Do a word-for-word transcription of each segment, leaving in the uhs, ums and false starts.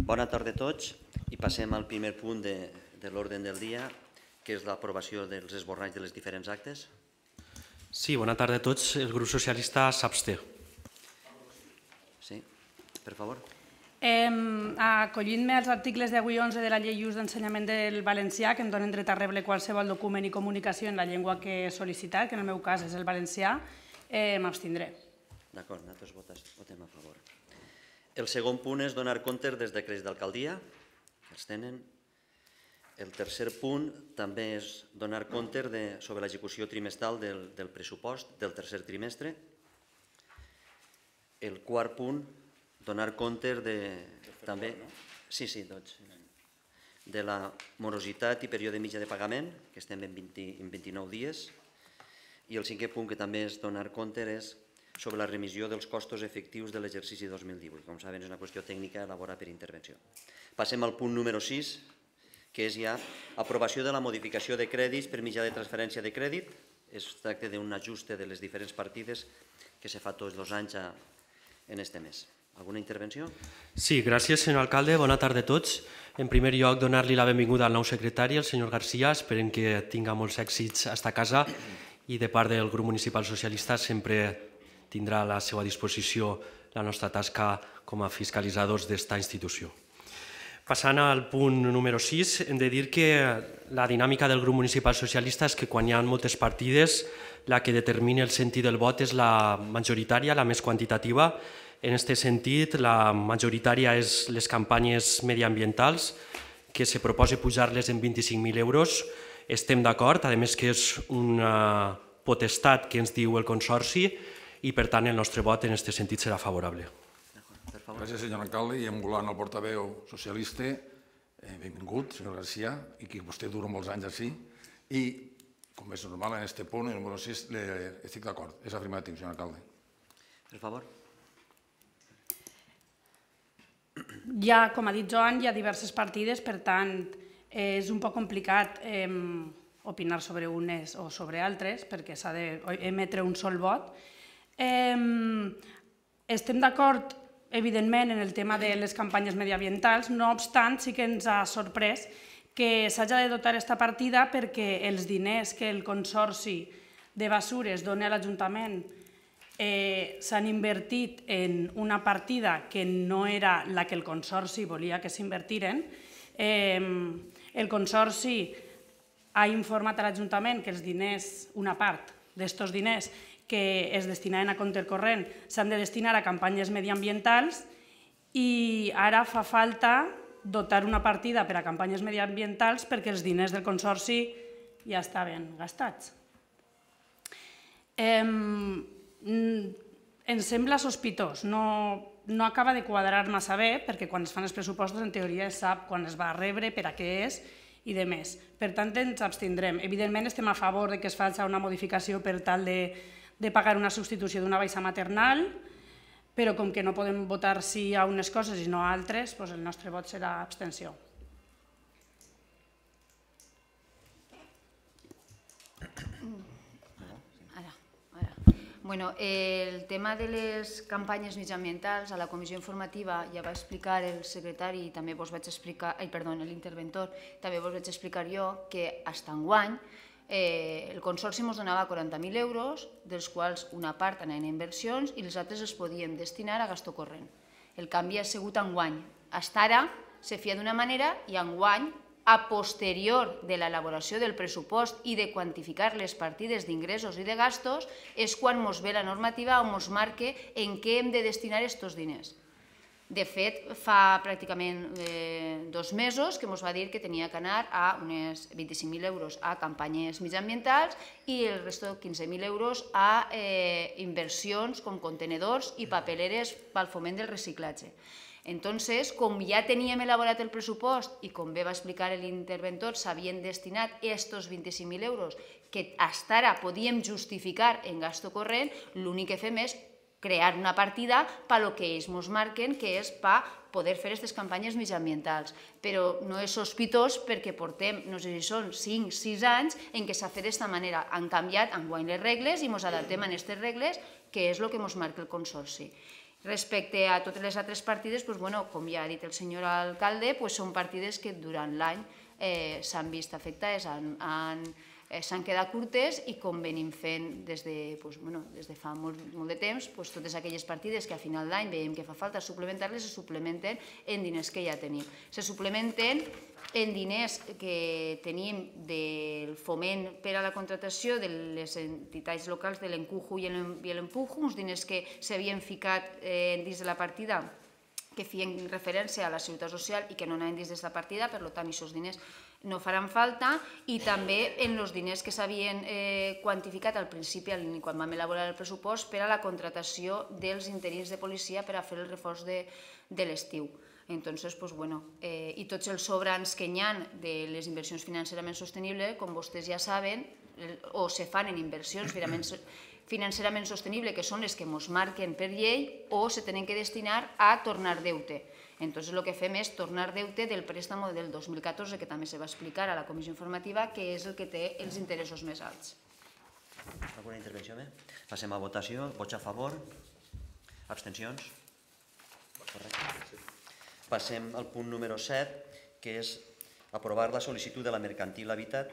Bona tarda a tots i passem al primer punt de, de l'ordre del dia, que és l'aprovació dels esborranys de les diferents actes. Sí, bona tarda a tots. El grup socialista s'absté. Sí, per favor. Eh, Acollint-me als articles deu i onze de la Llei d'Ús d'Ensenyament del Valencià, que em donen dret a rebre qualsevol document i comunicació en la llengua que he sol·licitat, que en el meu cas és el valencià, eh, m'abstindré. D'acord, nosaltres votem a favor. El segon punt és donar compte dels decrets d'alcaldia, que els tenen. El tercer punt també és donar compte de, sobre l'execució trimestral del, del pressupost del tercer trimestre. El quart punt, donar compte de, també, sí, sí, tots, de la morositat i període mitjà de pagament, que estem en, vint, en vint-i-nou dies. I el cinquè punt, que també és donar compte, és sobre la remissió dels costos efectius de l'exercici dos mil divuit. Com saben, és una qüestió tècnica elaborada per intervenció. Passem al punt número sis, que és ja aprovació de la modificació de crèdits per mitjà de transferència de crèdit. Es tracta d'un ajuste de les diferents partides que se fa tots els anys en este mes. Alguna intervenció? Sí, gràcies, senyor alcalde. Bona tarda a tots. En primer lloc, donar-li la benvinguda al nou secretari, el senyor Garcia. Esperem que tinga molts èxits a esta casa i de part del grup municipal socialista sempre tindrà a la seva disposició la nostra tasca com a fiscalitzadors d'esta institució. Passant al punt número sis, hem de dir que la dinàmica del grup municipal socialista és que quan hi ha moltes partides, la que determina el sentit del vot és la majoritària, la més quantitativa. En aquest sentit, la majoritària és les campanyes mediambientals, que se proposa pujar-les en vint-i-cinc mil euros. Estem d'acord, a més que és una potestat que ens diu el Consorci, i per tant el nostre vot en aquest sentit serà favorable. Gràcies, senyor alcalde, i emulant el portaveu socialista, benvingut, senyor Garcia, i que vostè dura molts anys així, i com és normal en aquest punt, el número sis, estic d'acord, és afirmatiu, senyor alcalde. Per favor. Ja, com ha dit Joan, hi ha diverses partides, per tant, és un poc complicat opinar sobre unes o sobre altres, perquè s'ha d'emetre un sol vot. Estem d'acord, evidentment, en el tema de les campanyes mediambientals, no obstant, sí que ens ha sorprès que s'hagi de dotar aquesta partida perquè els diners que el Consorci de Bessures dona a l'Ajuntament s'han invertit en una partida que no era la que el Consorci volia que s'invertiren. El Consorci ha informat a l'Ajuntament que els diners, una part d'estos diners que es destinaven a compte corrent s'han de destinar a campanyes mediambientals i ara fa falta dotar una partida per a campanyes mediambientals perquè els diners del Consorci ja estaven gastats. Ens sembla sospitós, no acaba de quadrar massa bé perquè quan es fan els pressupostos en teoria es sap quan es va rebre, per a què és i de més. Per tant, ens abstindrem. Evidentment estem a favor que es faci una modificació per tal de pagar una substitució d'una baixa maternal, però com que no podem votar sí a unes coses i no a altres, el nostre vot serà abstenció. El tema de les campanyes mitjambientals, a la comissió informativa ja va explicar el secretari i també vos vaig explicar, ai, perdó, l'interventor, també vos vaig explicar jo que fins enguany el Consorci ens donava quaranta mil euros, dels quals una part anaven a inversions i les altres es podien destinar a gasto corrent. El canvi ha sigut enguany. Fins ara se feia d'una manera i enguany, a posterior de l'elaboració del pressupost i de quantificar les partides d'ingressos i de gastos, és quan ens ve la normativa on ens marca en què hem de destinar aquests diners. De fet, fa pràcticament dos mesos que ens va dir que tenia que anar a uns vint-i-cinc mil euros a campanyes mitjambientals i el resto de quinze mil euros a inversions com contenedors i papeleres pel foment del reciclatge. Entonces, com ja teníem elaborat el pressupost i com bé va explicar l'interventor, s'havien destinat aquests vint-i-cinc mil euros que fins ara podíem justificar en gasto corrent, l'únic que fem és crear una partida per al que ells ens marquen, que és per poder fer aquestes campanyes mitjambientals. Però no és sospitós perquè portem, no sé si són cinc o sis anys en què s'ha fet d'aquesta manera. Han canviat enguany les regles i ens adaptem a aquestes regles, que és el que ens marca el Consorci. Respecte a totes les altres partides, com ja ha dit el senyor alcalde, són partides que durant l'any s'han vist afectades, s'han quedat curtes i com venim fent des de fa molt de temps, totes aquelles partides que a final d'any veiem que fa falta suplementar-les, se suplementen en diners que ja tenim. Se suplementen en diners que tenim del foment per a la contratació de les entitats locals de l'Encuju i l'Empuju, uns diners que s'havien ficat dins de la partida que feien referència a la seguretat social i que no anaven dins de la partida, per tant, aquests diners no faran falta, i també en els diners que s'havien quantificat al principi, quan vam elaborar el pressupost, per a la contratació dels interins de policia per a fer el reforç de l'estiu. Entonces, i tots els sobrants que hi ha de les inversions financerament sostenibles, com vostès ja saben, o se fan en inversions financerament sostenibles, que són les que ens marquen per llei, o se tenen que destinar a tornar deute. Entonces, el que fem és tornar deute del préstamo del dos mil catorze, que també se va explicar a la comissió informativa, que és el que té els interessos més alts. Alguna intervenció més? Passem a votació. Vots a favor? Abstencions? Correcte. Passem al punt número set, que és aprovar la sol·licitud de la Mercantil Habitat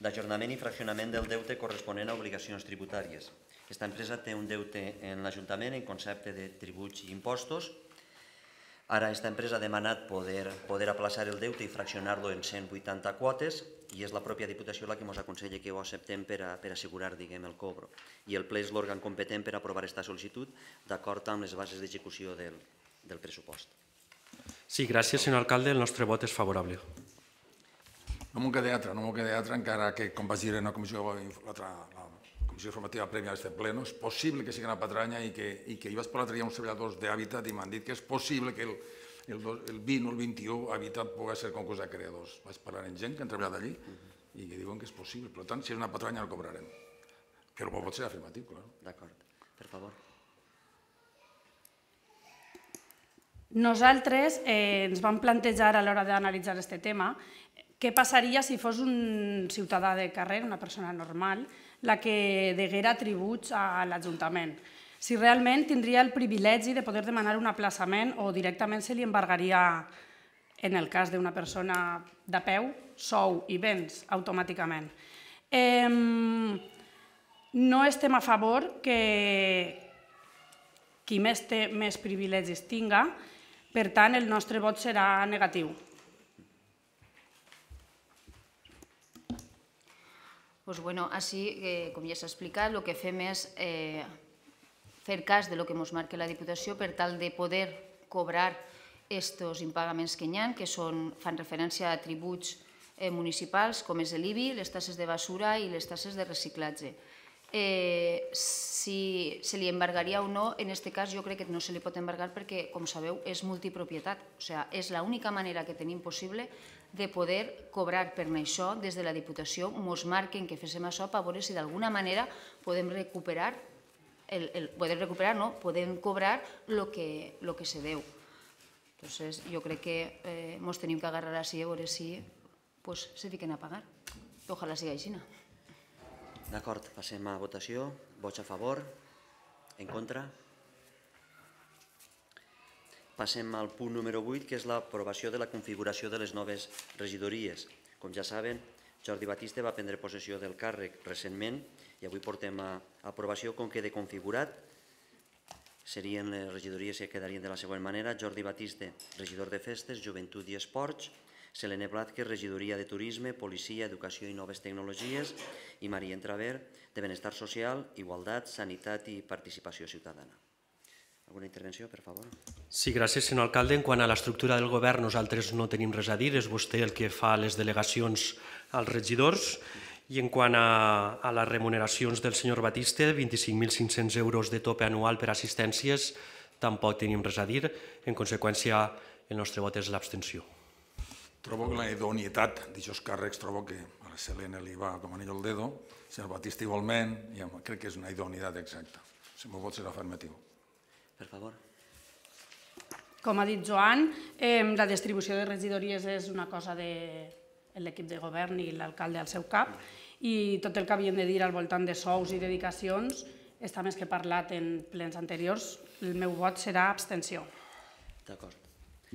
d'ajornament i fraccionament del deute corresponent a obligacions tributàries. Aquesta empresa té un deute en l'Ajuntament en concepte de tributs i impostos. Ara aquesta empresa ha demanat poder aplaçar el deute i fraccionar-lo en cent vuitanta quotes i és la pròpia Diputació la que ens aconsella que ho acceptem per assegurar el cobro. I el ple és l'òrgan competent per aprovar aquesta sol·licitud d'acord amb les bases d'execució del pressupost. Sí, gràcies, senyor alcalde. El nostre vot és favorable. No m'ho queda altra, no m'ho queda altra, encara que, com vaig dir en la comissió informativa prèvia a aquest ple, és possible que sigui una patranya i que hi vaig parlar l'altre dia amb uns treballadors d'Hàbitat i m'han dit que és possible que el vint o el vint-i-u Hàbitat pugui ser concurs de creadors. Vaig parlar amb gent que han treballat allí i que diuen que és possible. Per tant, si és una patranya, el cobrarem. Però pot ser afirmatiu, clar. D'acord. Per favor. Nosaltres ens vam plantejar a l'hora d'analitzar aquest tema què passaria si fos un ciutadà de carrer, una persona normal, la que deguera tributs a l'Ajuntament. Si realment tindria el privilegi de poder demanar un aplaçament o directament se li embargaria, en el cas d'una persona de peu, sou i béns automàticament. No estem a favor que qui més té més privilegis tinga. Per tant, el nostre vot serà negatiu. Doncs bé, així, com ja s'ha explicat, el que fem és fer cas del que ens marca la Diputació per tal de poder cobrar aquests impagaments que hi ha, que fan referència a tributs municipals, com és l'I B I, les tasses de basura i les tasses de reciclatge. Si se li embargaria o no, en aquest cas jo crec que no se li pot embargar perquè, com sabeu, és multipropietat. O sigui, és l'única manera que tenim possible de poder cobrar per això des de la Diputació. Ens marquen que féssim això per veure si d'alguna manera podem recuperar, podem recuperar, no, podem cobrar el que se deu. Llavors, jo crec que ens tenim que agarrar així a veure si se fiquen a pagar. Ojalà sigui així. D'acord, passem a votació. Vots a favor? En contra? Passem al punt número vuit, que és l'aprovació de la configuració de les noves regidories. Com ja saben, Jordi Batiste va prendre possessió del càrrec recentment i avui portem a aprovació com queda configurat. Serien les regidories que quedarien de la següent manera. Jordi Batiste, regidor de Festes, Joventut i Esports. Selene Blázquez, regidoria de Turisme, Policia, Educació i Noves Tecnologies, i Maria Entraver, de Benestar Social, Igualtat, Sanitat i Participació Ciutadana. Alguna intervenció, per favor? Sí, gràcies, senyor alcalde. En quant a l'estructura del govern, nosaltres no tenim res a dir. És vostè el que fa les delegacions als regidors. I en quant a les remuneracions del senyor Batiste, vint-i-cinc mil cinc-cents euros de tope anual per assistències, tampoc tenim res a dir. En conseqüència, el nostre vot és l'abstenció. Trobo que la idoneïtat d'aquests càrrecs, trobo que a la Selene li va com anillo al dedo, el senyor Batista igualment, i crec que és una idoneïtat exacta. El meu vot serà afirmatiu. Per favor. Com ha dit Joan, la distribució de regidories és una cosa de l'equip de govern i l'alcalde al seu cap, i tot el que havien de dir al voltant de sous i dedicacions està més que parlat en plens anteriors, el meu vot serà abstenció. D'acord.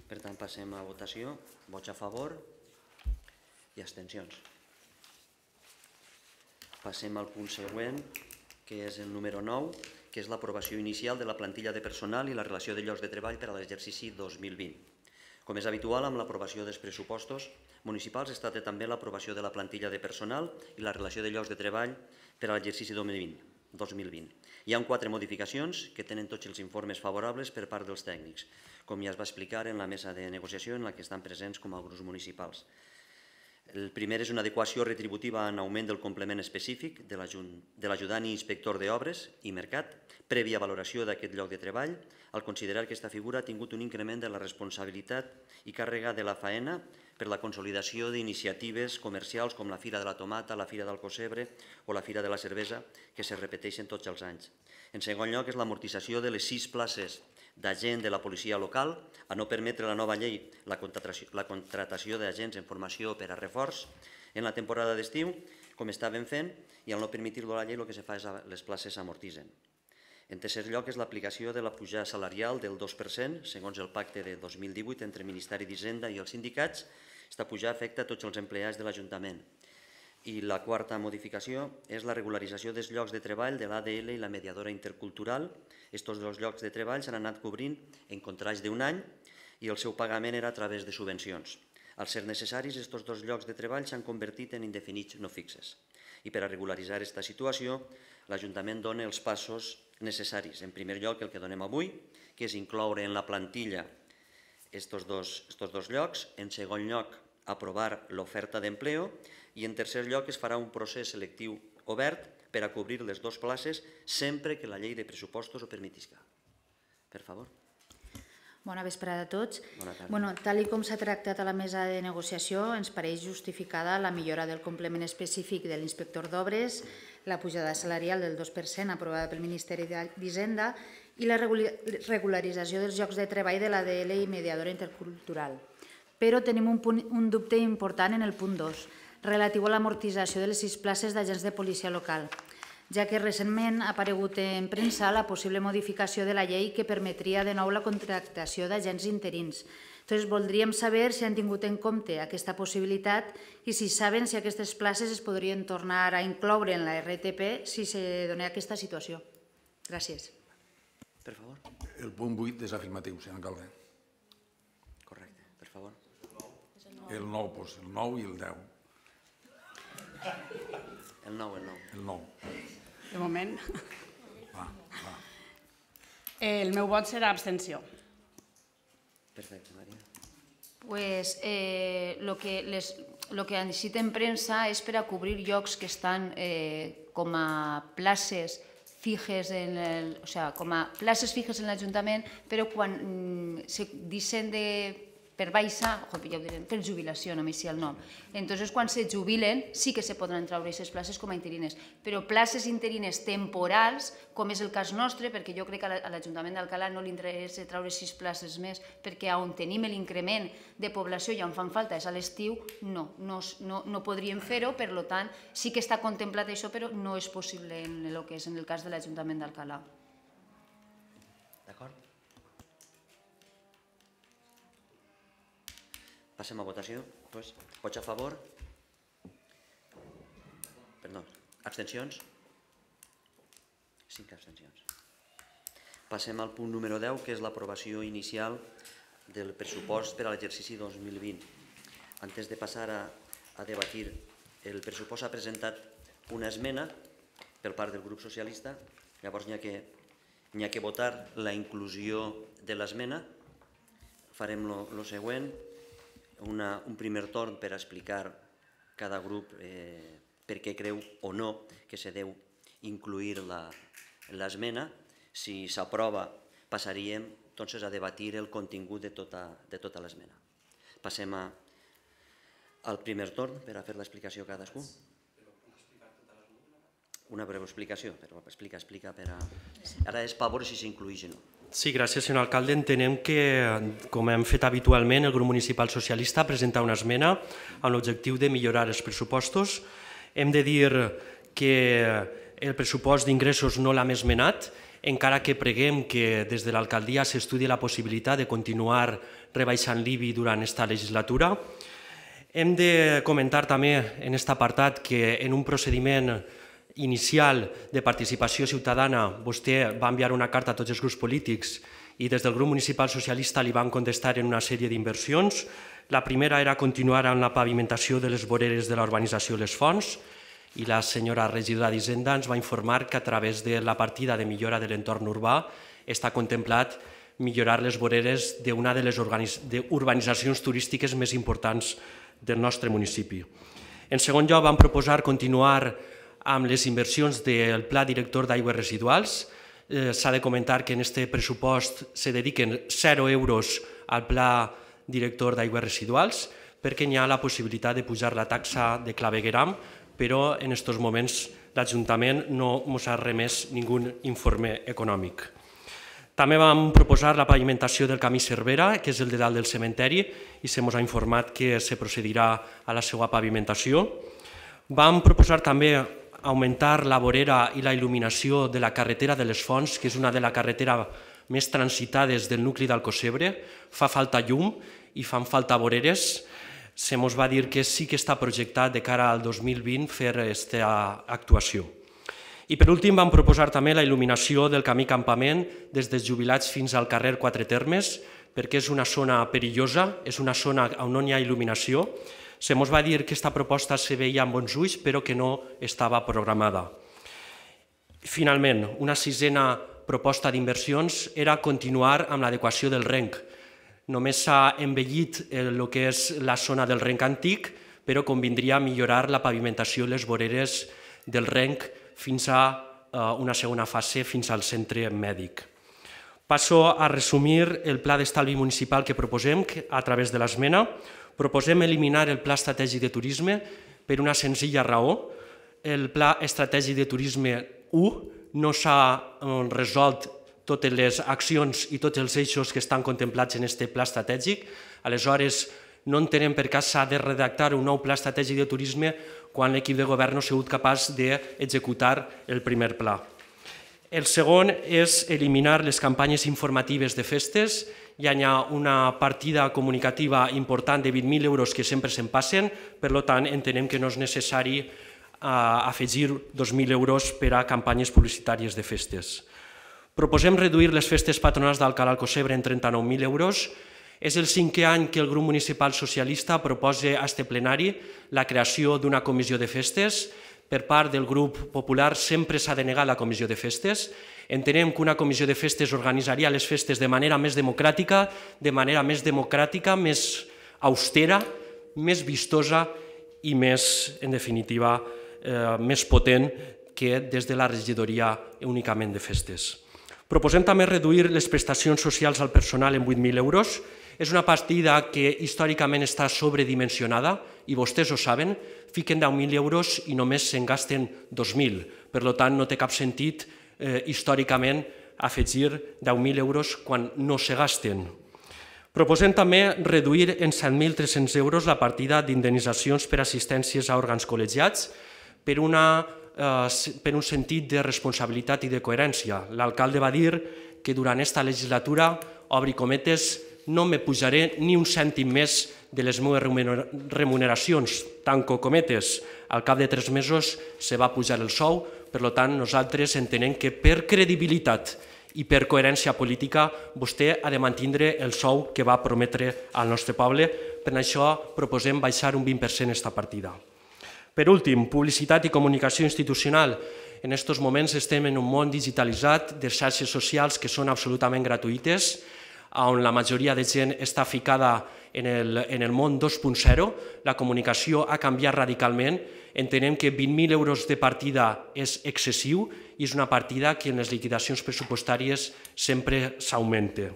Per tant, passem a votació. Vots a favor i abstencions. Passem al punt següent, que és el número nou, que és l'aprovació inicial de la plantilla de personal i la relació de llocs de treball per a l'exercici dos mil vint. Com és habitual, amb l'aprovació dels pressupostos municipals es tracta també l'aprovació de la plantilla de personal i la relació de llocs de treball per a l'exercici dos mil vint. Hi ha quatre modificacions que tenen tots els informes favorables per part dels tècnics, com ja es va explicar en la mesa de negociació en la que estan presents com a grups municipals. El primer és una adequació retributiva en augment del complement específic de l'ajudant i inspector d'obres i mercat, prèvia valoració d'aquest lloc de treball, al considerar que aquesta figura ha tingut un increment de la responsabilitat i càrrega de la faena per la consolidació d'iniciatives comercials com la Fira de la Tomata, la Fira del Cosebre o la Fira de la Cervesa, que se repeteixen tots els anys. En segon lloc, és l'amortització de les sis places d'agent de la policia local, a no permetre la nova llei la contratació d'agents en formació per a reforç en la temporada d'estiu, com estaven fent, i al no permetir-lo la llei el que se fa és que les places s'amortitzen. En tercer lloc, és l'aplicació de la pujada salarial del dos per cent, segons el pacte de dos mil divuit entre el Ministeri d'Hisenda i els sindicats. Aquesta pujada afecta a tots els empleats de l'Ajuntament. I la quarta modificació és la regularització dels llocs de treball de l'A D L i la mediadora intercultural. Aquests dos llocs de treball s'han anat cobrint en contrats d'un any i el seu pagament era a través de subvencions. Al ser necessaris, aquests dos llocs de treball s'han convertit en indefinits no fixes. I per a regularitzar aquesta situació, l'Ajuntament dona els passos necessaris. En primer lloc, el que donem avui, que és incloure en la plantilla aquests dos llocs. En segon lloc, aprovar l'oferta d'empleo. I en tercer lloc, es farà un procés selectiu obert per a cobrir les dues places sempre que la llei de pressupostos ho permetisca. Per favor. Bona vesprada a tots. Bona tarda. Bueno, tal com s'ha tractat a la mesa de negociació, ens pareix justificada la millora del complement específic de l'inspector d'obres, la pujada salarial del dos per cent aprovada pel Ministeri d'Hisenda i la regularització dels llocs de treball de l'A D L i mediadora intercultural. Però tenim un, punt, un dubte important en el punt dos, relatiu a l'amortització de les sis places d'agents de policia local, ja que recentment ha aparegut en premsa la possible modificació de la llei que permetria de nou la contractació d'agents interins. Entonces, voldríem saber si han tingut en compte aquesta possibilitat i si saben si aquestes places es podrien tornar a incloure en la R T P si se dona aquesta situació. Gràcies. Per favor. El punt vuit és afirmatiu, senyor alcalde. Correcte, per favor. El nou, doncs, el nou i el deu. El nou, el nou. El nou. De moment. Va, va. El meu vot serà abstenció. Perfecte, Maria. Pues eh, lo que les, lo que han dit en premsa és per a cobrir llocs que estan eh, com a places fixes en el, o sea, com a places fixes en l'Ajuntament, però quan mm, se deixen de per baixa, ja ho direm, per jubilació, només si el nom. Entonces, quan se jubilen, sí que se podran treure aquestes places com a interines, però places interines temporals, com és el cas nostre, perquè jo crec que a l'Ajuntament d'Alcalà no li interessa treure sis places més, perquè on tenim l'increment de població i on fan falta és a l'estiu, no, no, no, no podríem fer-ho, per tant, sí que està contemplat això, però no és possible en el que és en el cas de l'Ajuntament d'Alcalà. D'acord? Passem a votació. Vots a favor? Perdó. Abstencions? Cinc abstencions. Passem al punt número deu, que és l'aprovació inicial del pressupost per a l'exercici dos mil vint. Antes de passar a, a debatir, el pressupost ha presentat una esmena per part del grup socialista. Llavors n'hi ha que, n'hi ha que votar la inclusió de l'esmena. Farem el següent. Una, un primer torn per explicar cada grup eh, per què creu o no que se deu incluir l'esmena. Si s'aprova, passaríem doncs, a debatir el contingut de tota, de tota l'esmena. Passem a, al primer torn per a fer l'explicació a cadascú. Una breu explicació, però explica, explica per a... Ara és per veure si s'inclueix o no. Sí, gràcies, senyor alcalde. Entenem que, com hem fet habitualment, el grup municipal socialista ha presentat una esmena amb l'objectiu de millorar els pressupostos. Hem de dir que el pressupost d'ingressos no l'hem esmenat, encara que preguem que des de l'alcaldia s'estudi la possibilitat de continuar rebaixant l'I B I durant aquesta legislatura. Hem de comentar també en aquest apartat que en un procediment inicial de participació ciutadana vostè va enviar una carta a tots els grups polítics i des del grup municipal socialista li van contestar en una sèrie d'inversions. La primera era continuar amb la pavimentació de les voreres de la urbanització Les Fonts i la senyora regidora d'Hisenda ens va informar que a través de la partida de millora de l'entorn urbà està contemplat millorar les voreres d'una de les urbanitzacions turístiques més importants del nostre municipi. En segon lloc, vam proposar continuar amb les inversions del Pla Director d'Aigües Residuals. S'ha de comentar que en aquest pressupost se dediquen zero euros al Pla Director d'Aigües Residuals perquè hi ha la possibilitat de pujar la taxa de clavegueram, però en aquests moments l'Ajuntament no ens ha remès ningú informe econòmic. També vam proposar la pavimentació del camí Cervera, que és el de dalt del cementeri, i se ens ha informat que se procedirà a la seva pavimentació. Vam proposar també augmentar la vorera i la il·luminació de la carretera de les Fonts, que és una de les carreteres més transitades del nucli d'Alcossebre. Fa falta llum i fan falta voreres. Se ens va dir que sí que està projectat de cara al dos mil vint fer aquesta actuació. I per últim vam proposar també la il·luminació del camí Campament des dels Jubilats fins al carrer Quatre Termes, perquè és una zona perillosa, és una zona on no hi ha il·luminació. Se ens va dir que aquesta proposta se veia amb bons ulls, però que no estava programada. Finalment, una sisena proposta d'inversions era continuar amb l'adequació del renc. Només s'ha envellit el que és la zona del renc antic, però convindria millorar la pavimentació i les voreres del renc fins a una segona fase, fins al centre mèdic. Passo a resumir el pla d'estalvi municipal que proposem a través de l'esmena. Proposem eliminar el Pla Estratègic de Turisme per una senzilla raó. El Pla Estratègic de Turisme u no s'ha resolt totes les accions i tots els eixos que estan contemplats en aquest pla estratègic. Aleshores, no entenem per què s'ha de redactar un nou pla estratègic de turisme quan l'equip de govern no ha sigut capaç d'executar el primer pla. El segon és eliminar les campanyes informatives de festes. Hi ha una partida comunicativa important de vint mil euros que sempre se'n passen, per tant entenem que no és necessari afegir dos mil euros per a campanyes publicitàries de festes. Proposem reduir les festes patronals d'Alcalà Alcossebre en trenta-nou mil euros. És el cinquè any que el grup municipal socialista proposa a este plenari la creació d'una comissió de festes. Per part del grup popular sempre s'ha denegat la comissió de festes. Entenem que una comissió de festes organitzaria les festes de manera més democràtica, de manera més democràtica, més austera, més vistosa i més, en definitiva, més potent que des de la regidoria únicament de festes. Proposem també reduir les prestacions socials al personal en vuit mil euros. És una partida que històricament està sobredimensionada i vostès ho saben, fiquen deu mil euros i només se'n gasten dos mil. Per tant, no té cap sentit històricament afegir deu mil euros quan no se gasten. Proposem també reduir en set mil tres-cents euros la partida d'indemnitzacions per assistències a òrgans col·legiats per un sentit de responsabilitat i de coherència. L'alcalde va dir que durant aquesta legislatura, obri cometes, no me pujaré ni un cèntim més de les meves remuneracions, tanco cometes. Al cap de tres mesos se va pujar el sou, per tant nosaltres entenem que per credibilitat i per coherència política vostè ha de mantenir el sou que va prometre al nostre poble. Per això proposem baixar un vint per cent aquesta partida. Per últim, publicitat i comunicació institucional. En aquests moments estem en un món digitalitzat de xarxes socials que són absolutament gratuïtes, on la majoria de gent està ficada en el món dos punt zero, la comunicació ha canviat radicalment, entenem que vint mil euros de partida és excessiu i és una partida que en les liquidacions pressupostàries sempre s'augmenta.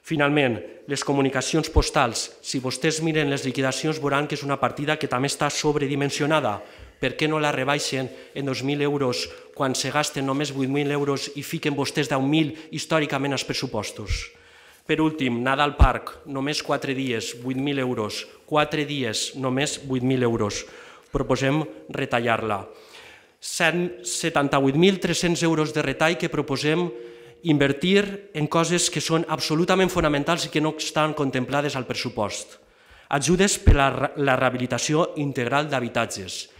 Finalment, les comunicacions postals. Si vostès miren les liquidacions veuran que és una partida que també està sobredimensionada. Per què no la rebaixen en dos mil euros quan se gasten només vuit mil euros i fiquen vostès deu mil històricament als pressupostos? Per últim, Nadal Park, només quatre dies, vuit mil euros. Quatre dies, només vuit mil euros. Proposem retallar-la. setanta-vuit mil tres-cents euros de retall que proposem invertir en coses que són absolutament fonamentals i que no estan contemplades al pressupost. Ajudes per a la rehabilitació integral d'habitatges.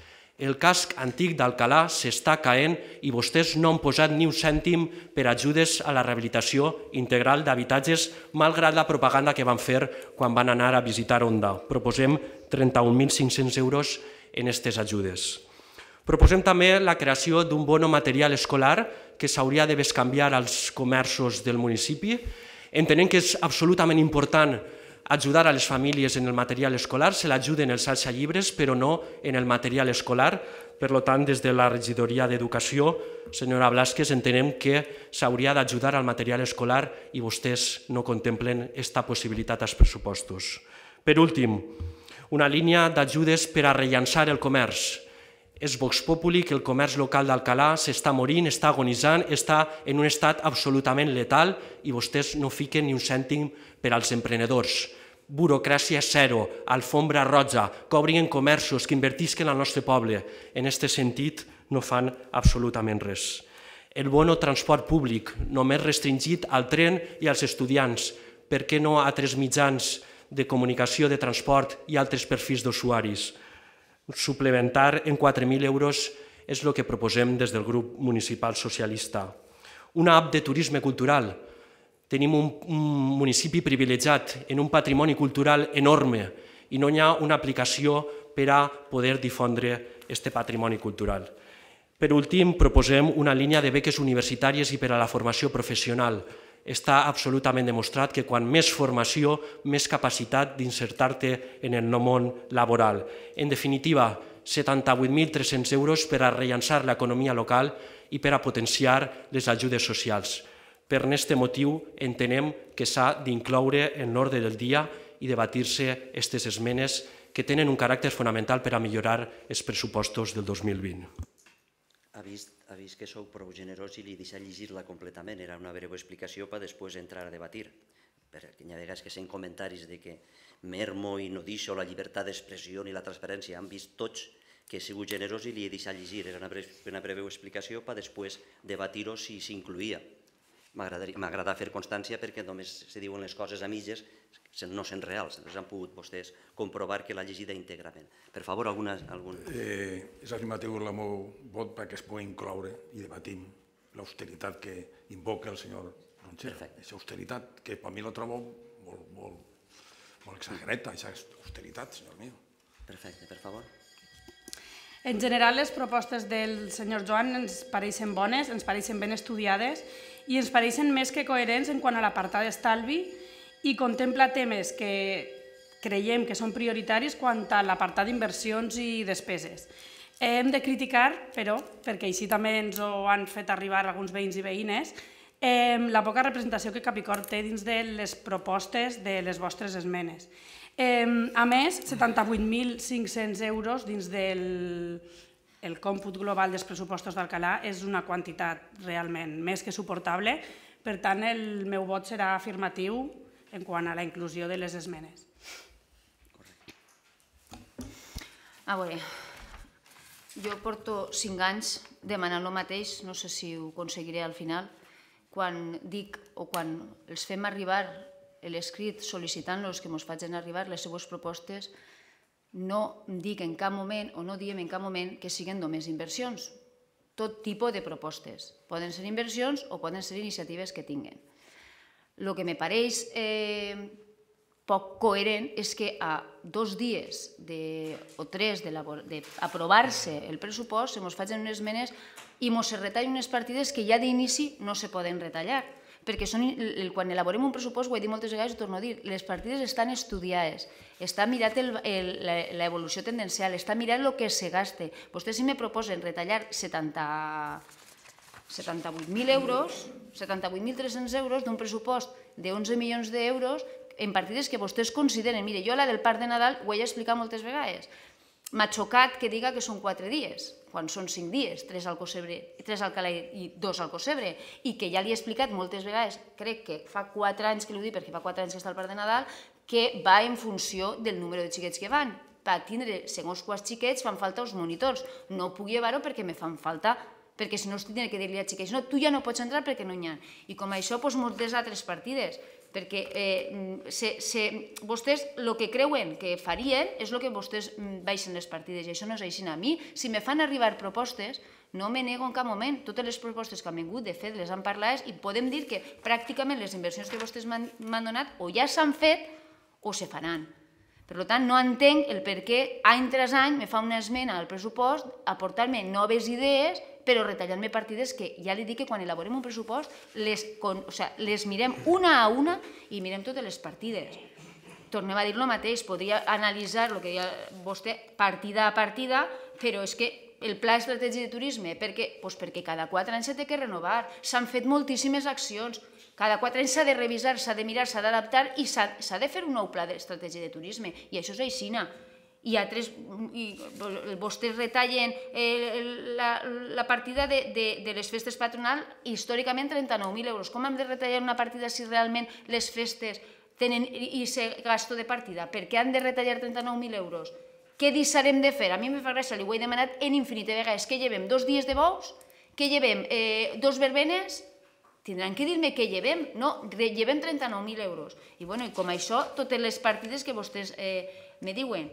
El casc antic d'Alcalà s'està caent i vostès no han posat ni un cèntim per ajudes a la rehabilitació integral d'habitatges, malgrat la propaganda que van fer quan van anar a visitar Onda. Proposem trenta-un mil cinc-cents euros en aquestes ajudes. Proposem també la creació d'un bono material escolar que s'hauria de bescanviar als comerços del municipi. Entenem que és absolutament important ajudar a les famílies en el material escolar, se l'ajuden els alçallibres, però no en el material escolar. Per tant, des de la regidoria d'Educació, senyora Blasquez, entenem que s'hauria d'ajudar al material escolar i vostès no contemplen aquesta possibilitat als pressupostos. Per últim, una línia d'ajudes per a rellançar el comerç. És Vox Populi que el comerç local d'Alcalà s'està morint, està agonitzant, està en un estat absolutament letal i vostès no fiquen ni un cèntim per als emprenedors. Burocràcia zero, alfombra roja, que obrin comerços, que invertisquen al nostre poble. En aquest sentit no fan absolutament res. El bono transport públic, només restringit al tren i als estudiants. Per què no a altres mitjans de comunicació, de transport i altres perfils d'usuaris? Suplementar en quatre mil euros és el que proposem des del grup municipal socialista. Una app de turisme cultural. Tenim un municipi privilegiat en un patrimoni cultural enorme i no hi ha una aplicació per a poder difondre aquest patrimoni cultural. Per últim, proposem una línia de beques universitàries i per a la formació professional. Està absolutament demostrat que quan més formació, més capacitat d'insertar-te en el món laboral. En definitiva, setanta-vuit mil tres-cents euros per a rellançar l'economia local i per a potenciar les ajudes socials. Per aquest motiu entenem que s'ha d'incloure en l'ordre del dia i debatir-se aquestes esmenes que tenen un caràcter fonamental per a millorar els pressupostos del dos mil vint. Ha vist, ha vist que sou prou generós i li deixa llegir-la completament. Era una breu explicació per després entrar a debatir. Perquè hi ha vegades que sent comentaris de que mermo i no deixo la llibertat d'expressió ni la transparència. Han vist tots que he sigut generós i li he deixat llegir. Era una breu explicació per després debatir-ho si s'incluïa. M'agrada fer constància perquè només se diuen les coses a mitges, no sent reals. Les han pogut vostès comprovar que l'ha llegida íntegrament. Per favor, alguna... És afirmatiu el meu vot perquè es pugui incloure i debatim l'austeritat que invoca el senyor Ronchero. Aquesta austeritat, que per mi la trobo molt exagerada, aquesta austeritat, senyor meu. Perfecte, per favor. En general, les propostes del senyor Joan ens pareixen bones, ens pareixen ben estudiades i ens pareixen més que coherents en quant a l'apartat d'estalvi i contempla temes que creiem que són prioritaris quant a l'apartat d'inversions i despeses. Hem de criticar, però, perquè així també ens ho han fet arribar alguns veïns i veïnes, la poca representació que Capicor té dins de les propostes de les vostres esmenes. A més, setanta-vuit mil cinc-cents euros dins del còmput global dels pressupostos d'Alcalà és una quantitat realment més que suportable. Per tant, el meu vot serà afirmatiu en quant a la inclusió de les esmenes. A veure, jo porto cinc anys demanant el mateix, no sé si ho aconseguiré al final. Quan dic o quan els fem arribar l'escrit sol·licitant-los que ens facin arribar les seues propostes, no dic en cap moment o no diem en cap moment que siguin només inversions. Tot tipus de propostes. Poden ser inversions o poden ser iniciatives que tinguen. El que me pareix poc coherent és que a dos dies o tres d'aprovar-se el pressupost se ens facin unes esmenes i ens retallen unes partides que ja d'inici no se poden retallar. Perquè quan elaborem un pressupost, ho he dit moltes vegades i ho torno a dir, les partides estan estudiades, està mirat l'evolució tendencial, està mirat el que se gaste. Vostès si me proposen retallar setanta-vuit mil euros, setanta-vuit mil tres-cents euros d'un pressupost d'onze milions d'euros en partides que vostès consideren. Mire, jo la del Parc de Nadal ho he explicat moltes vegades. M'ha xocat que diga que són quatre dies, quan són cinc dies, tres al Alcalà i dos al Cosebre, i que ja li he explicat moltes vegades, crec que fa quatre anys que l'ho dic, perquè fa quatre anys que està al Parc de Nadal, que va en funció del número de xiquets que van. per tindre segons quants xiquets fan falta els monitors. No puc llevar-ho perquè me fan falta, perquè si no es tindré que dir-li als xiquets no, tu ja no pots entrar perquè no hi ha. I com això, doncs, moltes altres partides, perquè vostès el que creuen que farien és el que vostès baixen les partides, i això no és així. A mi, si me fan arribar propostes, no me nego en cap moment. Totes les propostes que han vingut, de fet, les han parlat i podem dir que pràcticament les inversions que vostès m'han donat o ja s'han fet o se faran. Per tant, no entenc el per què any tras any me fa una esmena al pressupost aportar-me noves idees però retallant-me partides que ja li dic que quan elaborem un pressupost les mirem una a una i mirem totes les partides. Tornem a dir el mateix, podria analitzar el que deia vostè partida a partida, però és que el pla estratègic de turisme, perquè cada quatre anys s'ha de renovar, s'han fet moltíssimes accions, cada quatre anys s'ha de revisar, s'ha de mirar, s'ha d'adaptar i s'ha de fer un nou pla d'estratègia de turisme, i això és aixina. I vostès retallen la partida de les festes patronals històricament trenta-nou mil euros. Com hem de retallar una partida si realment les festes tenen aquest gasto de partida? Per què han de retallar trenta-nou mil euros? Què deixarem de fer? A mi me fa gràcia, li ho he demanat en infinite vegades. Què llevem? Dos dies de bous? Què llevem? Dos verbenes? Tindran que dir-me què llevem. No, llevem trenta-nou mil euros. I com això, totes les partides que vostès me diuen.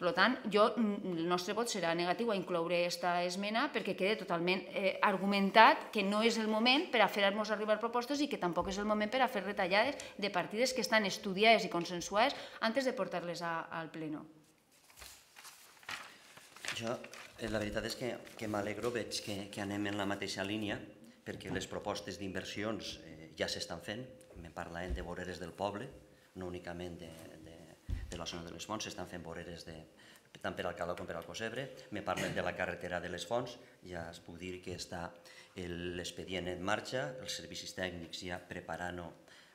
Per tant, el nostre vot serà negatiu a incloure aquesta esmena perquè queda totalment argumentat que no és el moment per a fer-nos arribar propostes i que tampoc és el moment per a fer retallades de partides que estan estudiades i consensuades antes de portar-les al pleno. Jo, la veritat és que m'alegro, veig que anem en la mateixa línia perquè les propostes d'inversions ja s'estan fent. Me parlen de voreres del poble, no únicament de de la zona de les Fonts, s'estan fent voreres tant per al Calao com per al Cosebre, me parlen de la carretera de les Fonts, ja es puc dir que està l'expedient en marxa, els servicis tècnics ja preparant-ho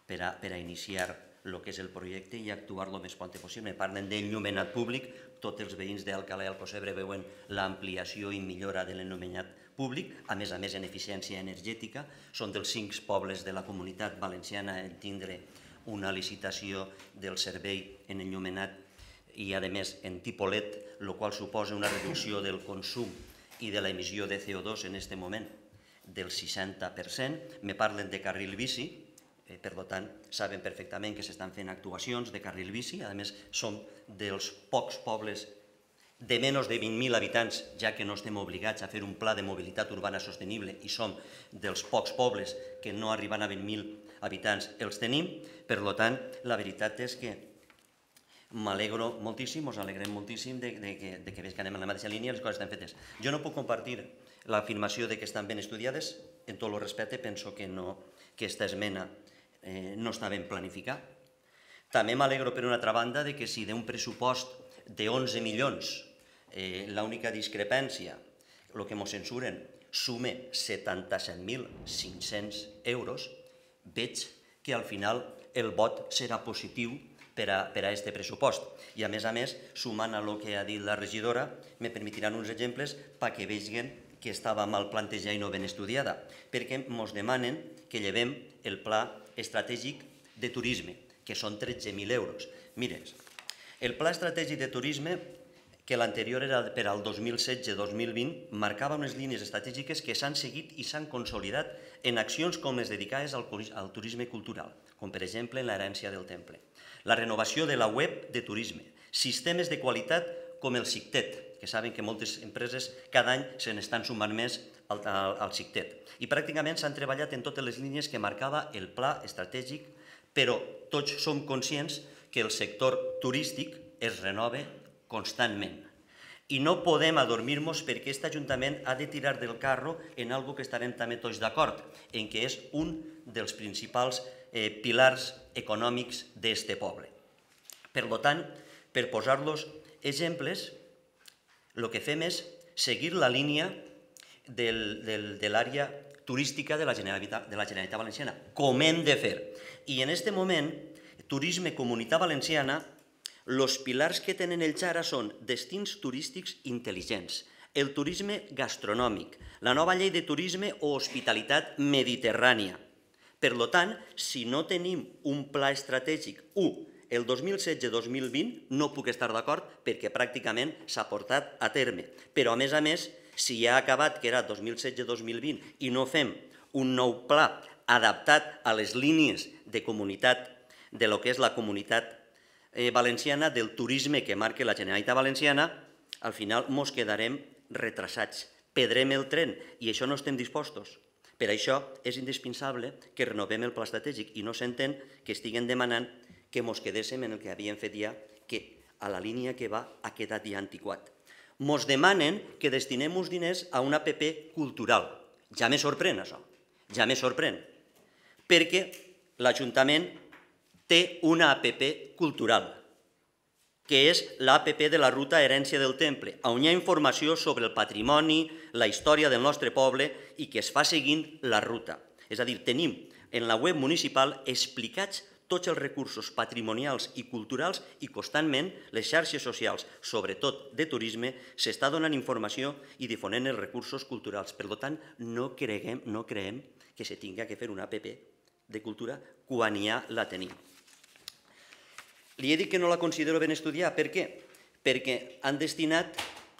per a iniciar el que és el projecte i actuar el més pront possible. Me parlen d'enllumenat públic, tots els veïns d'Alcalá i el Cosebre veuen l'ampliació i millora de l'enllumenat públic, a més a més en eficiència energètica, són dels cinc pobles de la comunitat valenciana en tindre una licitació del servei en enllumenat i, a més, en tipus L E D, el qual suposa una reducció del consum i de l'emissió de C O dos en aquest moment del seixanta per cent. Me parlen de carril bici, per tant, saben perfectament que s'estan fent actuacions de carril bici. A més, som dels pocs pobles de menys de vint mil habitants, ja que no estem obligats a fer un pla de mobilitat urbana sostenible i som dels pocs pobles que no arriben a vint mil habitants els tenim. Per tant, la veritat és que m'alegro moltíssim, us alegrem moltíssim de que veig que anem en la mateixa línia i les coses estan fetes. Jo no puc compartir l'afirmació que estan ben estudiades, en tot el respecte, penso que aquesta esmena no està ben planificada. També m'alegro, per una altra banda, que si d'un pressupost d'onze milions, l'única discrepància, el que ens censuren, sume setanta-set mil cinc-cents euros, veig que al final el vot serà positiu per a aquest pressupost. I a més a més, sumant a el que ha dit la regidora, me permetiran uns exemples perquè vegin que estava mal plantejada i no ben estudiada, perquè ens demanen que llevem el pla estratègic de turisme, que són tretze mil euros. Mires, el pla estratègic de turisme, que l'anterior era per al dos mil setze dos mil vint, marcava unes línies estratègiques que s'han seguit i s'han consolidat en accions com les dedicades al turisme cultural, com per exemple l'herència del temple. La renovació de la web de turisme, sistemes de qualitat com el SICTET, que saben que moltes empreses cada any se n'estan sumant més al SICTET. I pràcticament s'han treballat en totes les línies que marcava el pla estratègic, però tots som conscients que el sector turístic es renova constantment. I no podem adormir-nos perquè aquest Ajuntament ha de tirar del carro en algo que estarem també tots d'acord, en què és un dels principals pilars econòmics d'aquest poble. Per tant, per posar-los exemples, el que fem és seguir la línia de l'àrea turística de la Generalitat Valenciana, com hem de fer. I en aquest moment, Turisme Comunitat Valenciana, els pilars que tenen ells ara són destins turístics intel·ligents, el turisme gastronòmic, la nova llei de turisme o hospitalitat mediterrània. Per tant, si no tenim un pla estratègic, u, el dos mil setze dos mil vint no puc estar d'acord perquè pràcticament s'ha portat a terme. Però, a més a més, si ja ha acabat, que era dos mil setze dos mil vint, i no fem un nou pla adaptat a les línies de comunitat, de lo que és la comunitat valenciana, del turisme que marca la Generalitat Valenciana, al final mos quedarem retrasats. Perdrem el tren i això no estem dispostos. Per això és indispensable que renovem el pla estratègic i no s'entén que estiguen demanant que mos quedéssim en el que havíem fet ja, que a la línia que va ha quedat ja antiquat. Mos demanen que destinem uns diners a una A P P cultural. Ja me sorprèn això, ja me sorprèn, perquè l'Ajuntament té una A P P cultural, que és l'A P P de la Ruta Herència del Temple, on hi ha informació sobre el patrimoni, la història del nostre poble i que es fa seguint la ruta. És a dir, tenim en la web municipal explicats tots els recursos patrimonials i culturals i constantment les xarxes socials, sobretot de turisme, s'està donant informació i difonent els recursos culturals. Per tant, no creguem, no creem que se tinga que fer una A P P de cultura quan ja la tenim. Li he dit que no la considero ben estudiar. Per què? Perquè han destinat,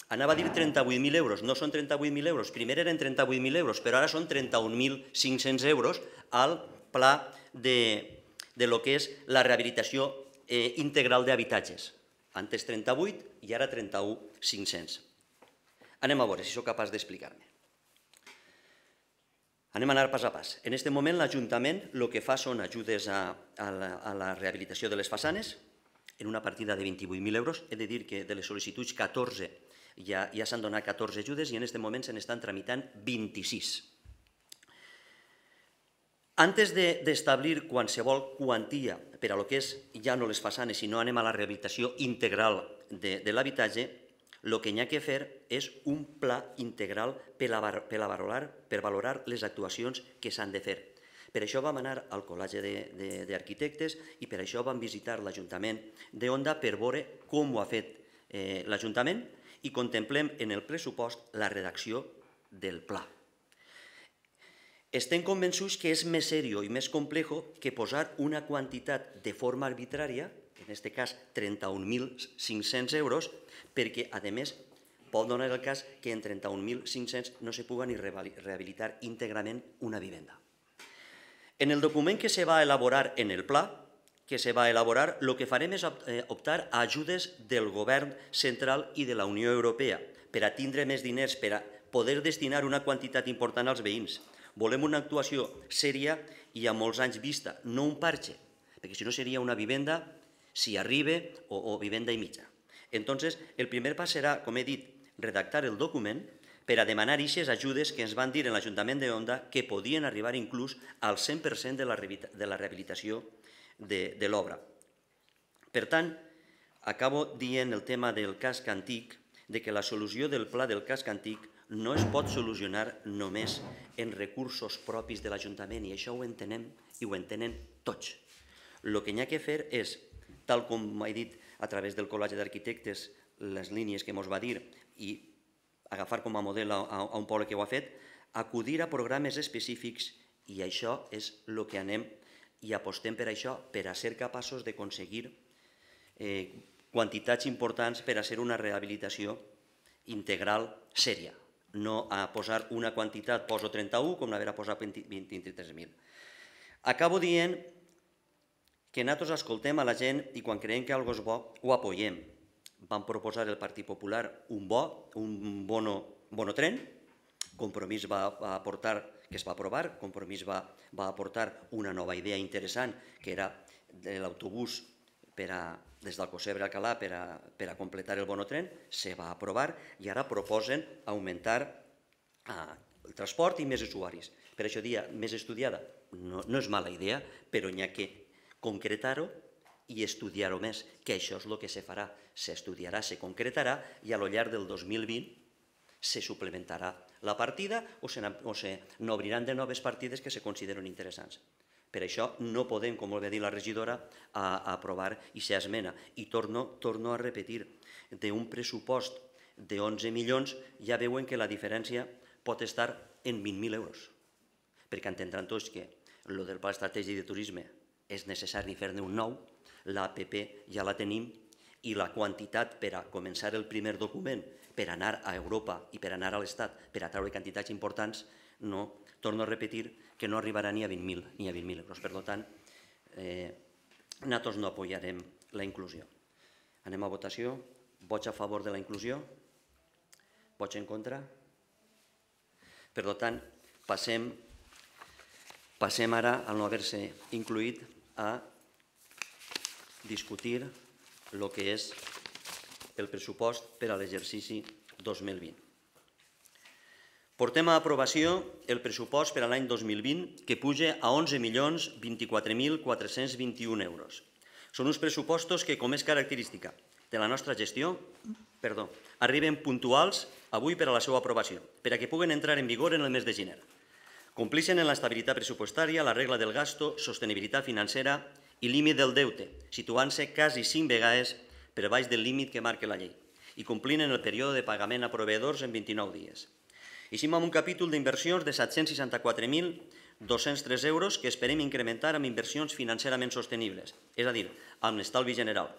anava a dir trenta-vuit mil euros, no són trenta-vuit mil euros, primer eren trenta-vuit mil euros, però ara són trenta-un mil cinc-cents euros al pla de, de lo que és la rehabilitació eh, integral d'habitatges. Antes trenta-vuit i ara trenta-un mil cinc-cents. Anem a veure si sóc capaç d'explicar-me. Anem a anar pas a pas. En aquest moment l'Ajuntament el que fa són ajudes a, a, la, a la rehabilitació de les façanes en una partida de vint-i-vuit mil euros. He de dir que de les sol·licituds catorze ja, ja s'han donat catorze ajudes i en aquest moment se n'estan tramitant vint-i-sis. Antes d'establir qualsevol quantia per a lo que és ja no les façanes, sinó anem a la rehabilitació integral de, de l'habitatge, el que hi ha que fer és un pla integral per a valorar, per valorar les actuacions que s'han de fer. Per això vam anar al Col·legi d'Arquitectes i per això vam visitar l'Ajuntament d'Onda per veure com ho ha fet eh, l'Ajuntament i contemplem en el pressupost la redacció del pla. Estem convençuts que és més seriós i més complex que posar una quantitat de forma arbitrària, en aquest cas trenta-un mil cinc-cents euros, perquè, a més, pot donar el cas que en trenta-un mil cinc-cents no se pugui ni rehabilitar íntegrament una vivenda. En el document que se va elaborar en el pla, que se va elaborar, el que farem és optar a ajudes del govern central i de la Unió Europea per a tindre més diners, per a poder destinar una quantitat important als veïns. Volem una actuació sèria i a molts anys vista, no un parche, perquè si no seria una vivenda si arriba o, o vivenda i mitja. Entonces, el primer pas serà, com he dit, redactar el document per a demanar aquestes ajudes que ens van dir en l'Ajuntament d'Onda que podien arribar inclús al cent per cent de la rehabilitació de, de l'obra. Per tant, acabo dient el tema del casc antic, de que la solució del pla del casc antic no es pot solucionar només en recursos propis de l'Ajuntament, i això ho entenem i ho entenen tots. El que hi ha que fer és, tal com he dit a través del Col·legi d'Arquitectes, les línies que ens va dir, i agafar com a model a un poble que ho ha fet, acudir a programes específics, i això és el que anem i apostem per això, per a ser capaços d'aconseguir quantitats importants per a ser una rehabilitació integral sèria. No a posar una quantitat, poso trenta-un, com haver posat vint-i-tres mil. Acabo dient que nosaltres escoltem a la gent i quan creiem que alguna cosa és bo, ho apoyem. Vam proposar el Partit Popular un bo, un bono tren, Compromís va aportar, que es va aprovar, Compromís va aportar una nova idea interessant, que era de l'autobús des d'Alcocebre a Alcalà per a completar el bono tren, se va aprovar i ara proposen augmentar el transport i més usuaris. Per això dia més estudiada no és mala idea, però n'hi ha que concretar-ho i estudiar-ho més, que això és el que se farà. S'estudiarà, se concretarà i a lo llarg del dos mil vint se suplementarà la partida o se n'obriran de noves partides que se consideren interessants. Per això no podem, com ho va dir la regidora, aprovar aquesta esmena. I torno a repetir, d'un pressupost d'onze milions ja veuen que la diferència pot estar en vint mil euros. Perquè entendran tots que el del pla estratègic de turisme és necessari fer-ne un nou, l'A P P ja la tenim i la quantitat per a començar el primer document, per anar a Europa i per anar a l'Estat, per a treure quantitats importants, no, torno a repetir que no arribarà ni a vint mil ni a vint mil euros. Per tant, eh, nosaltres no apoyarem la inclusió. Anem a votació. Vots a favor de la inclusió? Vots en contra? Per tant, passem, passem ara, al no haver-se incluït, a discutir el que és el pressupost per a l'exercici dos mil vint. Portem a aprovació el pressupost per a l'any dos mil vint, que puja a onze milions vint-i-quatre mil quatre-cents vint-i-un euros. Són uns pressupostos que, com és característica de la nostra gestió, perdó, arriben puntuals avui per a la seva aprovació, per a que puguen entrar en vigor en el mes de gener. Complixen en l'estabilitat pressupostària, la regla del gasto, sostenibilitat financera i límit del deute, situant-se quasi cinc vegades per baix del límit que marca la llei, i complint en el període de pagament a proveïdors en vint-i-nou dies. Eixim amb un capítol d'inversions de set-cents seixanta-quatre mil dos-cents tres euros que esperem incrementar amb inversions financerament sostenibles, és a dir, amb l'estalvi general.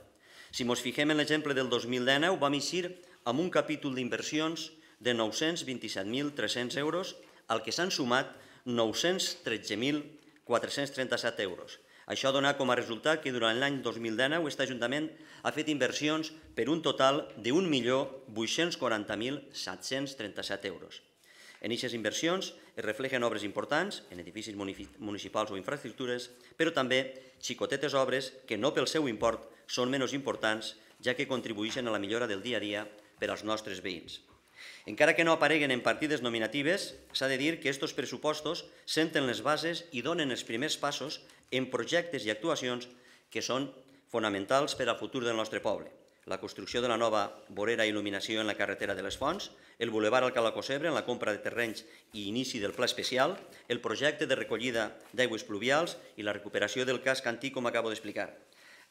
Si ens fixem en l'exemple del dos mil dinou, vam eixir amb un capítol d'inversions de nou-cents vint-i-set mil tres-cents euros, al que s'han sumat nou-cents tretze mil quatre-cents trenta-set euros. Això dona com a resultat que durant l'any dos mil dinou aquest Ajuntament ha fet inversions per un total d'un milió vuit-cents quaranta mil set-cents trenta-set euros. En aquestes inversions es reflexen obres importants en edificis municipals o infraestructures, però també xicotetes obres que no pel seu import són menys importants, ja que contribueixen a la millora del dia a dia per als nostres veïns. Encara que no apareguen en partides nominatives, s'ha de dir que aquests pressupostos senten les bases i donen els primers passos en projectes i actuacions que són fonamentals per al futur del nostre poble. La construcció de la nova vorera i il·luminació en la carretera de les Fonts, el bulevard Alcalá Cocebre en la compra de terrenys i inici del pla especial, el projecte de recollida d'aigües pluvials i la recuperació del casc antic, com acabo d'explicar.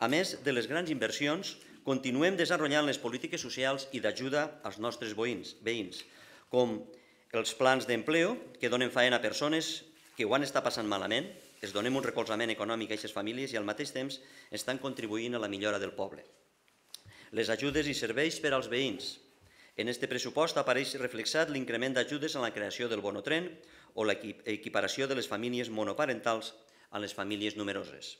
A més de les grans inversions, continuem desenvolupant les polítiques socials i d'ajuda als nostres veïns, com els plans d'empleo que donen feina a persones que ho han estat passant malament, es donem un recolzament econòmic a aquestes famílies i al mateix temps estan contribuint a la millora del poble. Les ajudes i serveis per als veïns. En aquest pressupost apareix reflexat l'increment d'ajudes en la creació del bonotren o l'equiparació de les famílies monoparentals a les famílies numeroses.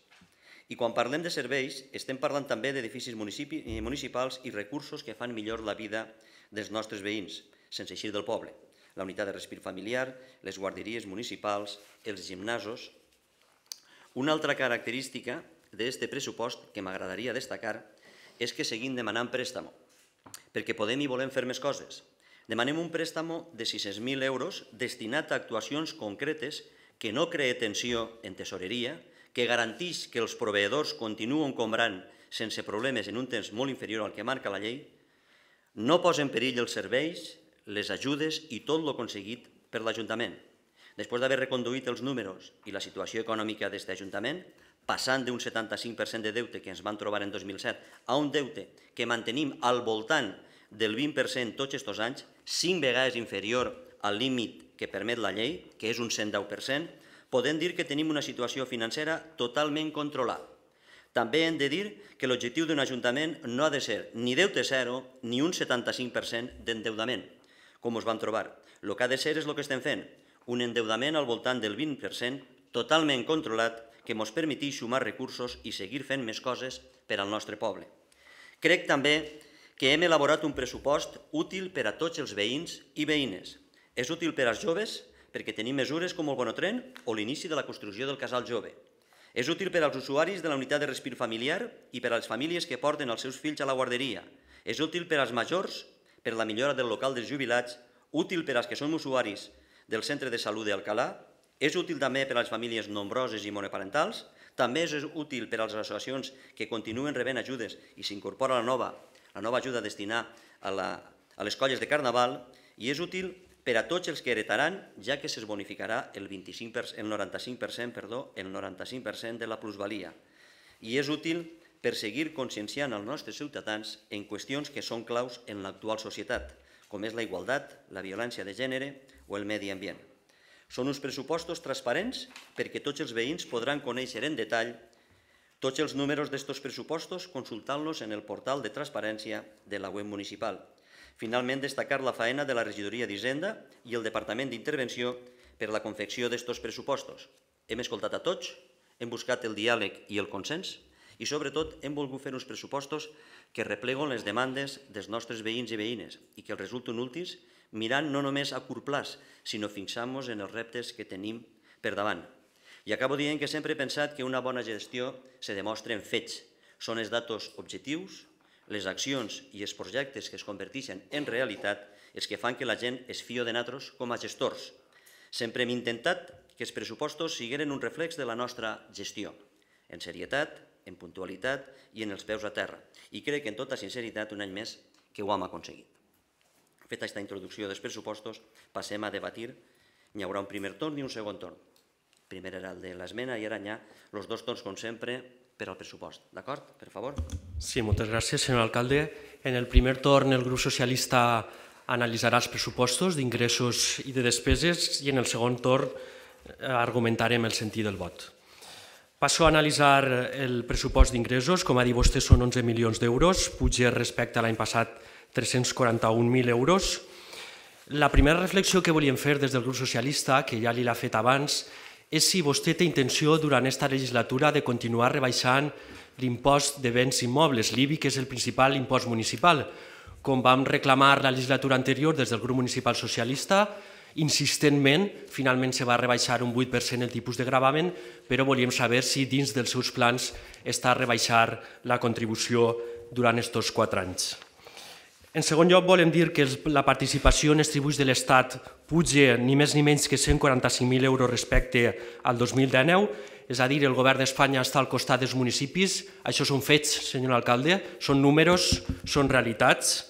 I quan parlem de serveis, estem parlant també d'edificis municipals i recursos que fan millor la vida dels nostres veïns, sense eixir del poble. La unitat de respir familiar, les guarderies municipals, els gimnasos. Una altra característica d'aquest pressupost que m'agradaria destacar és que seguim demanant préstamo, perquè podem i volem fer més coses. Demanem un préstamo de sis-cents mil euros destinat a actuacions concretes que no cree tensió en tesoreria, que garanteix que els proveïdors continuen cobrant sense problemes en un temps molt inferior al que marca la llei, no posa en perill els serveis, les ajudes i tot el aconseguit per l'Ajuntament. Després d'haver reconduït els números i la situació econòmica d'aquest Ajuntament, passant d'un setanta-cinc per cent de deute que ens vam trobar en dos mil set a un deute que mantenim al voltant del vint per cent tots aquests anys, cinc vegades inferior al límit que permet la llei, que és un cent deu per cent, podem dir que tenim una situació financera totalment controlada. També hem de dir que l'objectiu d'un ajuntament no ha de ser ni deute zero ni un setanta-cinc per cent d'endeudament, com us vam trobar. El que ha de ser és el que estem fent, un endeudament al voltant del vint per cent totalment controlat que ens permeteix sumar recursos i seguir fent més coses per al nostre poble. Crec també que hem elaborat un pressupost útil per a tots els veïns i veïnes. És útil per als joves perquè tenim mesures com el bonotren o l'inici de la construcció del casal jove. És útil per als usuaris de la unitat de respir familiar i per a les famílies que porten els seus fills a la guarderia. És útil per als majors, per la millora del local dels jubilats, útil per als que som usuaris del centre de salut d'Alcalà, és útil també per a les famílies nombroses i monoparentals, també és útil per a les associacions que continuen rebent ajudes i s'incorpora la nova, la nova ajuda a destinar a, la, a les colles de Carnaval, i és útil per a tots els que heretaran, ja que se's bonificarà el, vint-i-cinc per cent, el noranta-cinc per cent, perdó, el noranta-cinc per cent de la plusvalia. I és útil per seguir conscienciant els nostres ciutadans en qüestions que són claus en l'actual societat, com és la igualtat, la violència de gènere o el medi ambient. Són uns pressupostos transparents perquè tots els veïns podran conèixer en detall Tots els números d'estos pressupostos consultant-los en el portal de transparència de la web municipal. Finalment, destacar la faena de la Regidoria d'Hisenda i el Departament d'Intervenció per la confecció d'estos pressupostos. Hem escoltat a tots, hem buscat el diàleg i el consens i, sobretot, hem volgut fer uns pressupostos que repleguen les demandes dels nostres veïns i veïnes i que els resulten útils mirant no només a curt plaç, sinó fixant-nos en els reptes que tenim per davant. I acabo dient que sempre he pensat que una bona gestió se demostra en fets. Són els datos objectius, les accions i els projectes que es converteixen en realitat els que fan que la gent es fio de nosaltres com a gestors. Sempre hem intentat que els pressupostos siguin un reflex de la nostra gestió, en serietat, en puntualitat i en els peus a terra. I crec que, en tota sinceritat, un any més que ho hem aconseguit. Feta aquesta introducció dels pressupostos, passem a debatir. Hi haurà un primer torn i un segon torn. Primer era el de l'esmena i ara hi ha els dos torns, com sempre, per al pressupost. D'acord? Per favor. Sí, moltes gràcies, senyor alcalde. En el primer torn, el grup socialista analitzarà els pressupostos d'ingressos i de despeses i en el segon torn argumentarem el sentit del vot. Passo a analitzar el pressupost d'ingressos. Com ha dit vostè, són onze milions d'euros, puja respecte a l'any passat tres-cents quaranta-un mil euros. La primera reflexió que volíem fer des del grup socialista, que ja li l'ha fet abans, és si vostè té intenció durant aquesta legislatura de continuar rebaixant l'impost de béns immobles, l'I B I, que és el principal impost municipal. Com vam reclamar la legislatura anterior des del grup municipal socialista, insistentment, finalment se va rebaixar un vuit per cent el tipus de gravamen, però volíem saber si dins dels seus plans està rebaixar la contribució durant aquests quatre anys. En segon lloc, volem dir que la participació en els tributs de l'Estat puja ni més ni menys que cent quaranta-cinc mil euros respecte al dos mil dinou, és a dir, el govern d'Espanya està al costat dels municipis. Això són fets, senyor alcalde, són números, són realitats.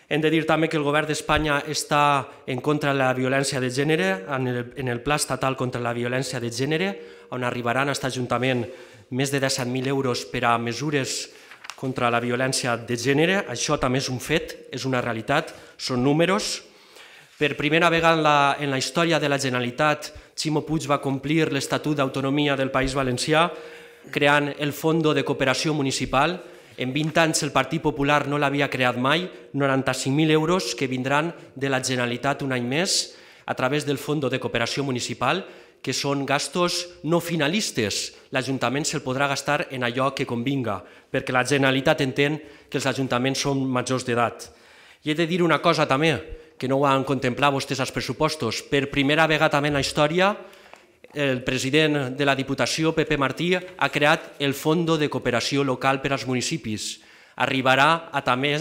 Hem de dir també que el govern d'Espanya està en contra de la violència de gènere, en el Pla Estatal contra la Violència de Gènere, on arribaran a aquest Ajuntament més de disset mil euros per a mesures contra la violència de gènere. Això també és un fet, és una realitat, són números. Per primera vegada en la història de la Generalitat, Ximo Puig va complir l'Estatut d'Autonomia del País Valencià, creant el Fondo de Cooperació Municipal. En vint anys el Partit Popular no l'havia creat mai, noranta-cinc mil euros que vindran de la Generalitat un any més a través del Fondo de Cooperació Municipal, que són gastos no finalistes. L'Ajuntament se'l podrà gastar en allò que convinga, perquè la Generalitat entén que els ajuntaments són majors d'edat. I he de dir una cosa també, que no ho han contemplat vostès als pressupostos. Per primera vegada també en la història, el president de la Diputació, Pepe Martí, ha creat el Fondo de Cooperació Local per als municipis. Arribarà a també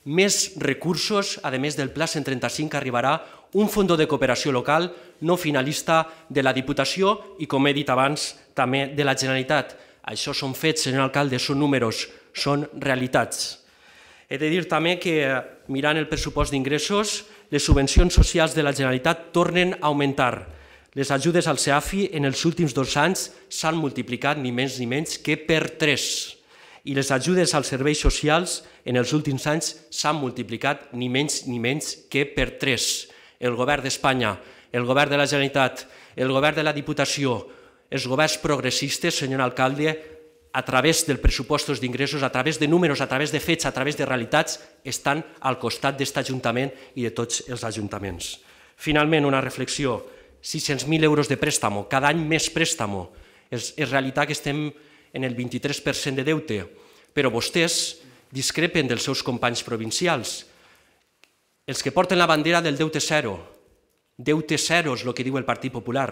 més recursos, a més del Pla cent trenta-cinc, arribarà un Fondo de Cooperació Local no finalista de la Diputació i, com he dit abans, també de la Generalitat. Això són fets, senyor alcalde, són números, són realitats. He de dir també que, mirant el pressupost d'ingressos, les subvencions socials de la Generalitat tornen a augmentar. Les ajudes al SEAFI en els últims dos anys s'han multiplicat ni més ni menys que per tres. I les ajudes als serveis socials en els últims anys s'han multiplicat ni menys ni menys que per tres. El govern d'Espanya, el govern de la Generalitat, el govern de la Diputació, els governs progressistes, senyor alcalde, a través dels pressupostos d'ingressos, a través de números, a través de fets, a través de realitats, estan al costat d'aquest Ajuntament i de tots els ajuntaments. Finalment, una reflexió. sis-cents mil euros de préstamo, cada any més préstamo. És realitat que estem en el vint-i-tres per cent de deute, però vostès discrepen dels seus companys provincials. Els que porten la bandera del deute zero, deute zero és el que diu el Partit Popular.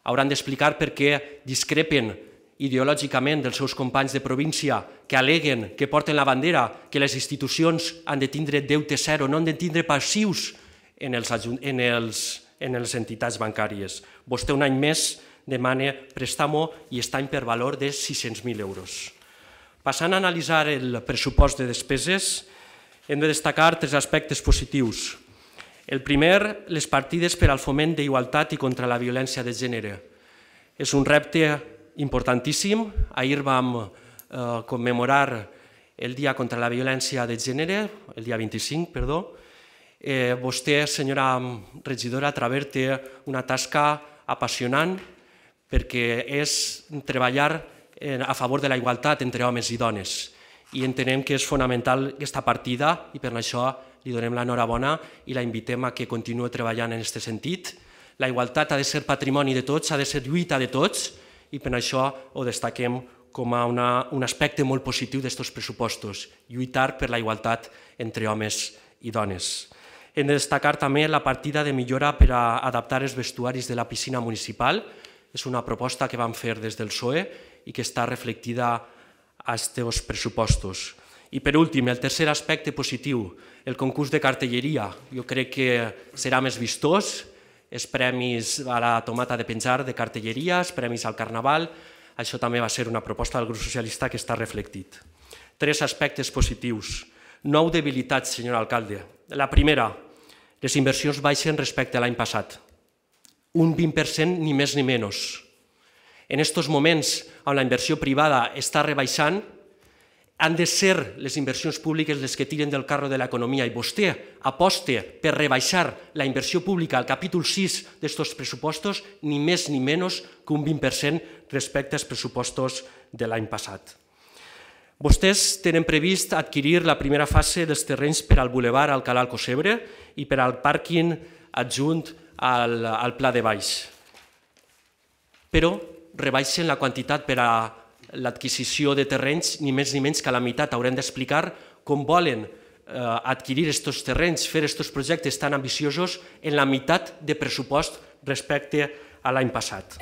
Hauran d'explicar per què discrepen ideològicament dels seus companys de província que aleguen que porten la bandera, que les institucions han de tindre deute zero, no han de tindre passius en els, en els, en les entitats bancàries. Vostè un any més demana préstamo i està per valor de sis-cents mil euros. Passant a analitzar el pressupost de despeses, hem de destacar tres aspectes positius. El primer, les partides per al foment d'igualtat i contra la violència de gènere. És un repte importantíssim. Ahir vam eh, commemorar el Dia contra la Violència de Gènere, el dia vint-i-cinc, perdó. Eh, vostè, senyora regidora Traver, té una tasca apassionant perquè és treballar a favor de la igualtat entre homes i dones. I entenem que és fonamental aquesta partida i per això li donem l'enhorabona i la invitem a que continuï treballant en aquest sentit. La igualtat ha de ser patrimoni de tots, ha de ser lluita de tots i per això ho destaquem com a una, un aspecte molt positiu d'aquests pressupostos, lluitar per la igualtat entre homes i dones. Hem de destacar també la partida de millora per a adaptar els vestuaris de la piscina municipal. És una proposta que vam fer des del P S O E i que està reflectida a aquests pressupostos. I per últim, el tercer aspecte positiu, el concurs de cartelleria. Jo crec que serà més vistós, els premis a la tomata de penjar de cartelleria, els premis al Carnaval, això també va ser una proposta del grup socialista que està reflectit. Tres aspectes positius. Nou debilitats, senyor alcalde. La primera, les inversions baixen respecte a l'any passat. Un vint per cent ni més ni menys. En aquests moments on la inversió privada està rebaixant, han de ser les inversions públiques les que tiren del carro de l'economia i vostè aposta per rebaixar la inversió pública al capítol sis d'aquests pressupostos ni més ni menys que un vint per cent respecte als pressupostos de l'any passat. Vostès tenen previst adquirir la primera fase dels terrenys per al bulevard Alcalá Alcocebre i per al pàrquing adjunt al, al Pla de Baix. Però rebaixen la quantitat per a l'adquisició de terrenys, ni més ni menys que a la meitat. Haurem d'explicar com volen adquirir aquests terrenys, fer aquests projectes tan ambiciosos en la meitat de pressupost respecte a l'any passat.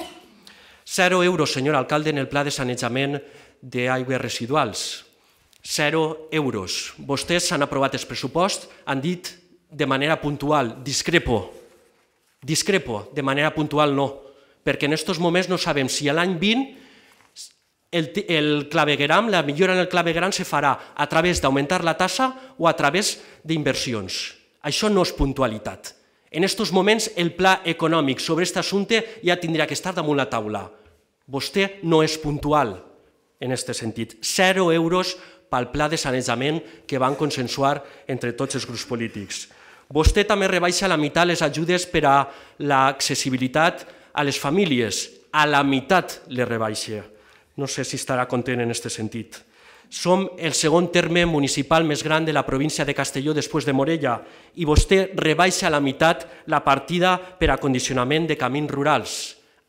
Zero euros, senyor alcalde, en el pla de sanejament d'aigües residuals. Zero euros. Vostès han aprovat el pressupost, han dit de manera puntual, discrepo, discrepo, de manera puntual no, perquè en aquests moments no sabem si l'any vint el, el clavegueram, la millora en el clavegueram se farà a través d'augmentar la tassa o a través d'inversions. Això no és puntualitat. En aquests moments el pla econòmic sobre aquest assumpte ja tindria que estar damunt la taula. Vostè no és puntual en aquest sentit. Zero euros pel pla de sanejament que van consensuar entre tots els grups polítics. Vostè també rebaixa a la meitat les ajudes per a l'accessibilitat a les famílies. A la meitat les rebaixa. No sé si estarà content en aquest sentit. Som el segon terme municipal més gran de la província de Castelló després de Morella i vostè rebaixa a la meitat la partida per a condicionament de camins rurals.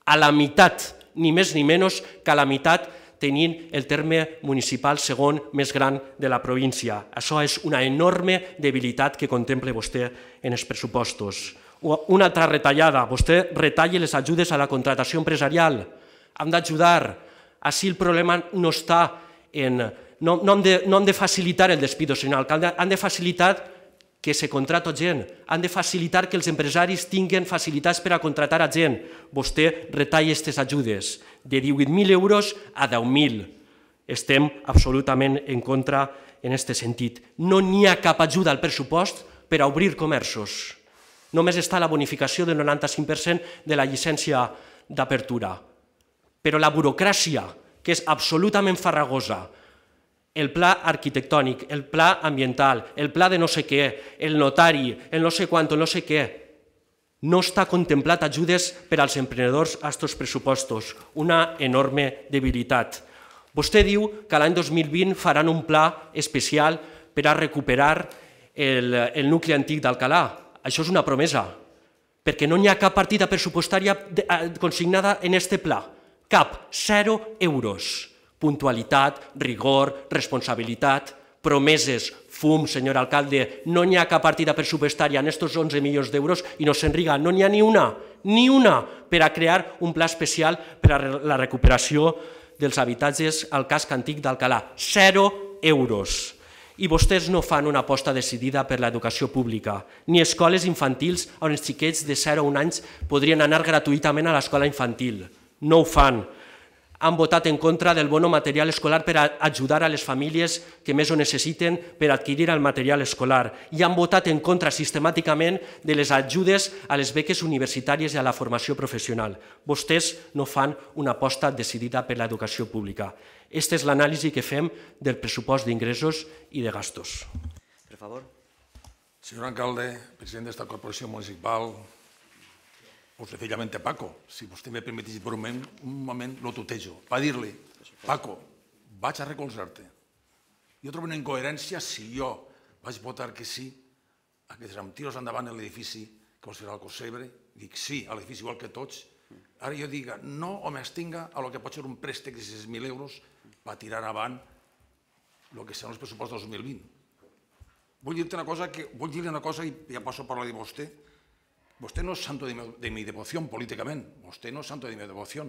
A la meitat, ni més ni menys que a la meitat tenint el terme municipal segon més gran de la província. Això és una enorme debilitat que contempla vostè en els pressupostos. Una altra retallada, vostè retalla les ajudes a la contratació empresarial. Hem d'ajudar. Així el problema no està en... No, no, hem de, no hem de facilitar el despido, senyor alcalde, han de facilitar que se contrata gent, han de facilitar que els empresaris tinguin facilitats per a contratar a gent. Vostè retalla aquestes ajudes de divuit mil euros a deu mil. Estem absolutament en contra en aquest sentit. No n'hi ha cap ajuda al pressupost per a obrir comerços. Només està la bonificació del noranta-cinc per cent de la llicència d'apertura. Però la burocràcia, que és absolutament farragosa, el pla arquitectònic, el pla ambiental, el pla de no sé què, el notari, el no sé quant, el no sé què, no està contemplat ajudes per als emprenedors a aquests pressupostos. Una enorme debilitat. Vostè diu que l'any dos mil vint faran un pla especial per a recuperar el, el nucli antic d'Alcalà. Això és una promesa, perquè no hi ha cap partida pressupostària consignada en aquest pla. Cap, zero euros. Puntualitat, rigor, responsabilitat, promeses, fum, senyor alcalde, no hi ha cap partida pressupostària en aquests onze milions d'euros i no s'enriga, no n'hi ha ni una, ni una per a crear un pla especial per a la recuperació dels habitatges al casc antic d'Alcalà. Zero euros. I vostès no fan una aposta decidida per l'educació pública, ni escoles infantils on els xiquets de zero a un anys podrien anar gratuïtament a l'escola infantil. No ho fan. Han votat en contra del bono material escolar per a ajudar a les famílies que més ho necessiten per adquirir el material escolar i han votat en contra sistemàticament de les ajudes a les beques universitàries i a la formació professional. Vostès no fan una aposta decidida per l'educació pública. Aquesta és l'anàlisi que fem del pressupost d'ingressos i de gastos. Per favor. Senyor alcalde, president d'esta corporació municipal, o sencillamente Paco, si vostè me permetís por un moment, un moment lo tutejo, para dir-li Paco, vaig a recolzar-te. Jo trobo una incoherència si jo vaig votar que sí a que amb tiros endavant l'edifici que vol ser el Cosebre, dic sí a l'edifici igual que tots, ara jo diga no o m'extinga a lo que pot ser un préstec de sis mil euros per tirar avant el que seran els pressupostos dos mil vint. Vull dir-te una cosa, vull dir-li una cosa i ja passo a parlar de vostè. Vostè no és santo de mi devoció políticament, vostè no és santo de mi devoció,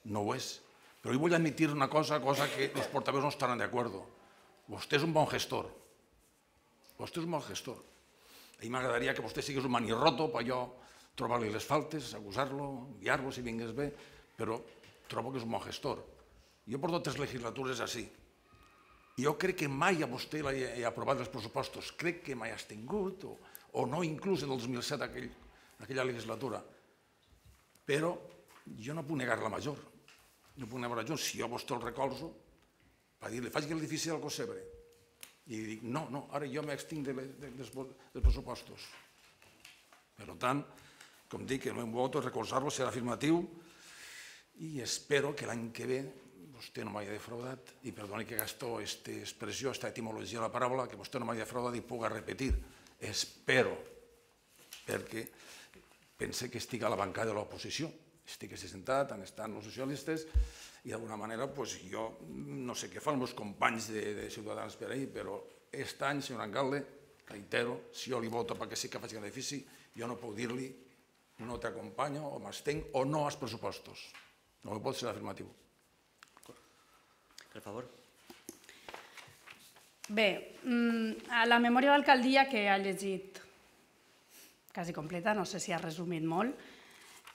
no ho és. Però jo vull admitir una cosa, cosa que els portaveus no estaran d'acord. Vostè és un bon gestor. Vostè és un bon gestor. A mi m'agradaria que vostè sigués un manirroto per jo trobar-li les faltes, acusar-lo, guiar-lo si vingués bé, però trobo que és un bon gestor. Jo porto tres legislatures així. Jo crec que mai a vostè l'he aprovat els pressupostos. Crec que mai has tingut, o no inclús en el dos mil set, aquella legislatura. Però jo no puc negar la major. No puc negar la major. Si jo a vostè el recolzo, per dir-li, faig l'edifici del Cosebre. I dic, no, no, ara jo m'extinc dels pressupostos. Per tant, com dic, el meu vot, recolzar-lo serà afirmatiu i espero que l'any que ve vostè no m'hagi defraudat, i perdoni que gasto aquesta expressió, aquesta etimologia de la paraula, que vostè no m'hagi defraudat i puga repetir. Espero, perquè pense que estic a la bancada de l'oposició, estic assentat, han estat els socialistes, i d'alguna manera jo no sé què fan els meus companys de Ciutadans per ahir, però aquest any, senyor alcalde, reitero, si jo li voto perquè sí que faig l'edifici, jo no puc dir-li no t'acompanyo o m'estenc o no als pressupostos. No pot ser afirmatiu. Per favor. Bé, a la memòria d'alcaldia que ha llegit quasi completa, no sé si ha resumit molt,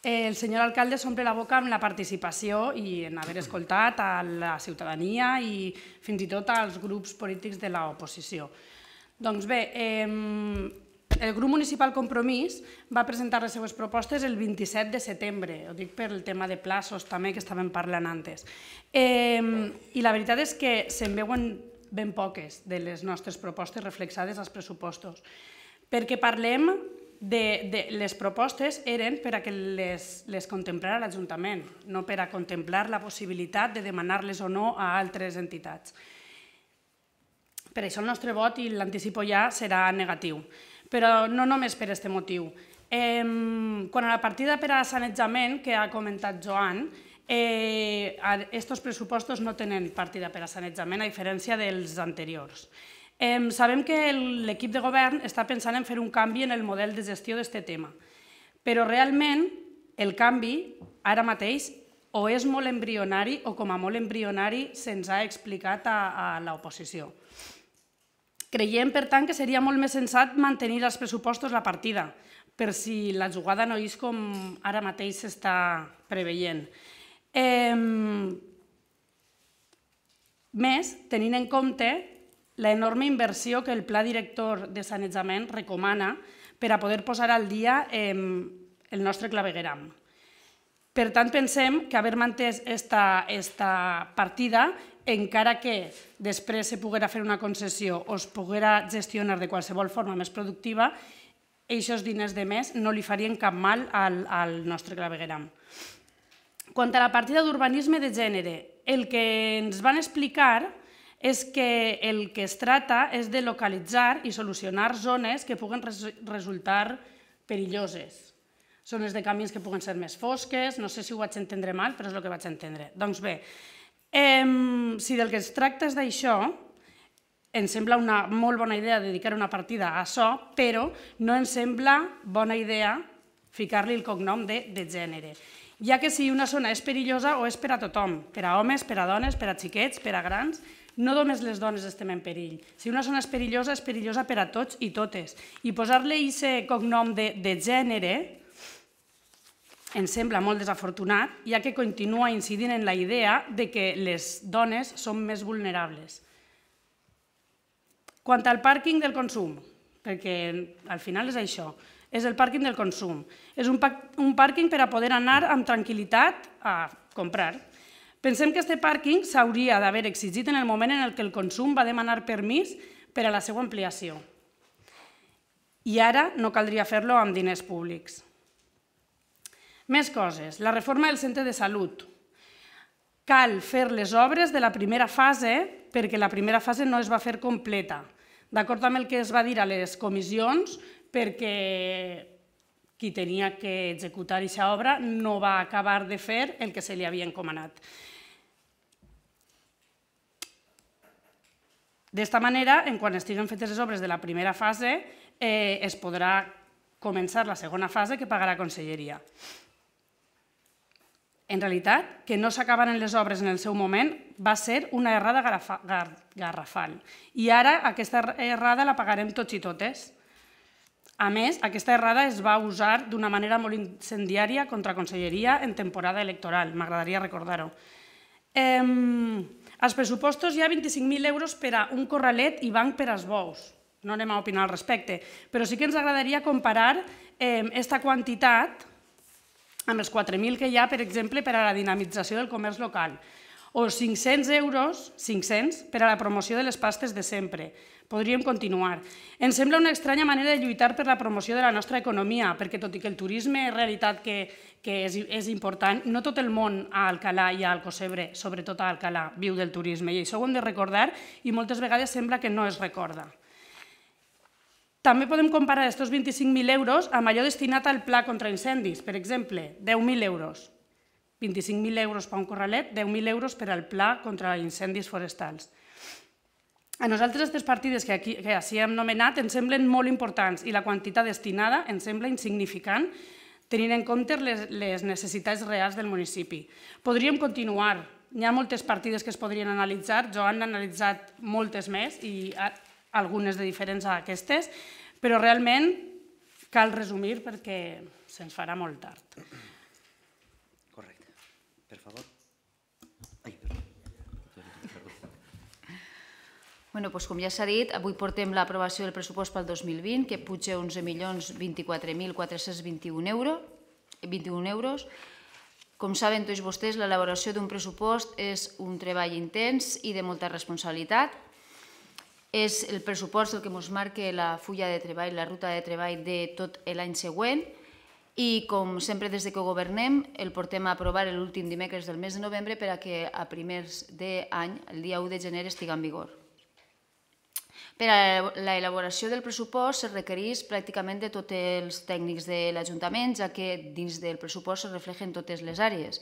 el senyor alcalde s'omple la boca amb la participació i en haver escoltat a la ciutadania i fins i tot als grups polítics de l'oposició. Doncs bé, el grup municipal Compromís va presentar les seves propostes el vint-i-set de setembre, ho dic per el tema de plaços també que estàvem parlant antes. I la veritat és que se'n veuen ben poques de les nostres propostes reflexades als pressupostos, perquè parlem de les propostes eren per a que les contemplara l'Ajuntament, no per a contemplar la possibilitat de demanar-les o no a altres entitats. Per això el nostre vot, i l'anticipo ja, serà negatiu. Però no només per aquest motiu. Quan a la partida per a sanejament, que ha comentat Joan, aquests pressupostos no tenen partida per a sanejament, a diferència dels anteriors. Sabem que l'equip de govern està pensant en fer un canvi en el model de gestió d'aquest tema, però realment el canvi ara mateix o és molt embrionari o com a molt embrionari se'ns ha explicat a l'oposició. Creiem, per tant, que seria molt més sensat mantenir als pressupostos la partida, per si la jugada no és com ara mateix s'està preveient. Més, tenint en compte l'enorme inversió que el Pla Director de Sanejament recomana per a poder posar al dia el nostre clavegueram. Per tant, pensem que haver mantès aquesta partida, encara que després se poguera fer una concessió o es poguera gestionar de qualsevol forma més productiva, aquests diners de més no li farien cap mal al nostre clavegueram. Quant a la partida d'urbanisme de gènere, el que ens van explicar és que el que es tracta és de localitzar i solucionar zones que puguen resultar perilloses. Zones de camins que puguen ser més fosques, no sé si ho vaig entendre mal, però és el que vaig entendre. Doncs bé, si del que es tracta és d'això, ens sembla una molt bona idea dedicar una partida a això, però no ens sembla bona idea ficar-li el cognom de gènere, ja que si una zona és perillosa o és per a tothom, per a homes, per a dones, per a xiquets, per a grans, no només les dones estem en perill. Si una zona és perillosa, és perillosa per a tots i totes. I posar-li aquest cognom de gènere ens sembla molt desafortunat, ja que continua incidint en la idea que les dones són més vulnerables. Quant al pàrquing del consum, perquè al final és això, és el pàrquing del consum. És un pàrquing per a poder anar amb tranquil·litat a comprar. Pensem que aquest pàrquing s'hauria d'haver exigit en el moment en què el consum va demanar permís per a la seva ampliació. I ara no caldria fer-lo amb diners públics. Més coses. La reforma del centre de salut. cal fer les obres de la primera fase perquè la primera fase no es va fer completa, d'acord amb el que es va dir a les comissions, perquè qui tenia que executar aquesta obra no va acabar de fer el que se li havia encomanat. D'esta manera, en quan estiguen fetes les obres de la primera fase, es podrà començar la segona fase que pagarà la Conselleria. En realitat, que no s'acabaran les obres en el seu moment va ser una errada garrafal. I ara aquesta errada la pagarem tots i totes. A més, aquesta errada es va usar d'una manera molt incendiària contra la Conselleria en temporada electoral, m'agradaria recordar-ho. Als pressupostos hi ha vint-i-cinc mil euros per a un corralet i banc per als bous. No anem a opinar al respecte, però sí que ens agradaria comparar aquesta quantitat amb els quatre mil que hi ha, per exemple, per a la dinamització del comerç local, o cinc-cents euros, cinc-cents, per a la promoció de les pastes de sempre. Podríem continuar. Ens sembla una estranya manera de lluitar per la promoció de la nostra economia, perquè tot i que el turisme és realitat que és important, no tot el món a Alcalà i a Alcocebre, sobretot a Alcalà, viu del turisme, i això ho hem de recordar i moltes vegades sembla que no es recorda. També podem comparar aquests vint-i-cinc mil euros amb allò destinat al pla contra incendis, per exemple, deu mil euros. vint-i-cinc mil euros per un corralet, deu mil euros per al pla contra incendis forestals. A nosaltres aquestes partides que així hem nomenat ens semblen molt importants i la quantitat destinada ens sembla insignificant tenint en compte les necessitats reals del municipi. Podríem continuar, hi ha moltes partides que es podrien analitzar, jo han analitzat moltes més i algunes de diferents a aquestes, però realment cal resumir perquè se'ns farà molt tard. Correcte. Per favor. Com ja s'ha dit, avui portem l'aprovació del pressupost pel dos mil vint, que puja onze milions vint-i-quatre mil quatre-cents vint-i-un euros. Com saben tots vostès, l'elaboració d'un pressupost és un treball intens i de molta responsabilitat. És el pressupost el que ens marca la fulla de treball, la ruta de treball de tot l'any següent, i com sempre des que governem el portem a aprovar l'últim dimecres del mes de novembre per a que a primers d'any, el dia u de gener, estigui en vigor. Per a l'elaboració del pressupost es requereix pràcticament de tots els tècnics de l'Ajuntament, ja que dins del pressupost es reflexen totes les àrees.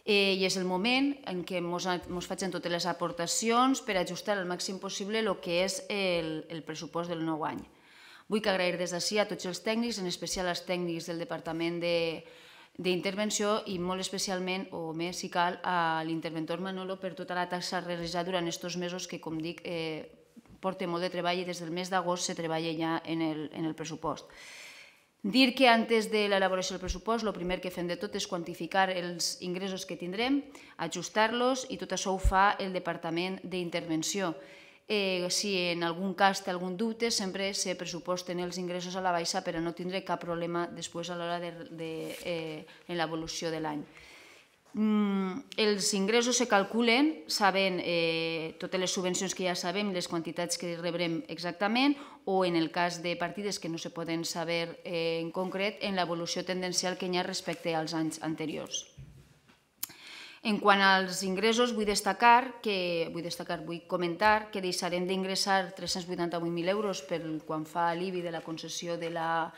I és el moment en què ens facin totes les aportacions per ajustar al màxim possible el que és el pressupost del nou any. Vull agrair des d'ací a tots els tècnics, en especial als tècnics del Departament d'Intervenció i molt especialment, o més si cal, a l'interventor Manolo per tota la tasca realitzada durant aquests mesos que, com dic, porta molt de treball i des del mes d'agost se treballa ja en el pressupost. Dir que antes de l'elaboració del pressupost el primer que fem de tot és quantificar els ingressos que tindrem, ajustar-los i tot això ho fa el Departament d'Intervenció. Si en algun cas té algun dubte, sempre se pressuposten els ingressos a la baixa per a no tindre cap problema després a l'hora de l'evolució de l'any. Els ingressos se calculen sabent totes les subvencions que ja sabem, les quantitats que rebrem exactament, o en el cas de partides que no se poden saber en concret, en l'evolució tendencial que hi ha respecte als anys anteriors. En quant als ingressos, vull destacar, vull comentar que deixarem d'ingressar tres-cents vuitanta-vuit mil euros quan fa l'I B I de la concessió de la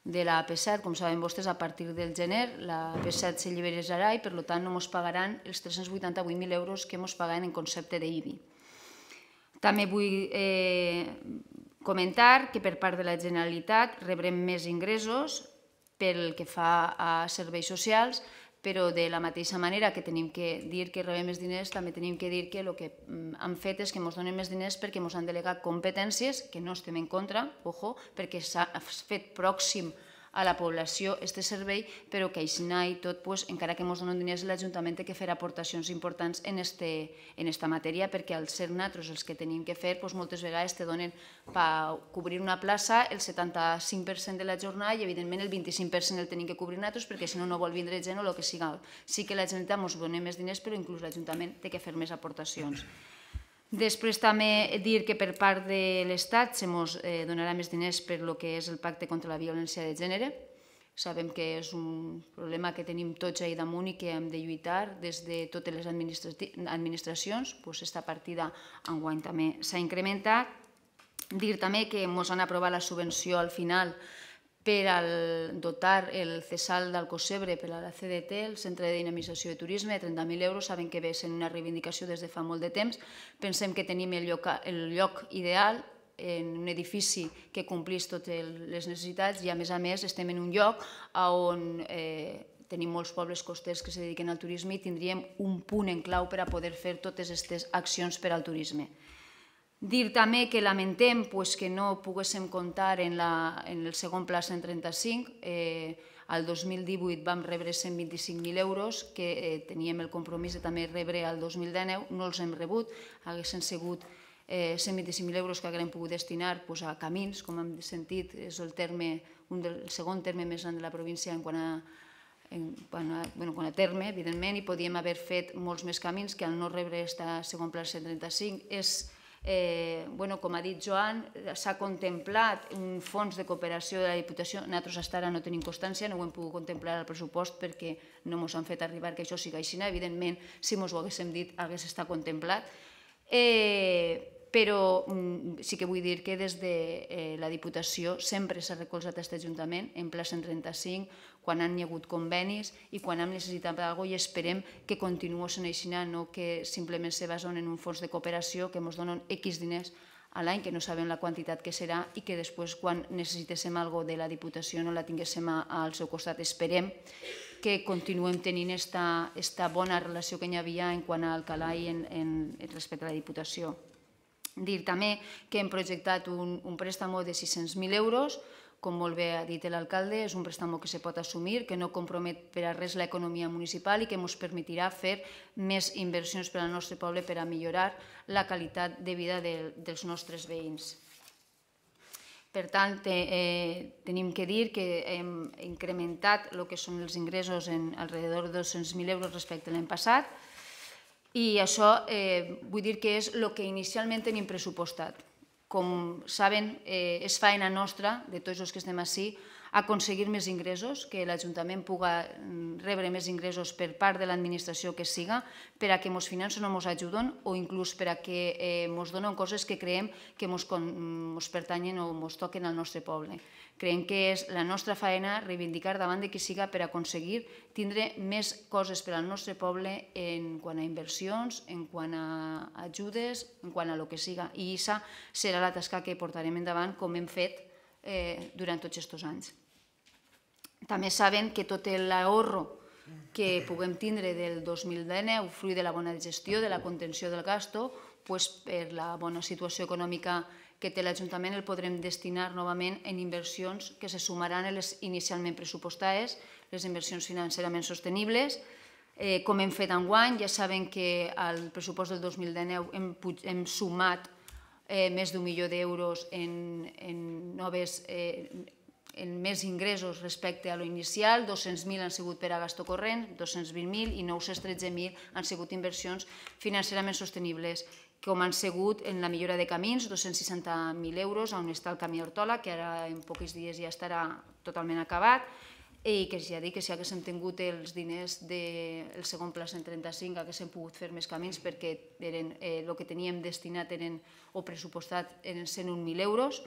de la A P set, com saben vostès, a partir del gener, la A P set s'alliberarà i per tant no ens pagaran els tres-cents vuitanta-vuit mil euros que ens pagaven en concepte d'I B I. També vull comentar que per part de la Generalitat rebrem més ingressos pel que fa a serveis socials, però de la mateixa manera que tenim que dir que rebem més diners, també tenim que dir que el que han fet és que ens donen més diners perquè ens han delegat competències, que no estem en contra, ojo, perquè s'ha fet pròxim a la població aquest servei, però que així i tot, encara que ens donen diners, l'Ajuntament té que fer aportacions importants en aquesta matèria, perquè al ser nosaltres els que tenim que fer, moltes vegades te donen per cobrir una plaça el setanta-cinc per cent de la jornada i evidentment el vint-i-cinc per cent el tenim que cobrir nosaltres perquè si no no vol vindre gent o el que sigui. Sí que la Generalitat ens dona més diners, però inclús l'Ajuntament té que fer més aportacions. Després també dir que per part de l'Estat se ens donarà més diners per el que és el pacte contra la violència de gènere. Sabem que és un problema que tenim tots ahir damunt i que hem de lluitar des de totes les administracions. Aquesta partida enguany també s'ha incrementat. Dir també que ens han aprovat la subvenció al final per dotar el C E S A L d'Alcocebre per a la C D T, el Centre de Dinamització de Turisme, de trenta mil euros. Saben que ve sent una reivindicació des de fa molt de temps. Pensem que tenim el lloc ideal, en un edifici que complís totes les necessitats i, a més a més, estem en un lloc on tenim molts pobles costers que es dediquen al turisme i tindríem un punt en clau per a poder fer totes aquestes accions per al turisme. Dir també que lamentem que no poguéssim comptar en el segon pla cent trenta-cinc. El dos mil divuit vam rebre cent vint-i-cinc mil euros que teníem el compromís de també rebre el dos mil dinou, no els hem rebut, haguessin sigut cent vint-i-cinc mil euros que haguem pogut destinar a camins, com hem sentit, és el segon terme més gran de la província en quant a terme, evidentment, i podíem haver fet molts més camins que al no rebre aquest segon pla cent trenta-cinc és, com ha dit Joan, s'ha contemplat un fons de cooperació de la Diputació. Nosaltres fins ara no tenim constància, no ho hem pogut contemplar al pressupost perquè no ens han fet arribar que això sigui així. Evidentment, si ens ho haguéssim dit, hagués estat contemplat. Però sí que vull dir que des de la Diputació sempre s'ha recolzat aquest Ajuntament en pla cent trenta-cinc, quan han hi hagut convenis i quan hem necessitat alguna cosa, i esperem que continuï sent així, no que simplement se basen en un fons de cooperació que ens donen X diners a l'any, que no sabem la quantitat que serà, i que després, quan necessitéssim alguna cosa de la Diputació, no la tinguéssim al seu costat. Esperem que continuem tenint aquesta bona relació que hi havia en quant a Alcalà i respecte a la Diputació. Dir també que hem projectat un préstec de sis-cents mil euros, com molt bé ha dit l'alcalde, és un préstec que se pot assumir, que no compromet per a res l'economia municipal i que ens permetirà fer més inversions per al nostre poble per a millorar la qualitat de vida dels nostres veïns. Per tant, tenim que dir que hem incrementat el que són els ingressos en alrededor de dos-cents mil euros respecte a l'any passat, i això vull dir que és el que inicialment tenim pressupostat. Com saben, és feina nostra, de tots els que estem ací, aconseguir més ingressos, que l'Ajuntament pugui rebre més ingressos per part de l'administració que siga, per a que ens financen o ens ajuden, o inclús per a que ens donen coses que creiem que ens pertanyen o ens toquen al nostre poble. Creiem que és la nostra feina reivindicar davant de qui siga per aconseguir tindre més coses per al nostre poble en quant a inversions, en quant a ajudes, en quant a el que siga. I aquesta serà la tasca que portarem endavant, com hem fet durant tots aquests anys. També saben que tot l'ahorro que puguem tindre del dos mil dinou, fruit de la bona gestió, de la contenció del gasto, per la bona situació econòmica que té l'Ajuntament, el podrem destinar novament en inversions que se sumaran a les inicialment pressupostades, les inversions financerament sostenibles. Com hem fet enguany, ja saben que al pressupost del dos mil dinou hem sumat més d'un milió d'euros en noves en més ingressos respecte a l'inicial, dos-cents mil han sigut per a gasto corrent, dos-cents vint mil, i nou-cents tretze mil han sigut inversions financerament sostenibles, com han sigut en la millora de camins, dos-cents seixanta mil euros, on està el camí Hortola, que ara en pocs dies ja estarà totalment acabat, i que ja dic que si haguéssim tingut els diners del segon pla cent trenta-cinc haguéssim pogut fer més camins, perquè el que teníem destinat o pressupostat eren cent un mil euros.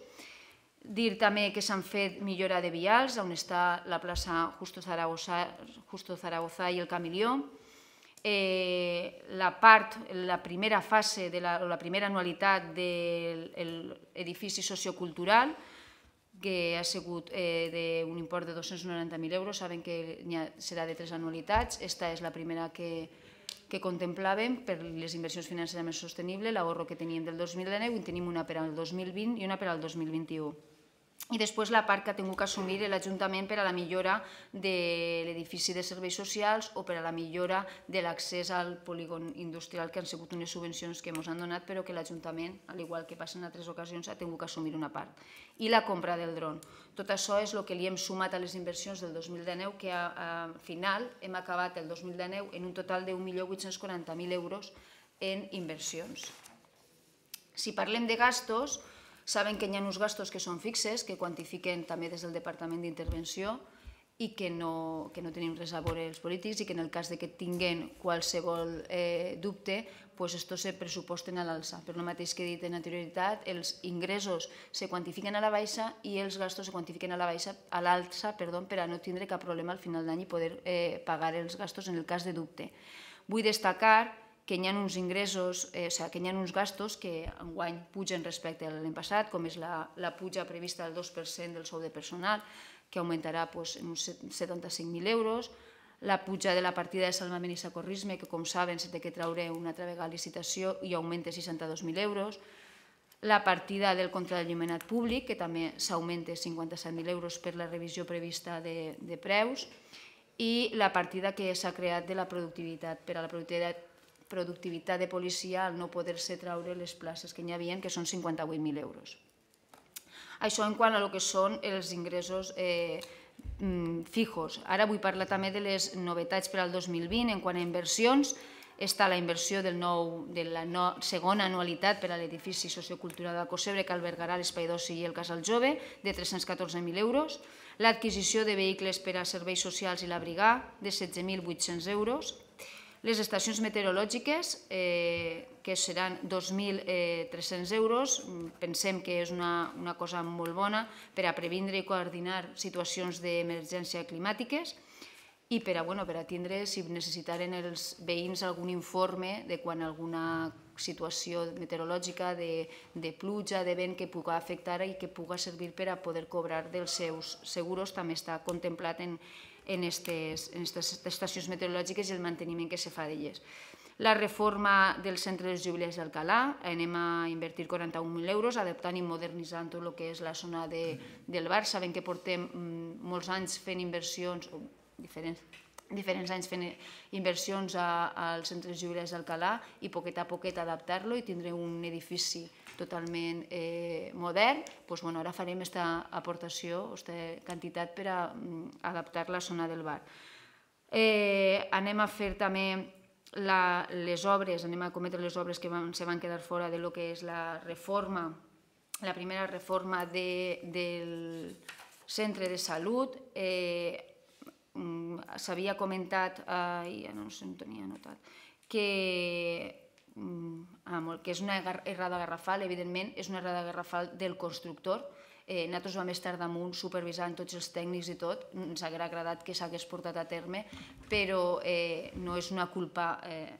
Dir també que s'han fet millora de vials, on està la plaça Justo Zaragoza i el Camilió. La part, la primera fase, o la primera anualitat de l'edifici sociocultural, que ha sigut d'un import de dos-cents noranta mil euros, saben que serà de tres anualitats. Aquesta és la primera que contemplàvem per les inversions financerament sostenibles, l'ahorro que teníem del dos mil dinou, i tenim una per al dos mil vint i una per al dos mil vint-i-u. I després la part que ha tingut que assumir l'Ajuntament per a la millora de l'edifici de serveis socials o per a la millora de l'accés al polígon industrial, que han sigut unes subvencions que ens han donat, però que l'Ajuntament, al igual que passa en altres ocasions, ha tingut que assumir una part. I la compra del dron. Tot això és el que li hem sumat a les inversions del dos mil dinou, que al final hem acabat el dos mil dinou en un total d'un milió vuit-cents quaranta mil euros en inversions. Si parlem de gastos, saben que hi ha uns gastos que són fixes, que quantifiquen també des del Departament d'Intervenció, i que no, que no tenim res a veure els polítics i que en el cas de que tinguen qualsevol eh, dubte, pues esto se pressuposten a l'alça. Per el mateix que he dit en anterioritat, els ingressos se quantifiquen a la baixa i els gastos se quantifiquen a la baixa, a l'alça, perdó, per a no tindre cap problema al final d'any i poder eh, pagar els gastos en el cas de dubte. Vull destacar que hi ha uns ingressos, eh, o sigui, que hi ha uns gastos que enguany pugen respecte a l'any passat, com és la, la puja prevista del dos per cent del sou de personal, que augmentarà pues, en uns setanta-cinc mil euros, la puja de la partida de salvament i socorrisme, que com saben s'ha de treure una altra vegada a licitació i augmenta seixanta-dos mil euros, la partida del contra l'enllumenat públic, que també s'augmenta cinquanta-set mil euros per la revisió prevista de, de preus, i la partida que s'ha creat de la productivitat, per a la productivitat, productivitat de policia al no poder-se treure les places que hi havia, que són cinquanta-vuit mil euros. Això en quant a lo que són els ingressos eh, fijos. Ara vull parlar també de les novetats per al dos mil vint en quant a inversions. Està la inversió del nou, de la no, segona anualitat per a l'edifici sociocultural d'Alcossebre que albergarà l'espai d'oci i el casal jove de tres-cents catorze mil euros, l'adquisició de vehicles per a serveis socials i l'abrigar de setze mil vuit-cents euros, les estacions meteorològiques, eh, que seran dos mil tres-cents euros, pensem que és una, una cosa molt bona per a previndre i coordinar situacions d'emergència climàtiques i per a, bueno, per a tindre, si necessitaren els veïns algun informe de quan alguna situació meteorològica, de, de pluja, de vent que pugui afectar i que pugui servir per a poder cobrar dels seus seguros, també està contemplat en en aquestes estacions meteorològiques i el manteniment que se fa d'elles. La reforma del centre dels jubilers d'Alcalà, anem a invertir quaranta-un mil euros, adaptant i modernitzant tot el que és la zona de, del bar. Sabem que portem molts anys fent inversions, o diferents, diferents anys fent inversions a, al centre dels jubilers d'Alcalà i poquet a poquet adaptar-lo i tindre un edifici totalment eh, modern, doncs, bueno, ara farem aquesta aportació, aquesta quantitat per a mm, adaptar la zona del bar. Eh, anem a fer també la, les obres, anem a cometre les obres que van, se van quedar fora de lo que és la reforma, la primera reforma de, del centre de salut. Eh, S'havia comentat, eh, ja no sé on tenia anotat, que que és una errada garrafal, evidentment és una errada garrafal del constructor. Nosaltres vam estar damunt supervisant tots els tècnics i tot, ens hauria agradat que s'hagués portat a terme, però no és una culpa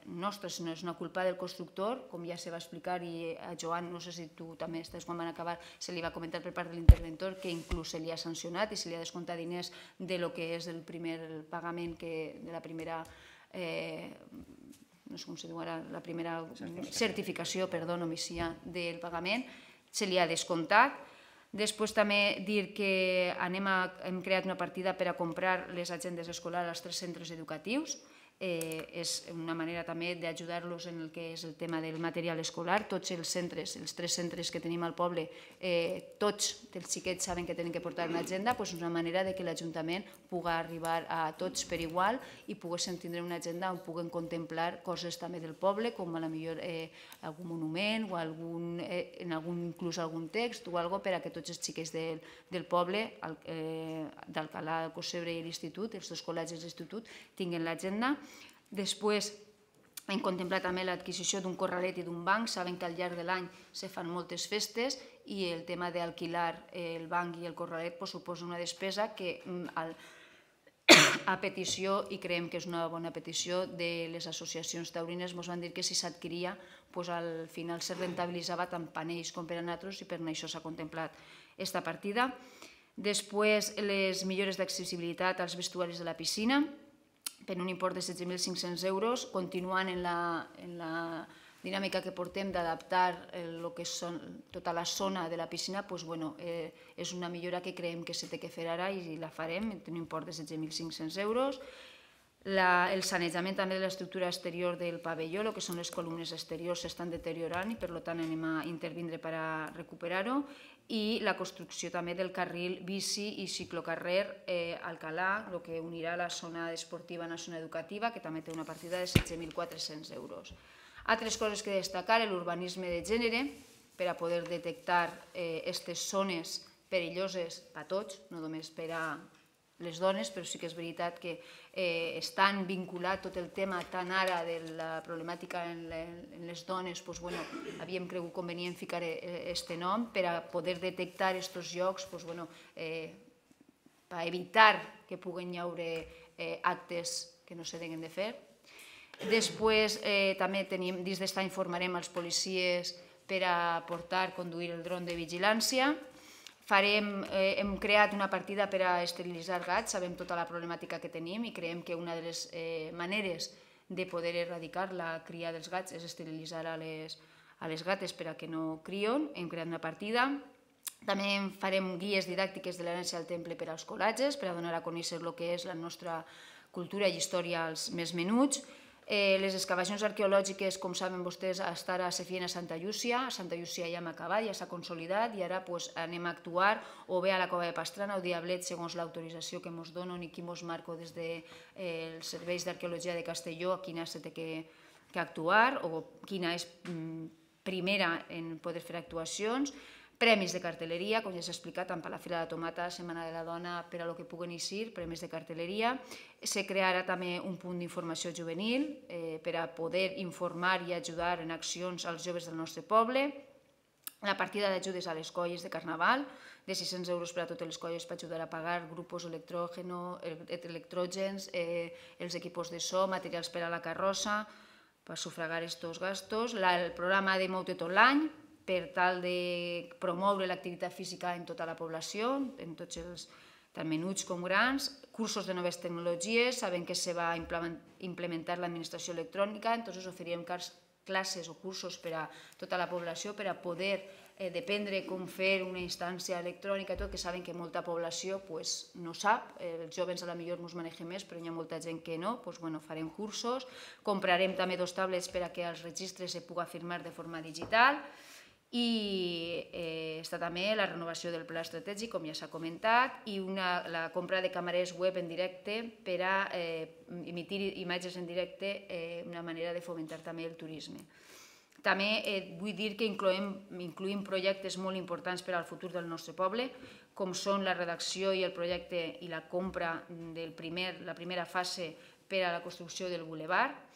nostra, sinó és una culpa del constructor, com ja se va explicar, i a Joan, no sé si tu també estàs quan van acabar, se li va comentar per part de l'interventor que inclús se li ha sancionat i se li ha descomptat diners de lo que és el primer pagament, de la primera no sé com se diu ara, la primera certificació, perdó, novícia del pagament, se li ha descomptat. Després també dir que anem a, hem creat una partida per a comprar les agendes escolars als tres centres educatius. Eh, és una manera també d'ajudar-los en el que és el tema del material escolar. Tots els centres, els tres centres que tenim al poble, eh, tots els xiquets saben que tenen que portar una agenda, doncs és una manera de que l'Ajuntament pugui arribar a tots per igual i poguessin tindre una agenda on puguen contemplar coses també del poble, com a la millor eh, algun monument o algun, eh, en algun, inclús algun text o algo per a que tots els xiquets del, del poble, eh, d'Alcalà, Alcossebre i l'Institut, els dos col·legis de l'Institut, tinguin l'agenda. Després hem contemplat també l'adquisició d'un corralet i d'un banc. Saben que al llarg de l'any se fan moltes festes i el tema d'alquilar el banc i el corralet suposa una despesa que a petició, i creiem que és una bona petició, de les associacions taurines ens van dir que si s'adquiria al final se rentabilitzava tant per ells com per a nosaltres i per això s'ha contemplat aquesta partida. Després les millores d'accessibilitat als vestuaris de la piscina, per un import de setze mil cinc-cents euros, continuant en la, en la dinàmica que portem d'adaptar el que és tota la zona de la piscina, doncs, bueno, eh, és una millora que creiem que s'ha de fer ara i la farem, en un import de setze mil cinc-cents euros. La, el sanejament també de l'estructura exterior del pavelló, el que són les columnes exteriors s'estan deteriorant i per tant anem a intervindre per a recuperar-ho, i la construcció també del carril bici i ciclocarrer eh, Alcalà, el que unirà la zona esportiva a la zona educativa, que també té una partida de setze mil quatre-cents euros. Altres coses que destacar, l'urbanisme de gènere, per a poder detectar aquestes eh, zones perilloses per a tots, no només per a les dones, però sí que és veritat que estan vinculat tot el tema tant ara de la problemàtica en les dones, havíem cregut convenient ficar aquest nom per a poder detectar aquests llocs, per evitar que puguen hi haure actes que no s'hagin de fer. Després també tenim, dins d'esta informarem els policies per a portar, conduir el dron de vigilància. Hem creat una partida per a esterilitzar gats, sabem tota la problemàtica que tenim i creiem que una de les maneres de poder erradicar la cria dels gats és esterilitzar a les gates per a que no crien. Hem creat una partida. També farem guies didàctiques de l'herència al temple per als col·legis, per a donar a conèixer el que és la nostra cultura i història als més menuts. Les excavacions arqueològiques, com saben vostès, fins ara se feien a Santa Llúcia. A Santa Llúcia ja hem acabat, ja s'ha consolidat i ara anem a actuar o bé a la Cova de Pastrana o Diablet segons l'autorització que ens donen i qui ens marca des dels serveis d'arqueologia de Castelló a quina se té que actuar o quina és primera en poder fer actuacions. Premis de cartelleria, com ja s'ha explicat, tant per la Fira de la Tomata, Setmana de la Dona, per a lo que puguen eixir, premis de cartelleria. Se crearà també un punt d'informació juvenil per a poder informar i ajudar en accions als joves del nostre poble. La partida d'ajudes a les colles de Carnaval, de sis-cents euros per a totes les colles per ajudar a pagar grupos electrògens, els equipos de so, materials per a la carrossa, per sufragar aquests gastos. El programa de Mou-te tot l'any, per tal de promoure l'activitat física en tota la població, en tots els, tant menuts com grans, cursos de noves tecnologies, sabem que se va implementar l'administració electrònica, entonces oferirem classes o cursos per a tota la població per a poder dependre com fer una instància electrònica i tot, que saben que molta població no sap, els joves potser ens manegem més, però hi ha molta gent que no, doncs farem cursos, comprarem també dos tablets per a que als registres se pugui firmar de forma digital. I està també la renovació del pla estratègic, com ja s'ha comentat, i la compra de càmeres web en directe per a emitir imatges en directe, una manera de fomentar també el turisme. També vull dir que incloïm projectes molt importants per al futur del nostre poble, com són la redacció i el projecte i la compra de la primera fase per a la construcció del bulevard,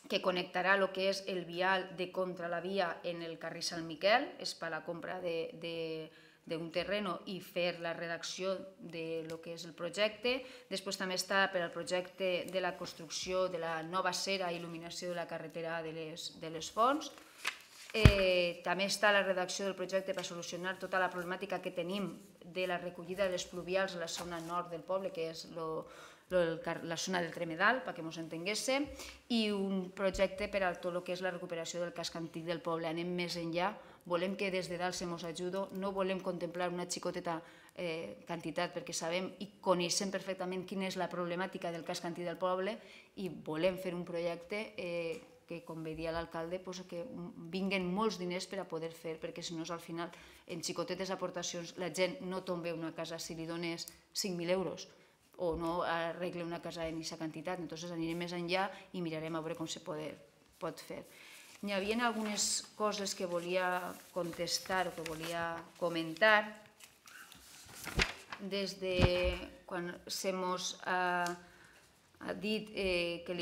que connectarà el que és el vial de contra la via en el carrer Sant Miquel, és per a la compra d'un terreno i fer la redacció del que és el projecte. Després també està per al projecte de la construcció de la nova cera i il·luminació de la carretera de les Fonts. També està la redacció del projecte per solucionar tota la problemàtica que tenim de la recollida de les pluvials a la zona nord del poble, que és la zona del Tremedal, perquè ens entenguéssim, i un projecte per a tot el que és la recuperació del casc antic del poble. Anem més enllà, volem que des de dalt se ens ajudi, no volem contemplar una xicoteta quantitat, perquè sabem i coneixem perfectament quina és la problemàtica del casc antic del poble i volem fer un projecte que, com bé dia l'alcalde, que vinguen molts diners per a poder fer, perquè si no, al final, en xicotetes aportacions, la gent no tomba una casa si li dones cinc mil euros o no arregle una casa en aquesta quantitat. Entonces anirem més enllà i mirarem a veure com se pot fer. Hi havia algunes coses que volia contestar o que volia comentar des de quan se mos ha dit que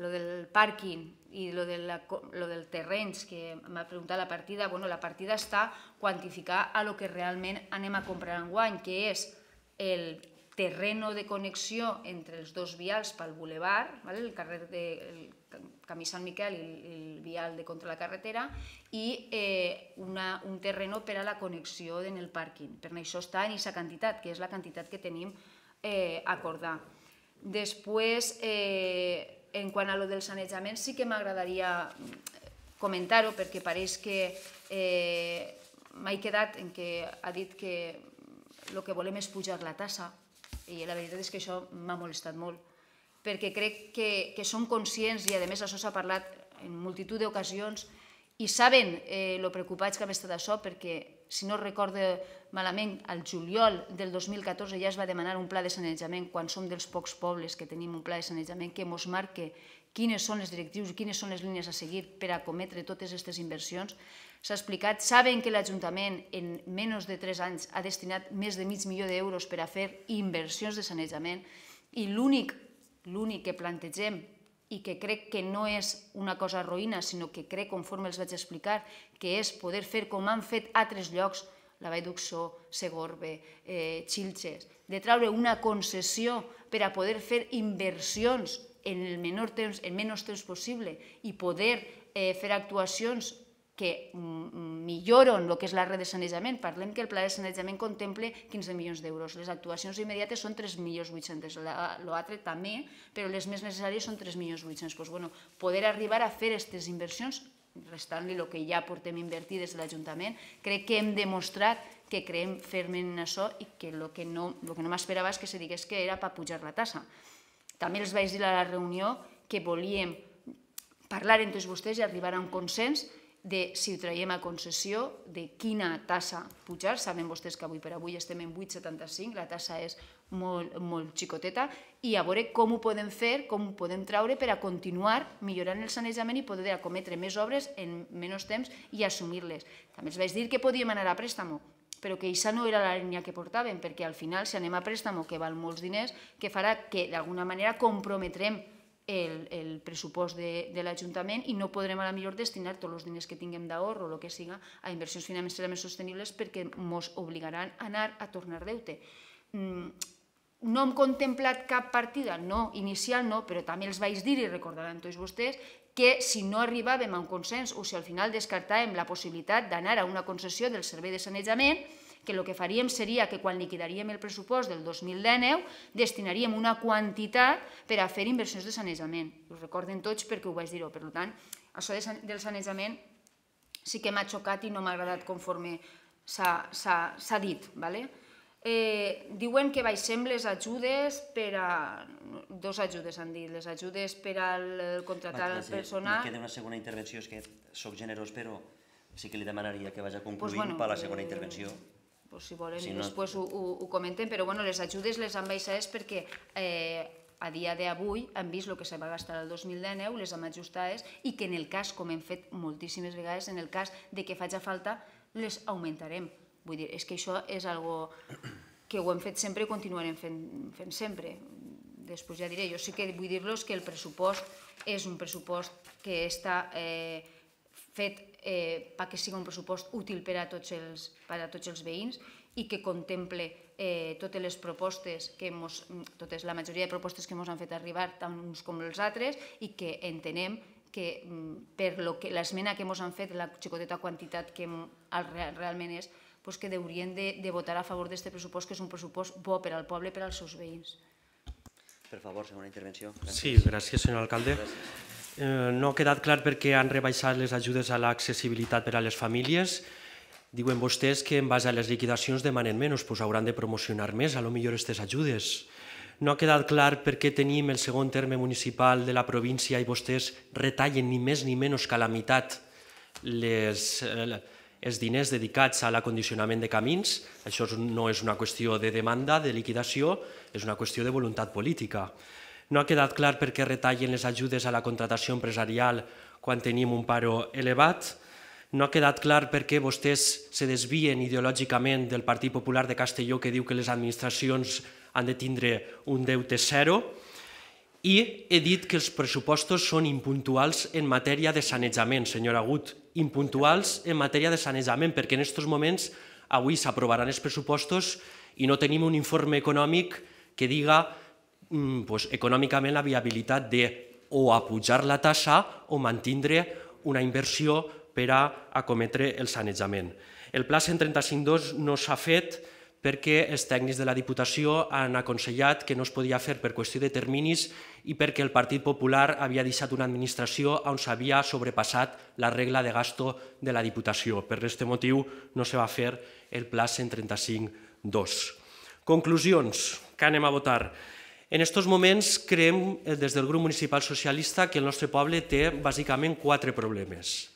lo del pàrquing i lo del terrenys que m'ha preguntat la partida, la partida està quantificar a lo que realment anem a comprar enguany, que és el terreno de connexió entre els dos vials pel bulevard, el carrer del Camí Sant Miquel i el vial de contra la carretera, i un terreno per a la connexió en el pàrquing. Per això està en aquesta quantitat, que és la quantitat que tenim acordada. Després, en quant a lo del sanejament, sí que m'agradaria comentar-ho, perquè pareix que m'he quedat en què ha dit que el que volem és pujar la tassa, i la veritat és que això m'ha molestat molt, perquè crec que som conscients, i a més això s'ha parlat en multitud d'ocasions, i saben lo preocupats que hem estat d'això, perquè si no recordo malament, al juliol del dos mil catorze ja es va demanar un pla de sanejament, quan som dels pocs pobles que tenim un pla de sanejament que ens marca quines són les directrius i quines són les línies a seguir per a cometre totes aquestes inversions. s'ha explicat, saben que l'Ajuntament en menys de tres anys ha destinat més de mig milió d'euros per a fer inversions de sanejament i l'únic l'únic que plantegem i que crec que no és una cosa roïna, sinó que crec, conforme els vaig explicar, que és poder fer com han fet altres llocs, la Vall d'Uxó, Segorbe, Xilxes, de treure una concessió per a poder fer inversions en el menor temps, en menys temps possible i poder fer actuacions que milloren el que és la red de sanejament. Parlem que el pla de sanejament contempla quinze milions d'euros. Les actuacions immediates són tres milions vuit-cents. L'altre també, però les més necessàries són tres milions vuit-cents. Poder arribar a fer aquestes inversions, restant-li el que ja portem invertit des de l'Ajuntament, crec que hem demostrat que creiem fermament en això i que el que no m'esperava és que se digués que era per pujar la tassa. També els vaig dir a la reunió que volíem parlar entre vostès i arribar a un consens de si ho traiem a concessió, de quina tassa pujar. Saben vostès que avui per avui estem en vuit coma setanta-cinc, la tassa és molt xicoteta, i a veure com ho podem fer, com ho podem treure per a continuar millorant el sanejament i poder acometre més obres en menys temps i assumir-les. També els vaig dir que podíem anar a préstamo, però que això no era la línia que portàvem, perquè al final, si anem a préstamo, que val molts diners, que farà que d'alguna manera comprometrem el pressupost de l'Ajuntament i no podrem a la millor destinar tots els diners que tinguem d'ahorro o el que siga a inversions financeres més sostenibles perquè ens obligaran a anar a tornar deute. No hem contemplat cap partida? No, inicial no, però també els vaig dir i recordaran tots vostès que si no arribàvem a un consens o si al final descartàvem la possibilitat d'anar a una concessió del servei de sanejament, que el que faríem seria que quan liquidaríem el pressupost del dos mil dinou destinaríem una quantitat per a fer inversions de sanejament. Ho recorden tots perquè ho vaig dir-ho. Per tant, això del sanejament sí que m'ha xocat i no m'ha agradat conforme s'ha dit. Diuen que baixem les ajudes per a... Dos ajudes han dit, les ajudes per a contratar el personal... Em queda una segona intervenció, és que soc generós, però sí que li demanaria que vagi concluint per la segona intervenció. Si volen, després ho comentem, però les ajudes les han baixades perquè a dia d'avui han vist el que se va gastar el dos mil dinou, les hem ajustades i que en el cas, com hem fet moltíssimes vegades, en el cas que faci falta, les augmentarem. Vull dir, és que això és algo que ho hem fet sempre i continuarem fent sempre. Després ja diré, jo sí que vull dir-los que el pressupost és un pressupost que està fet perquè sigui un pressupost útil per a tots els veïns i que contemple totes les propostes, la majoria de propostes que ens han fet arribar, tant uns com els altres, i que entenem que per l'esmena que ens han fet, la xicoteta quantitat que realment és, que haurien de votar a favor d'aquest pressupost, que és un pressupost bo per al poble i per als seus veïns. Per favor, segona intervenció. Sí, gràcies, senyor alcalde. No ha quedat clar per què han rebaixat les ajudes a l'accessibilitat per a les famílies. Diuen vostès que en base a les liquidacions demanen menys, doncs hauran de promocionar més, a lo millor aquestes ajudes. No ha quedat clar per què tenim el segon terme municipal de la província i vostès retallen ni més ni menys que a la meitat els diners dedicats a l'acondicionament de camins. Això no és una qüestió de demanda, de liquidació, és una qüestió de voluntat política. No ha quedat clar per què retallen les ajudes a la contratació empresarial quan tenim un paro elevat. No ha quedat clar per què vostès se desvien ideològicament del Partit Popular de Castelló, que diu que les administracions han de tindre un deute zero. I he dit que els pressupostos són impuntuals en matèria de sanejament, senyor Agut. Impuntuals en matèria de sanejament, perquè en aquests moments avui s'aprovaran els pressupostos i no tenim un informe econòmic que diga econòmicament la viabilitat de o apujar la tassa o mantindre una inversió per a acometre el sanejament. El pla cent trenta-cinc dos no s'ha fet perquè els tècnics de la Diputació han aconsellat que no es podia fer per qüestió de terminis i perquè el Partit Popular havia deixat una administració on s'havia sobrepassat la regla de gasto de la Diputació. Per aquest motiu no se va fer el pla cent trenta-cinc dos. Conclusions. Què anem a votar? En aquests moments creiem des del grup municipal socialista que el nostre poble té bàsicament quatre problemes.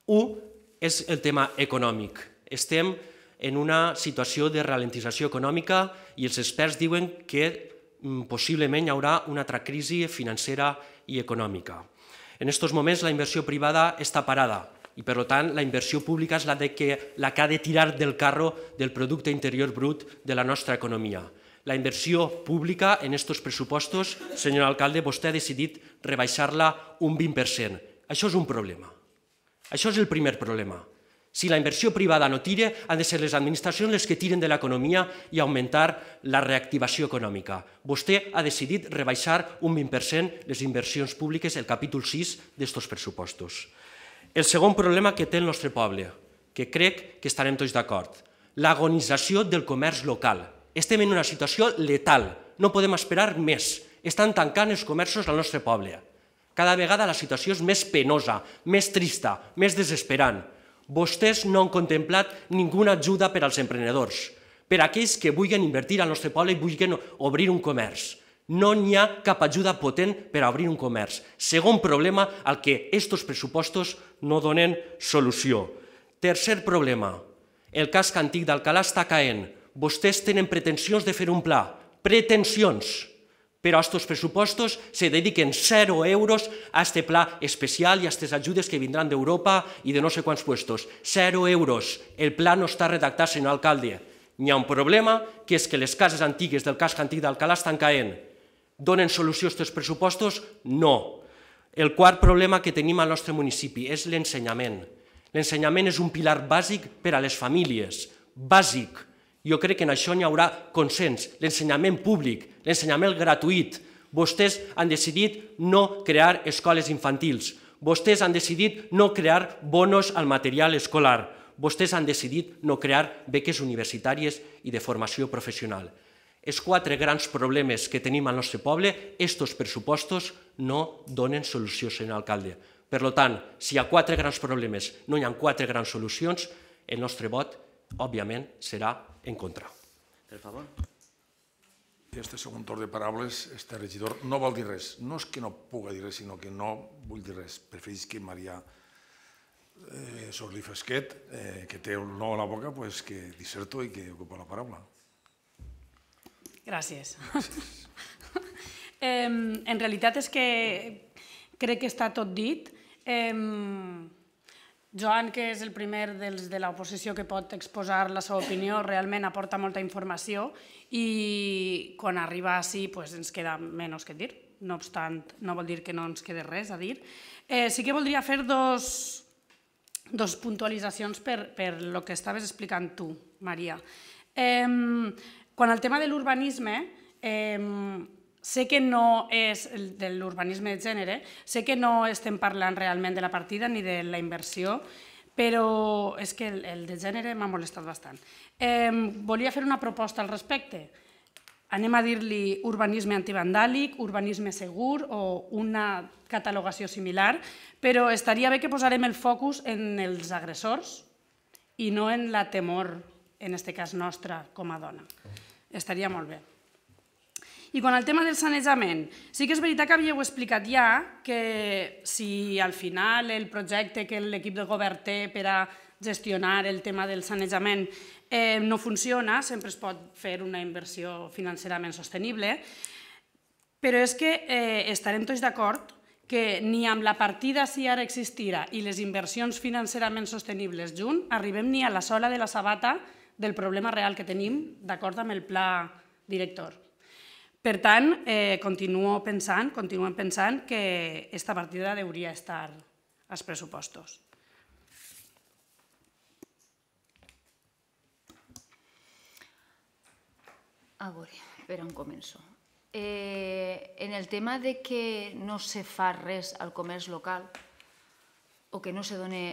Un és el tema econòmic. Estem en una situació de ralentització econòmica i els experts diuen que possiblement hi haurà una altra crisi financera i econòmica. En aquests moments la inversió privada està parada. i per tant la inversió pública és la, de que, la que ha de tirar del carro del producte interior brut de la nostra economia. La inversió pública en aquests pressupostos, senyor alcalde, vostè ha decidit rebaixar-la un vint per cent. Això és un problema. Això és el primer problema. Si la inversió privada no tira, han de ser les administracions les que tiren de l'economia i augmentar la reactivació econòmica. Vostè ha decidit rebaixar un vint per cent les inversions públiques, el capítol sis d'aquests pressupostos. El segon problema que té el nostre poble, que crec que estarem tots d'acord, l'agonització del comerç local. Estem en una situació letal, no podem esperar més. Estan tancant els comerços al nostre poble. Cada vegada la situació és més penosa, més trista, més desesperant. Vostès no han contemplat ninguna ajuda per als emprenedors, per a aquells que vulguin invertir al nostre poble i vulguin obrir un comerç. No n'hi ha cap ajuda potent per a obrir un comerç. Segon problema al que aquests pressupostos no donen solució. Tercer problema, el casc antic d'Alcalà està caent. Vostès tenen pretensions de fer un pla, pretensions, però a aquests pressupostos se dediquen zero euros a aquest pla especial i a aquestes ajudes que vindran d'Europa i de no sé quants puestos. Zero euros. El pla no està redactat, senyor alcalde. N'hi ha un problema, que és que les cases antigues del casc antic d'Alcalà estan caent. Donen solució a aquests pressupostos? No. El quart problema que tenim al nostre municipi és l'ensenyament. L'ensenyament és un pilar bàsic per a les famílies. Bàsic. Jo crec que en això n'hi haurà consens. L'ensenyament públic, l'ensenyament gratuït. Vostès han decidit no crear escoles infantils. Vostès han decidit no crear bonos al material escolar. Vostès han decidit no crear beques universitàries i de formació professional. Els quatre grans problemes que tenim al nostre poble, aquests pressupostos no donen solució, senyor alcalde. Per tant, si hi ha quatre grans problemes, no hi ha quatre grans solucions, el nostre vot, òbviament, serà en contra. Per favor. Este segon torn de paraules, este regidor no vol dir res. No és que no puga dir res, sinó que no vull dir res. Preferís que Maria Sorli Fresquet, que té un no a la boca, que disserto i que ocupa la paraula. Gràcies. En realitat és que crec que està tot dit. Joan, que és el primer dels de l'oposició que pot exposar la seva opinió, realment aporta molta informació i quan arriba així ens queda menys que dir. No obstant, no vol dir que no ens quede res a dir. Sí que voldria fer dos puntualitzacions per el que estaves explicant tu, Maria. Quan al tema de l'urbanisme, sé que no és de l'urbanisme de gènere, sé que no estem parlant realment de la partida ni de la inversió, però és que el de gènere m'ha molestat bastant. Volia fer una proposta al respecte. Anem a dir-li urbanisme antivandàlic, urbanisme segur o una catalogació similar, però estaria bé que posarem el focus en els agressors i no en la temor, en aquest cas nostra, com a dona. Estaria molt bé. I quan al tema del sanejament, sí que és veritat que havíeu explicat ja que si al final el projecte que l'equip de govern té per a gestionar el tema del sanejament no funciona, sempre es pot fer una inversió financerament sostenible, però és que estarem tots d'acord que ni amb la partida si ara existira i les inversions financerament sostenibles junt arribem ni a la sola de la sabata del problema real que tenim d'acord amb el pla director. Per tant, continuo pensant, continuem pensant que aquesta partida hauria d'estar als pressupostos. A veure, per on començo? En el tema de que no se fa res al comerç local o que no se dona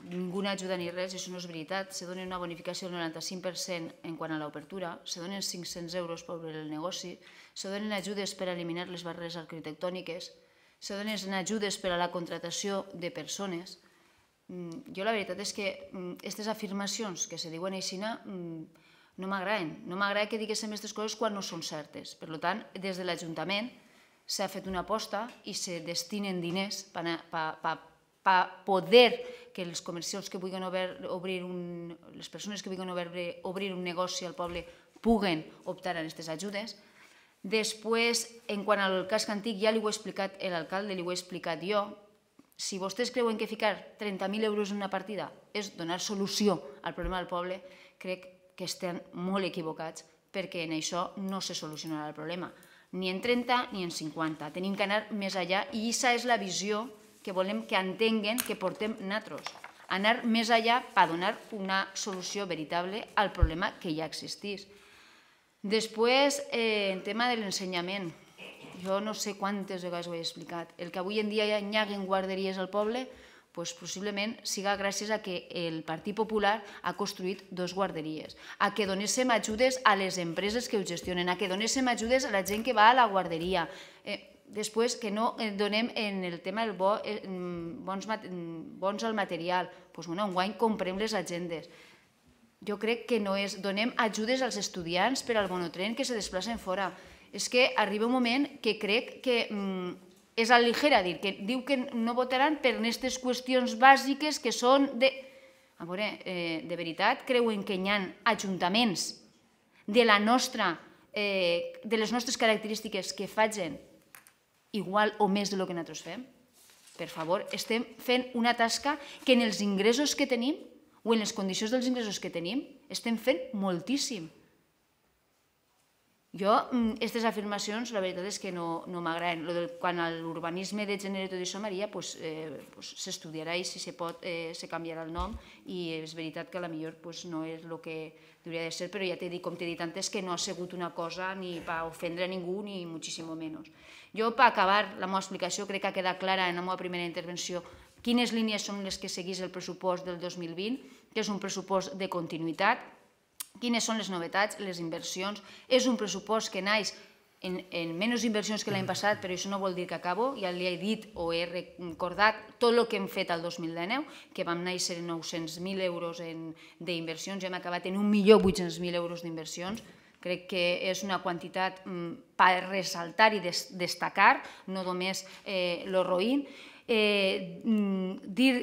ninguna ajuda ni res, això no és veritat, se dona una bonificació del noranta-cinc per cent en quant a l'obertura, se donen cinc-cents euros per obrir el negoci, se donen ajudes per eliminar les barreres arquitectòniques, se donen ajudes per a la contratació de persones. Jo la veritat és que aquestes afirmacions que se diuen així no m'agraden. No m'agrada que diguéssim aquestes coses quan no són certes. Per tant, des de l'Ajuntament s'ha fet una aposta i se destinen diners per poder que els comerciants que vulguin obrir un... les persones que vulguin obrir un negoci al poble puguen optar a aquestes ajudes. Després, en quant al casc antic, ja li ho he explicat l'alcalde, li ho he explicat jo, Si vostès creuen que ficar trenta mil euros en una partida és donar solució al problema del poble, crec que estan molt equivocats, perquè en això no se solucionarà el problema, ni en trenta ni en cinquanta. Tenim que anar més enllà i aquesta és la visió que volem que entenguen que portem nosaltres. Anar més enllà per donar una solució veritable al problema que ja existís. Després, en tema de l'ensenyament, jo no sé quantes vegades ho he explicat. El que avui en dia hi hagi guarderies al poble, possiblement siga gràcies a que el Partit Popular ha construït dos guarderies, a que donéssim ajudes a les empreses que ho gestionen, a que donéssim ajudes a la gent que va a la guarderia. Després, que no donem en el tema del bons al material. Doncs, bueno, enguany comprem les agendes. Jo crec que no és... Donem ajudes als estudiants per al monotren que se desplacen fora. És que arriba un moment que crec que és a ligera dir, que diu que no votaran per aquestes qüestions bàsiques que són de... A veure, de veritat, creuen que hi ha ajuntaments de la nostra, de les nostres característiques que facin igual o més del que nosaltres fem? Per favor, estem fent una tasca que en els ingressos que tenim o en les condicions dels ingressos que tenim estem fent moltíssim. Jo, aquestes afirmacions, la veritat és que no m'agraden. Quan a l'urbanisme de gènere i tot això, Maria, s'estudiarà i si se pot se canviarà el nom i és veritat que potser no és el que hauria de ser, però ja t'he dit, com t'he dit antes, que no ha sigut una cosa ni per ofendre a ningú ni moltíssim menys. Jo, per acabar la meva explicació, crec que ha quedat clara en la meva primera intervenció quines línies són les que seguís el pressupost del dos mil vint, que és un pressupost de continuïtat, quines són les novetats, les inversions. És un pressupost que naix en menys inversions que l'any passat, però això no vol dir que acabo, ja li he dit o he recordat tot el que hem fet el dos mil dinou, que vam néixer en nou-cents mil euros d'inversions i hem acabat en un milió vuit-cents mil euros d'inversions. Crec que és una quantitat per ressaltar i destacar, no només el roïn. Dir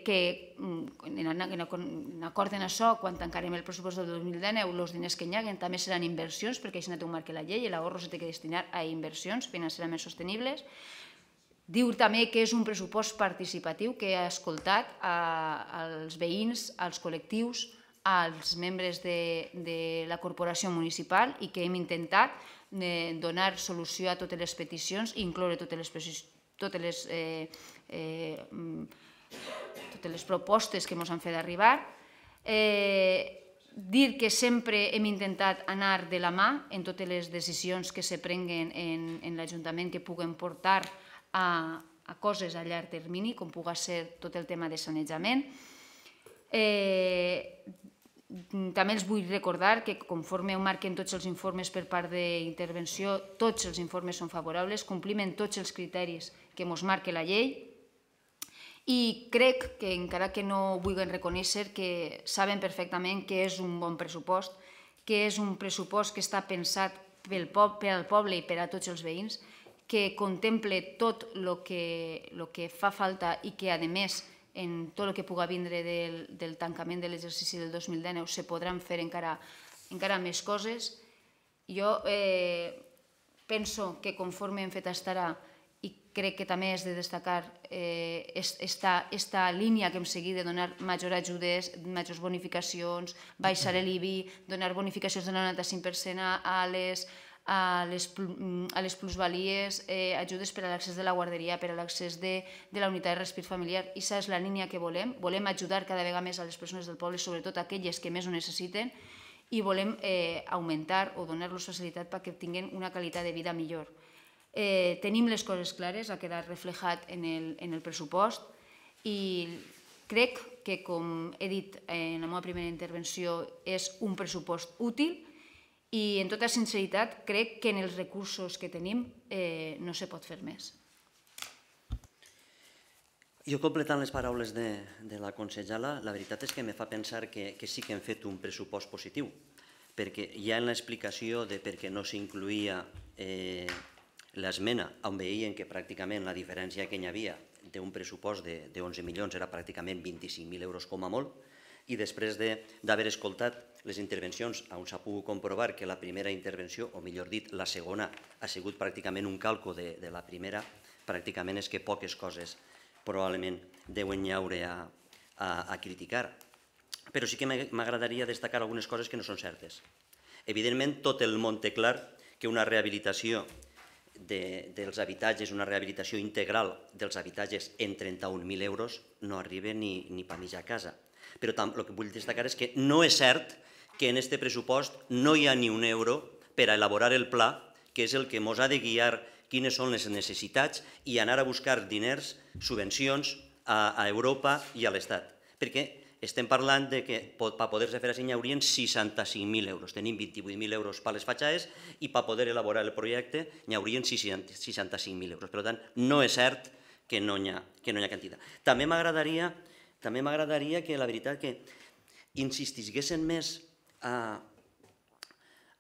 que, en acord amb això, quan tancarem el pressupost del dos mil dinou, els diners que hi haguen també seran inversions, perquè això no té un marc a la llei, l'ahorro s'ha de destinar a inversions financerament sostenibles. Diu també que és un pressupost participatiu, que ha escoltat als veïns, als col·lectius, als membres de la corporació municipal i que hem intentat donar solució a totes les peticions i incloure totes les totes les totes les propostes que ens han fet arribar. Dir que sempre hem intentat anar de la mà en totes les decisions que se prenguen en l'Ajuntament que puguen portar a coses a llarg termini, com pugui ser tot el tema de sanejament. També els vull recordar que conforme ho marquen tots els informes per part d'intervenció, tots els informes són favorables, complim tots els criteris que ens marca la llei i crec que, encara que no ho vulguin reconèixer, que saben perfectament que és un bon pressupost, que és un pressupost que està pensat per al poble i per a tots els veïns, que contemple tot el que fa falta i que, a més, en tot el que pugui vindre del tancament de l'exercici del dos mil dinou se podran fer encara més coses. Jo penso que conforme hem fet fins ara, i crec que també és de destacar aquesta línia que hem seguit de donar majors ajudes, majors bonificacions, baixar l'I B I, donar bonificacions del noranta-cinc per cent a les a les plusvalies, ajudes per a l'accés de la guarderia, per a l'accés de la unitat de respir familiar. Aquesta és la línia que volem. Volem ajudar cada vegada més a les persones del poble, sobretot aquelles que més ho necessiten, i volem augmentar o donar-los facilitat perquè tinguin una qualitat de vida millor. Tenim les coses clares, ha quedat reflejat en el pressupost i crec que, com he dit en la meva primera intervenció, és un pressupost útil i, en tota sinceritat, crec que en els recursos que tenim no se pot fer més. Jo, completant les paraules de la consellera, la veritat és que me fa pensar que sí que hem fet un pressupost positiu, perquè ja en l'explicació de per què no s'incluïa l'esmena, on veien que pràcticament la diferència que hi havia d'un pressupost d'onze milions era pràcticament vint-i-cinc mil euros com a molt, i després d'haver escoltat les intervencions on s'ha pogut comprovar que la primera intervenció, o millor dit, la segona, ha sigut pràcticament un calco de la primera, pràcticament és que poques coses probablement deuen llaure a, a, a criticar. Però sí que m'agradaria destacar algunes coses que no són certes. Evidentment, tot el món té clar que una rehabilitació de, dels habitatges, una rehabilitació integral dels habitatges en trenta-un mil euros no arriba ni, ni per mitja casa. Però el que vull destacar és que no és cert que en aquest pressupost no hi ha ni un euro per a elaborar el pla, que és el que ens ha de guiar quines són les necessitats i anar a buscar diners, subvencions a, a Europa i a l'Estat. Perquè estem parlant de que per poder-se fer així hi haurien seixanta-cinc mil euros. Tenim vint-i-vuit mil euros per les fatxades i per poder elaborar el projecte hi haurien seixanta-cinc mil euros. Per tant, no és cert que no hi ha, que no hi ha quantitat. També m'agradaria també m'agradaria que la veritat que insistissin més a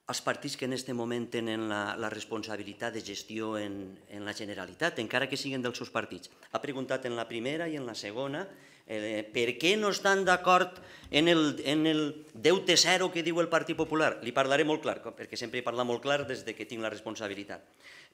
els partits que en aquest moment tenen la, la responsabilitat de gestió en, en la Generalitat, encara que siguin dels seus partits. Ha preguntat en la primera i en la segona eh, per què no estan d'acord en, el, en el deute zero que diu el Partit Popular. Li parlaré molt clar, perquè sempre he parlat molt clar des que tinc la responsabilitat.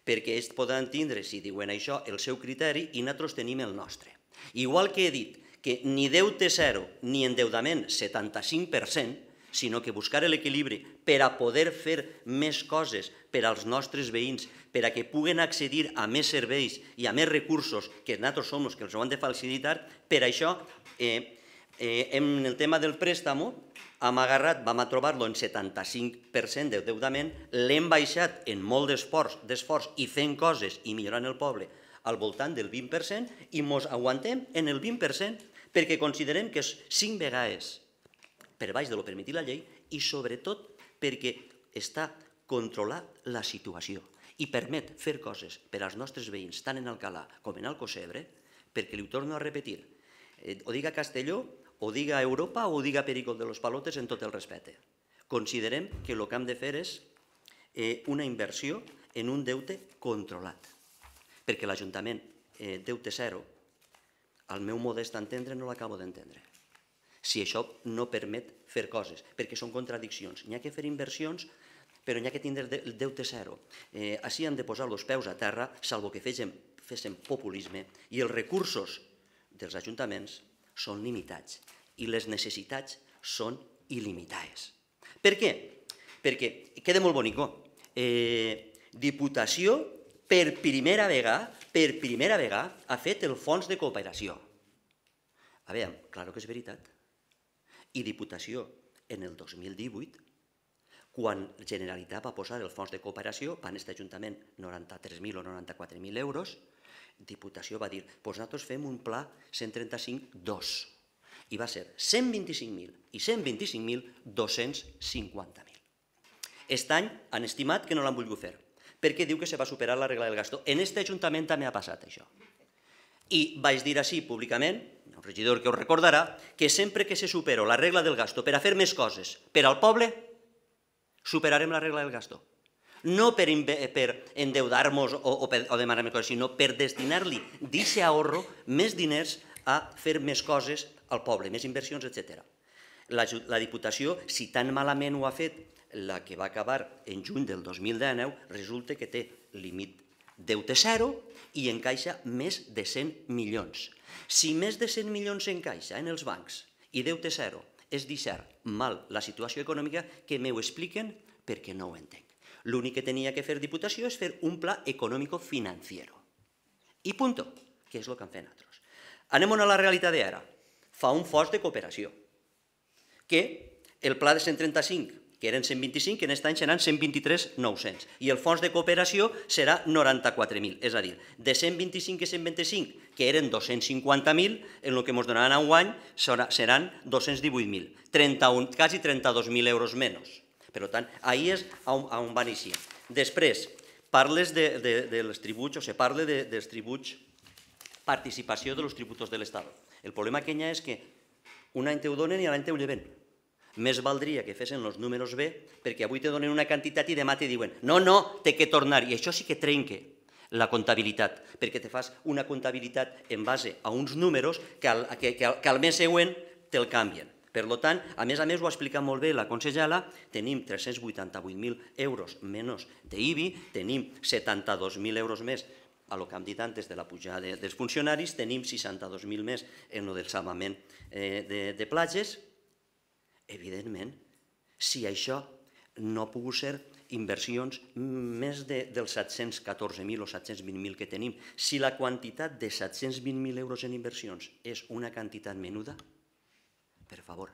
Perquè ells poden tindre, si diuen això, el seu criteri i nosaltres tenim el nostre. Igual que he dit que ni deute zero ni endeudament setanta-cinc per cent, sinó que buscar l'equilibri per a poder fer més coses per als nostres veïns, per a que puguen accedir a més serveis i a més recursos que nosaltres som els que els ho han de facilitar. Per això, eh, eh, en el tema del préstamo, hem agarrat, vam a trobar-lo en setanta-cinc per cent d'endeudament, l'hem baixat en molt d'esforç i fent coses i millorant el poble al voltant del vint per cent i ens aguantem en el vint per cent perquè considerem que és cinc vegades per baix de lo permetit la llei i sobretot perquè està controlat la situació i permet fer coses per als nostres veïns, tant en Alcalà com en Alcocebre, perquè li ho torno a repetir, eh, ho diga Castelló, ho diga Europa o ho diga Pericol de los Palotes en tot el respecte. Considerem que el que hem de fer és eh, una inversió en un deute controlat, perquè l'Ajuntament, eh, deute zero, al meu modest entendre no l'acabo d'entendre. Si això no permet fer coses, perquè són contradiccions. N'hi ha que fer inversions, però n'hi ha que tindre el deute zero. Eh, així han de posar els peus a terra, salvo que féssim, féssim populisme, i els recursos dels ajuntaments són limitats i les necessitats són il·limitades. Per què? Perquè queda molt bonico. Eh, Diputació, per primera vegada, per primera vegada, ha fet el fons de cooperació. A veure, clar que és veritat. I Diputació, en el dos mil divuit, quan la Generalitat va posar el fons de cooperació, van aquest Ajuntament noranta-tres mil o noranta-quatre mil euros, Diputació va dir, doncs nosaltres fem un pla cent trenta-cinc dos, i va ser cent vint-i-cinc mil i cent vint-i-cinc mil dos-cents cinquanta mil. Aquest any han estimat que no l'han volgut fer, perquè diu que se va superar la regla del gasto. En aquest Ajuntament també ha passat això. I vaig dir així públicament, un regidor que us recordarà, que sempre que se supera la regla del gasto per a fer més coses per al poble, superarem la regla del gasto. No per endeudar-nos o demanar més coses, sinó per destinar-li d'aquest ahorro més diners a fer més coses al poble, més inversions, etcètera. La Diputació, si tan malament ho ha fet, la que va acabar en juny del dos mil dinou, resulta que té límit deute zero i encaixa més de cent milions. Si més de cent milions encaixa en els bancs i deute zero és deixar mal la situació econòmica, que m'ho expliquen perquè no ho entenc. L'únic que tenia que fer Diputació és fer un pla econòmico-financiero. I punt, que és el que han fet nosaltres. Anem a la realitat d'ara. Fa un fons de cooperació, que el pla de cent trenta-cinc, que eren cent vint-i-cinc, que en aquest any seran cent vint-i-tres mil nou-cents. I el fons de cooperació serà noranta-quatre mil. És a dir, de cent vint-i-cinc i cent vint-i-cinc, que eren dos-cents cinquanta mil, en el que ens donaran un any seran dos-cents divuit mil. Quasi trenta-dos mil euros menys. Per tant, ahí és on van eixir. Després, parles dels tributs, o se parla dels tributs, participació dels tributos de l'Estat. El problema que hi ha és que un any te ho donen i l'any te ho lleven. Més valdria que fessin els números bé, perquè avui te donen una quantitat i demà te diuen no, no, té que tornar. I això sí que trenca la comptabilitat, perquè te fas una comptabilitat en base a uns números que al, que, que, que al mes següent te'l canvien. Per tant, a més a més ho ha explicat molt bé la consellera, tenim tres-cents vuitanta-vuit mil euros menys d'I B I, tenim setanta-dos mil euros més a lo que hem dit antes de la pujada dels funcionaris, tenim seixanta-dos mil més en el del salvament de platges. Evidentment, si això no ha pogut ser inversions més dels set-cents catorze mil o set-cents vint mil que tenim, si la quantitat de set-cents vint mil euros en inversions és una quantitat menuda, per favor.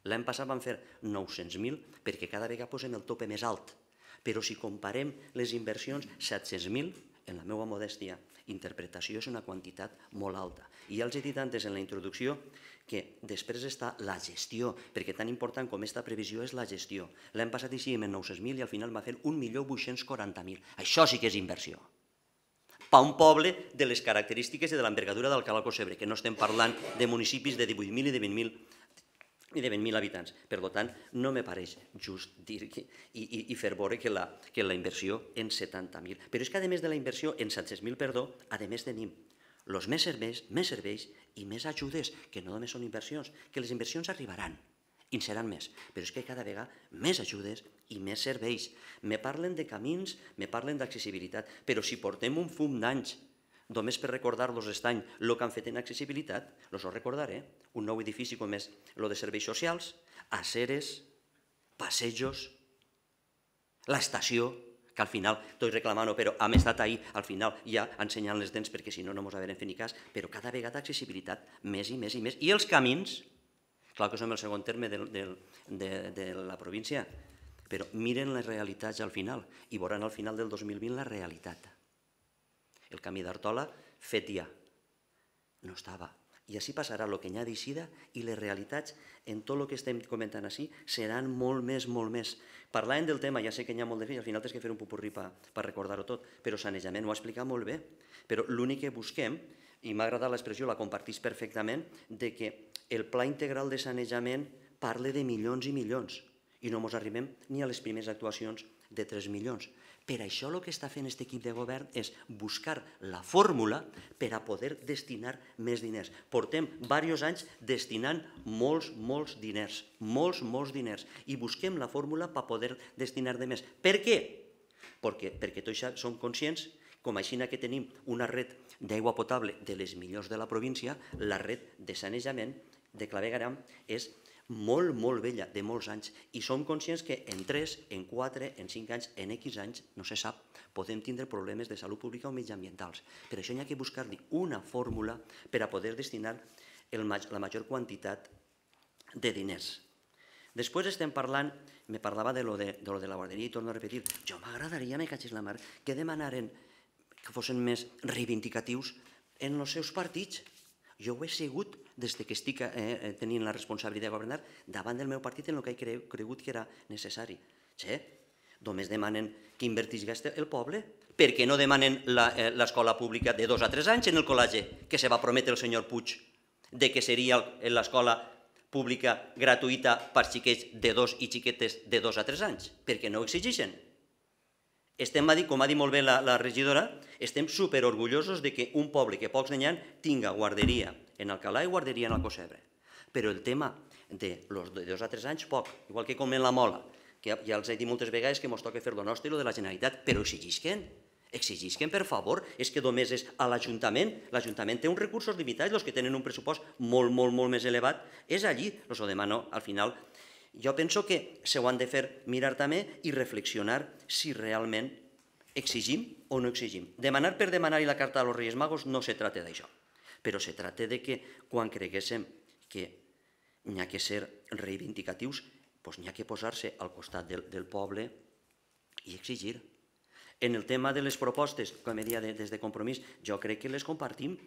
L'any passat vam fer nou-cents mil perquè cada vegada posem el tope més alt, però si comparem les inversions, set-cents mil, en la meva modèstia interpretació, és una quantitat molt alta. I ja els he dit antes en la introducció que després està la gestió, perquè tan important com aquesta previsió és la gestió. L'any passat hicíem en nou-cents mil i al final va fer un milió vuit-cents quaranta mil. Això sí que és inversió. Per un poble de les característiques i de l'envergadura d'Alcalá Cocebre, que no estem parlant de municipis de divuit mil i de vint mil i de vint mil habitants. Per tant, no me pareix just dir i fer veure que la inversió en setanta mil. Però és que a més de la inversió en set-cents mil, perdó, a més tenim els més serveis, més serveis i més ajudes, que no només són inversions, que les inversions arribaran i en seran més, però és que cada vegada més ajudes i més serveis. Me parlen de camins, me parlen d'accessibilitat, però si portem un fum d'anys només per recordar-los aquest any el que han fet en accessibilitat, els ho recordaré, un nou edifici com és el de serveis socials, aceres, passejos, l'estació, que al final, estoy reclamant-ho, però hem estat ahir, al final ja ensenyant les dents perquè si no no ens haurem fet ni cas, però cada vegada accessibilitat més i més i més. I els camins, clar que som el segon terme de la província, però miren les realitats al final i veuran al final del dos mil vint la realitat. El camí d'Artola fet ja, no estava. I així passarà el que n'hi ha d'eixida i les realitats en tot el que estem comentant així seran molt més, molt més. Parlàvem del tema, ja sé que n'hi ha molt de fills, al final tens que fer un popurrí per recordar-ho tot, però sanejament ho ha explicat molt bé. Però l'únic que busquem, i m'ha agradat l'expressió, la compartís perfectament, de que el pla integral de sanejament parla de milions i milions i no ens arribem ni a les primeres actuacions de tres milions. Per això el que està fent aquest equip de govern és buscar la fórmula per a poder destinar més diners. Portem diversos anys destinant molts, molts diners, molts, molts diners, i busquem la fórmula per poder destinar de més. Per què? Perquè tots som conscients, com així que tenim una red d'aigua potable de les millors de la província, la red de sanejament de Clavegueram és molt, molt vella, de molts anys, i som conscients que en tres, en quatre, en cinc anys, en X anys, no se sap, podem tindre problemes de salut pública o mediambientals. Per això n'hi ha que buscar-li una fórmula per a poder destinar la major quantitat de diners. Després estem parlant, me parlava de lo de la guarderia i torno a repetir, jo m'agradaria, me cachis la mar, que demanaren que fossin més reivindicatius en els seus partits. Jo ho he sigut des que estic tenint la responsabilitat de governar davant del meu partit en el que he cregut que era necessari. Che, només demanen que invertisca el poble. Per què no demanen l'escola pública de dos a tres anys en el col·legi que se va prometre el senyor Puig de que seria l'escola pública gratuïta per xiquets de dos i xiquetes de dos a tres anys? Per què no ho exigeixen? Estem, com ha dit molt bé la regidora, estem superorgullosos que un poble que pocs n'hi ha tinga guarderia en Alcalà i guarderia en Alcocebre. Però el tema de dos a tres anys, poc, igual que com en la Mola, que ja els he dit moltes vegades que ens toca fer lo nostre i lo de la Generalitat, però exigisquen, exigisquen, per favor, és que només és a l'Ajuntament, l'Ajuntament té uns recursos limitats, els que tenen un pressupost molt, molt, molt més elevat, és allí, els ho demano al final. Jo penso que se ho han de fer mirar també i reflexionar si realment exigim o no exigim. Demanar per demanar i la carta als Reis Magos no se tracta d'això, però se tracta de que quan creguéssim que n'hi ha que ser reivindicatius, doncs n'hi ha que posar-se al costat del poble i exigir. En el tema de les propostes, com he dit des de Compromís, jo crec que les compartim.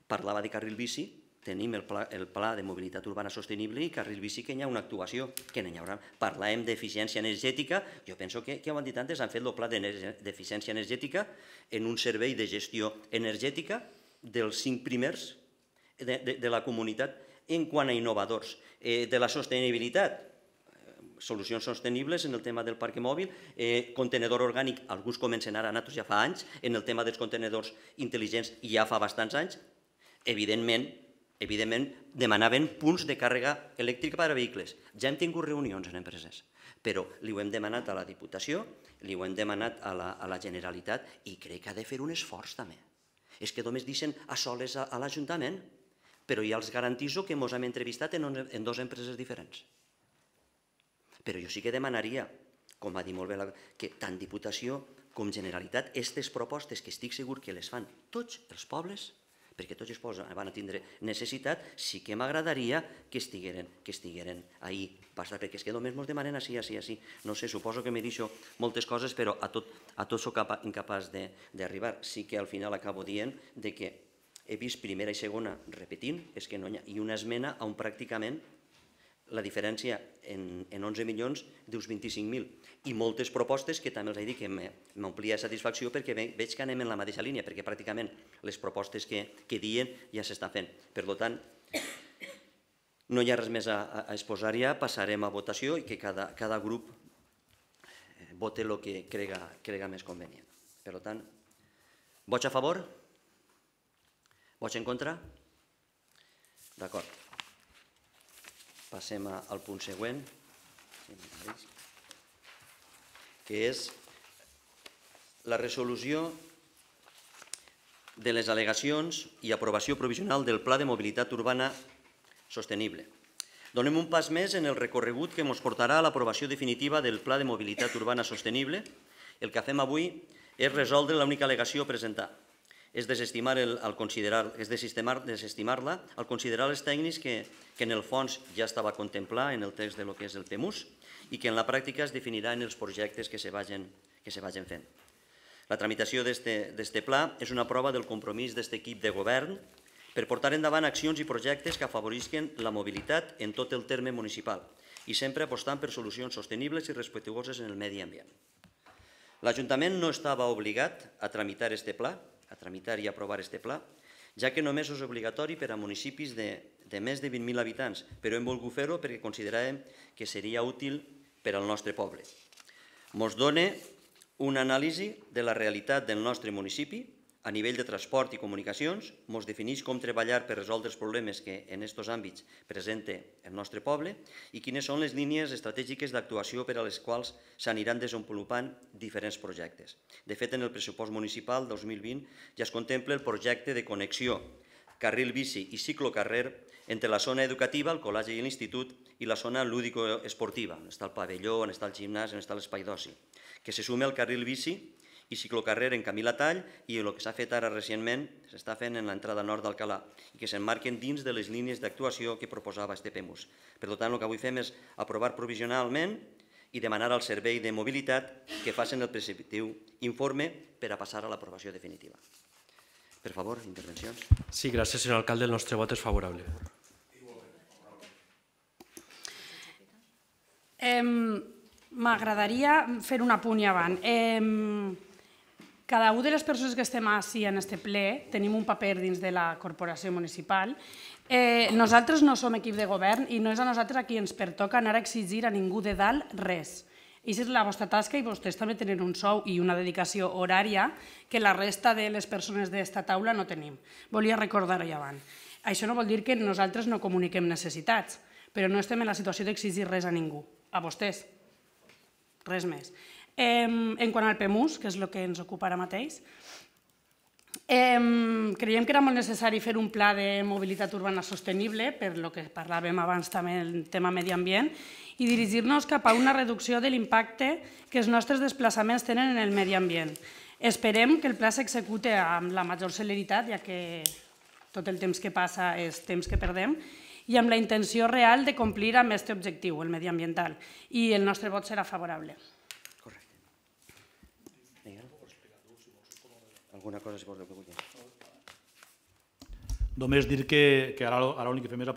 Parlava de carril bici, tenim el pla de mobilitat urbana sostenible i carril bici que hi ha una actuació, que n'hi haurà. Parlàvem d'eficiència energètica, jo penso que ho han dit antes, han fet el pla d'eficiència energètica en un servei de gestió energètica dels cinc primers de la comunitat en quant a innovadors. De la sostenibilitat, solucions sostenibles en el tema del parc mòbil, contenedor orgànic, alguns comencen ara, nosaltres ja fa anys, en el tema dels contenedors intel·ligents ja fa bastants anys, evidentment, evidentment demanaven punts de càrrega elèctrica per a vehicles. Ja hem tingut reunions en empreses, però li ho hem demanat a la Diputació, li ho hem demanat a la Generalitat i crec que ha de fer un esforç també. És que només deixen a soles a l'Ajuntament, però ja els garantiso que ens hem entrevistat en dues empreses diferents. Però jo sí que demanaria, com va dir molt bé, que tant Diputació com Generalitat, aquestes propostes que estic segur que les fan tots els pobles, perquè tots els pobles van a tindre necessitat, sí que m'agradaria que estigueren ahí, perquè és que només ens demanen així, així, així. No sé, suposo que m'he dit moltes coses, però a tot soc incapaç d'arribar. Sí que al final acabo dient que he vist primera i segona repetint, és que no hi ha, i una esmena on pràcticament la diferència en onze milions dius vint-i-cinc mil. I moltes propostes que també els he dit que m'omplia de satisfacció perquè veig que anem en la mateixa línia, perquè pràcticament les propostes que diuen ja s'està fent. Per tant, no hi ha res més a exposar ja, passarem a votació i que cada grup vote el que crega més convenient. Per tant, vots a favor? Vots en contra? D'acord. Passem al punt següent, que és la resolució de les al·legacions i aprovació provisional del Pla de Mobilitat Urbana Sostenible. Donem un pas més en el recorregut que ens portarà a l'aprovació definitiva del Pla de Mobilitat Urbana Sostenible. El que fem avui és resoldre l'única al·legació a presentar. És desestimar-la al considerar els tècnics que en el fons ja estava contemplar en el text del que és el P M U S i que en la pràctica es definirà en els projectes que se vagin fent. La tramitació d'aquest pla és una prova del compromís d'aquest equip de govern per portar endavant accions i projectes que afavorisquen la mobilitat en tot el terme municipal i sempre apostant per solucions sostenibles i respectuoses en el medi ambient. L'Ajuntament no estava obligat a tramitar aquest pla, a tramitar i aprovar aquest pla, ja que només és obligatori per a municipis de més de vint mil habitants, però hem volgut fer-ho perquè consideràvem que seria útil per al nostre poble. Ens dona una anàlisi de la realitat del nostre municipi a nivell de transport i comunicacions, ens defineix com treballar per resoldre els problemes que en aquests àmbits presenta el nostre poble i quines són les línies estratègiques d'actuació per a les quals s'aniran desenvolupant diferents projectes. De fet, en el pressupost municipal dos mil vint ja es contempla el projecte de connexió carril bici i ciclocarrer entre la zona educativa, el col·legi i l'institut, i la zona lúdico-esportiva, on està el pavelló, on està el gimnàs, on està l'espai d'oci, que se sume al carril bici i ciclocarrer en Camí Latall i el que s'ha fet ara recentment s'està fent en l'entrada nord d'Alcalà i que s'emmarquen dins de les línies d'actuació que proposava este P M U S. Per tant, el que avui fem és aprovar provisionalment i demanar al Servei de Mobilitat que facin el preceptiu informe per a passar a l'aprovació definitiva. Per favor, intervencions. Sí, gràcies, senyor alcalde. El nostre vot és favorable. M'agradaria fer un apunt i avant. Cada una de les persones que estem així en aquest ple tenim un paper dins de la corporació municipal. Nosaltres no som equip de govern i no és a nosaltres a qui ens pertoca anar a exigir a ningú de dalt res. Aquesta és la vostra tasca i vostès també tenen un sou i una dedicació horària que la resta de les persones d'esta taula no tenim. Volia recordar-ho avant. Això no vol dir que nosaltres no comuniquem necessitats, però no estem en la situació d'exigir res a ningú, a vostès. Res més. En quant al P M U S, que és el que ens ocupa ara mateix, creiem que era molt necessari fer un pla de mobilitat urbana sostenible, per el que parlàvem abans també del tema medi ambient, i dirigir-nos cap a una reducció de l'impacte que els nostres desplaçaments tenen en el medi ambient. Esperem que el pla s'execute amb la major celeritat, ja que tot el temps que passa és temps que perdem, i amb la intenció real de complir amb aquest objectiu, el mediambiental. I el nostre vot serà favorable. Alguna cosa si vols que vulgui. Només dir que ara l'únic que fem és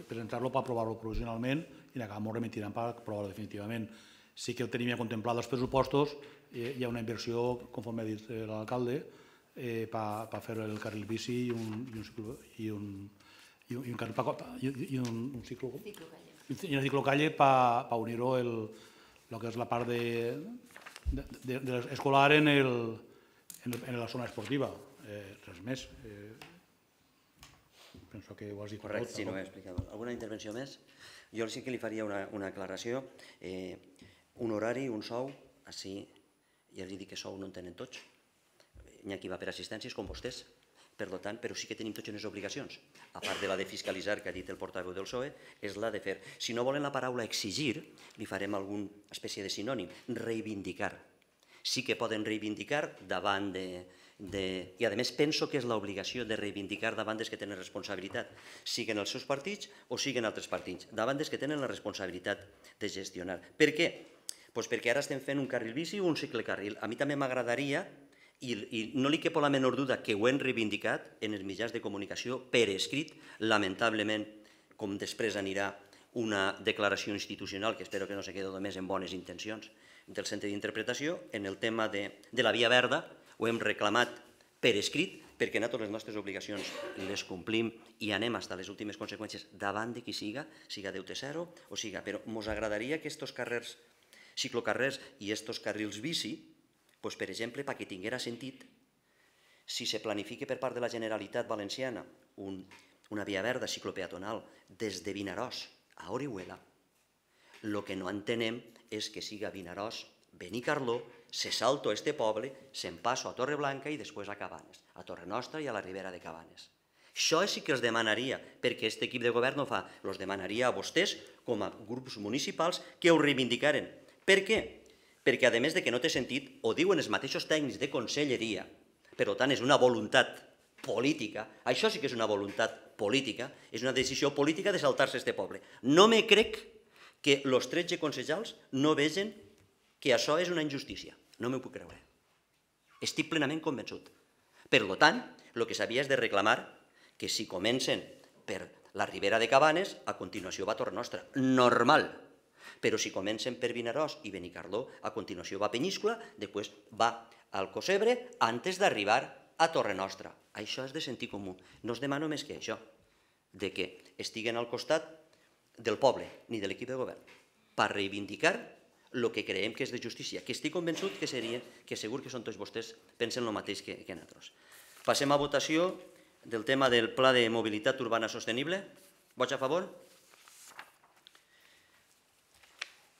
presentar-lo per aprovar-lo provisionalment i l'acabem ho remitirem per aprovar-lo definitivament. Sí que ho tenim ja contemplat als pressupostos, hi ha una inversió, conforme ha dit l'alcalde, per fer el carril bici i un una ciclocalle per unir-ho el que és la part escolar en la zona esportiva. Res més. Penso que ho has dit tot. Correcte, sí, no ho he explicat. Alguna intervenció més? Jo sí que li faria una, una aclaració. Eh, un horari, un sou, així ja li dic que sou no en tenen tots. N'hi ha qui va per assistències, com vostès, per tant, però sí que tenim tots unes obligacions. A part de la de fiscalitzar, que ha dit el portaveu del P S O E, és la de fer. Si no volen la paraula exigir, li farem alguna espècie de sinònim. Reivindicar. Sí que poden reivindicar davant de... De, i a més penso que és l'obligació de reivindicar davant dels que tenen responsabilitat, siguin els seus partits o siguin altres partits, davant dels que tenen la responsabilitat de gestionar. Per què? Pues perquè ara estem fent un carril bici o un ciclecarril. A mi també m'agradaria, i, i no li quepo la menor duda que ho hem reivindicat en els mitjans de comunicació per escrit, lamentablement, com després anirà una declaració institucional, que espero que no se quedi només en bones intencions, del centre d'interpretació, en el tema de, de la via verda, ho hem reclamat per escrit, perquè nosaltres les nostres obligacions les complim i anem fins a les últimes conseqüències davant de qui siga, siga deute zero o siga. Però ens agradaria que aquests carrers, ciclocarrers i aquests carrils bici, doncs, per exemple, perquè tinguera sentit, si se planifica per part de la Generalitat Valenciana un, una via verda ciclopeatonal des de Vinaròs a Orihuela, el que no entenem és que siga Vinaròs, Benicarló, se salto a este poble, se'n passo a Torreblanca i després a Cabanes, a Torre Nostra i a la Ribera de Cabanes. Això sí que els demanaria, perquè aquest equip de govern no fa, els demanaria a vostès, com a grups municipals, que ho reivindicaren. Per què? Perquè, a més de que no té sentit, ho diuen els mateixos tècnics de conselleria, per tant és una voluntat política, això sí que és una voluntat política, és una decisió política de saltar-se este poble. No me crec que els tretze consellers no vegen que això és una injustícia. No m'ho puc creure. Estic plenament convençut. Per tant, el que s'havia és de reclamar que si comencen per la Ribera de Cabanes, a continuació va a Torre Nostra. Normal. Però si comencen per Vinaròs i Benicarló, a continuació va a Penyíscola, després va al Cosebre, antes d'arribar a Torre Nostra. Això és de sentit comú. No es demano més que això, de que estiguen al costat del poble, ni de l'equip de govern, per reivindicar el que creiem que és de justícia, que estic convençut que seria, que segur que són tots vostès, pensen el mateix que, que nosaltres. Passem a votació del tema del Pla de Mobilitat Urbana Sostenible. Vots a favor?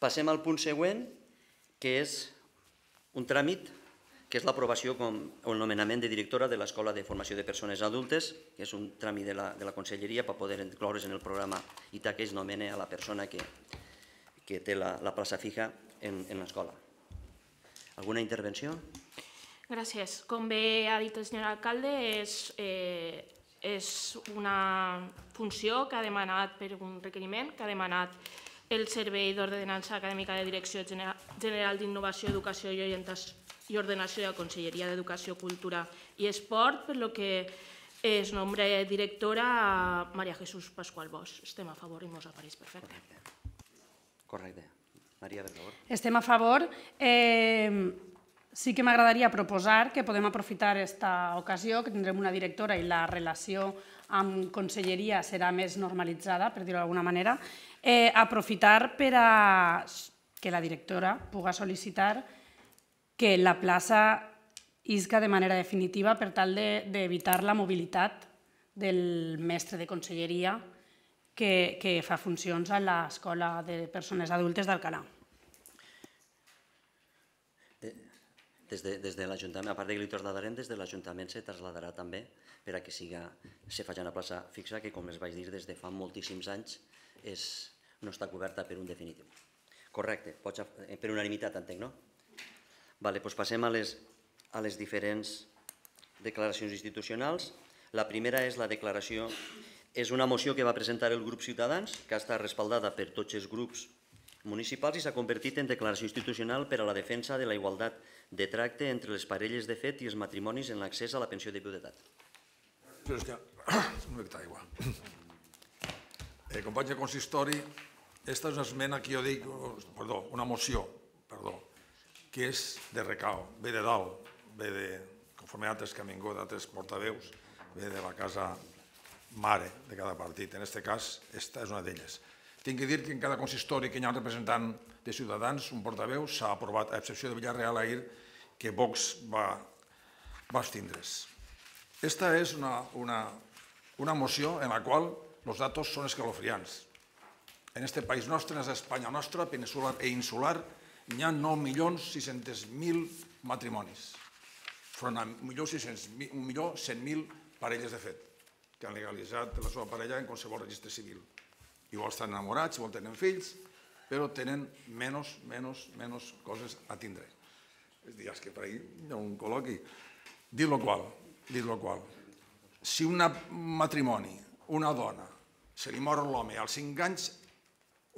Passem al punt següent, que és un tràmit, que és l'aprovació o el nomenament de directora de l'Escola de Formació de Persones Adultes, que és un tràmit de la, de la Conselleria per poder incloure's en el programa I T A que es nomena a la persona que, que té la, la plaça fija en, en l'escola. Alguna intervenció? Gràcies. Com bé ha dit el senyor alcalde, és, eh, és una funció que ha demanat per un requeriment, que ha demanat el Servei d'Ordenança Acadèmica de Direcció General d'Innovació, Educació i Orientació i Ordenació de la Conselleria d'Educació, Cultura i Esport, per lo que es nombra directora a Maria Jesús Pascual Bosch. Estem a favor i ens apareix perfecte. Correcte. Maria, per favor. Estem a favor. Eh, sí que m'agradaria proposar que podem aprofitar aquesta ocasió, que tindrem una directora i la relació amb conselleria serà més normalitzada, per dir-ho d'alguna manera, eh, aprofitar per a que la directora pugui sol·licitar que la plaça isca de manera definitiva per tal d'evitar la mobilitat del mestre de conselleria que, que fa funcions a l'Escola de Persones Adultes d'Alcalà. Des de, des de l'Ajuntament, a part de que li trasladarem, des de l'Ajuntament se traslladarà també per a que siga, se faci una plaça fixa que, com els vaig dir, des de fa moltíssims anys és, no està coberta per un definitiu. Correcte, pots, per unanimitat entenc, no? Vale, doncs passem a les, a les diferents declaracions institucionals. La primera és la declaració, és una moció que va presentar el grup Ciutadans, que ha estat respaldada per tots els grups municipals i s'ha convertit en declaració institucional per a la defensa de la igualtat de tracte entre les parelles de fet i els matrimonis en l'accés a la pensió de viudetat. Però és que... un mica d'aigua. Eh, companys de consistori, aquesta és una esmena que jo dic, perdó, una moció, perdó, que és de recau, ve de dalt, ve de, conforme altres que han vingut, altres portaveus, ve de la casa mare de cada partit. En aquest cas, aquesta és una d'elles. Tinc que dir que en cada consistori que hi ha un representant de Ciutadans, un portaveu, s'ha aprovat, a excepció de Villarreal ahir, que Vox va, va abstindre's. Aquesta és una, una, una moció en la qual els datos són escalofriants. En este país nostre, en Espanya nostra, peninsular e insular, hi ha nou milions sis-cents mil matrimonis, front a un milió cent mil parelles de fet, que han legalitzat la seva parella en qualsevol registre civil. Igual estan enamorats, igual tenen fills, però tenen menys, menys, menys coses a tindre. És dir, és que per ahí hi ha un col·loqui. Dit lo qual, dit lo qual, si un matrimoni, una dona, se li mor l'home als cinc anys,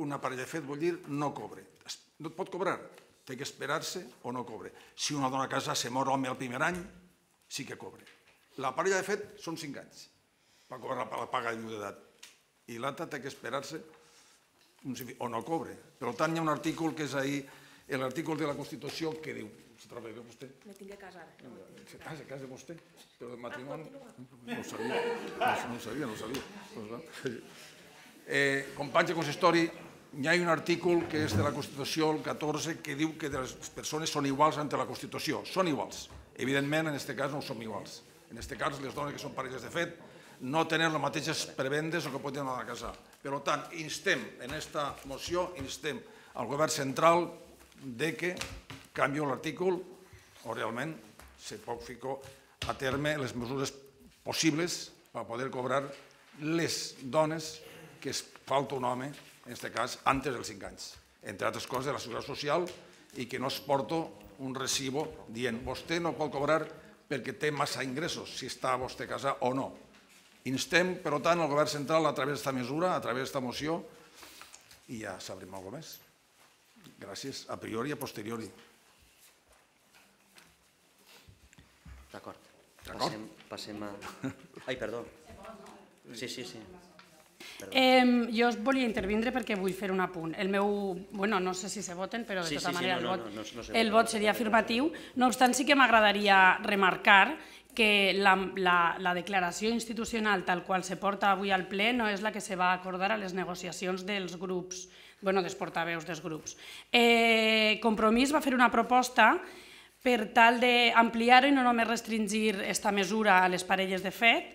una parella de fet vol dir no cobre. No et pot cobrar, té que esperar-se o no cobre. Si una dona casada se mor l'home el primer any, sí que cobre. La parella de fet són cinc anys per cobrar la paga de viudetat. I l'altra té que esperar-se o no cobre. Per tant, hi ha un article que és ahir, l'article de la Constitució que diu, se troba bé vostè? Me tinc que casar. Se casa, se casa vostè? Però el matrimoni... No ho sabia, no ho sabia, no ho sabia. Companys de consistori, hi ha un article que és de la Constitució, el catorze, que diu que les persones són iguals ante la Constitució. Són iguals. Evidentment, en aquest cas no som iguals. En aquest cas, les dones que són parelles de fet no tenen les mateixes prebendes o que poden anar a casar. Per tant, instem, en aquesta moció, instem al govern central de que canvi l'article o realment se pot ficar a terme les mesures possibles per poder cobrar les dones que es falta un home, en aquest cas, antes dels cinc anys. Entre altres coses, de la Seguretat Social i que no es porta un recibo dient vostè no pot cobrar perquè té massa ingressos, si està vostè casat o no. Instem, per tant, el govern central a través d'esta mesura, a través d'esta moció, i ja sabrem alguna cosa més. Gràcies, a priori i a posteriori. D'acord. Passem a... Ai, perdó. Sí, sí, sí. Jo volia intervindre perquè vull fer un apunt. El meu... Bueno, no sé si se voten, però de tota manera el vot seria afirmatiu. No obstant, sí que m'agradaria remarcar que la declaració institucional tal qual se porta avui al ple no és la que se va acordar a les negociacions dels grups, bueno, dels portaveus dels grups. Compromís va fer una proposta per tal d'ampliar-ho i no només restringir aquesta mesura a les parelles de fet.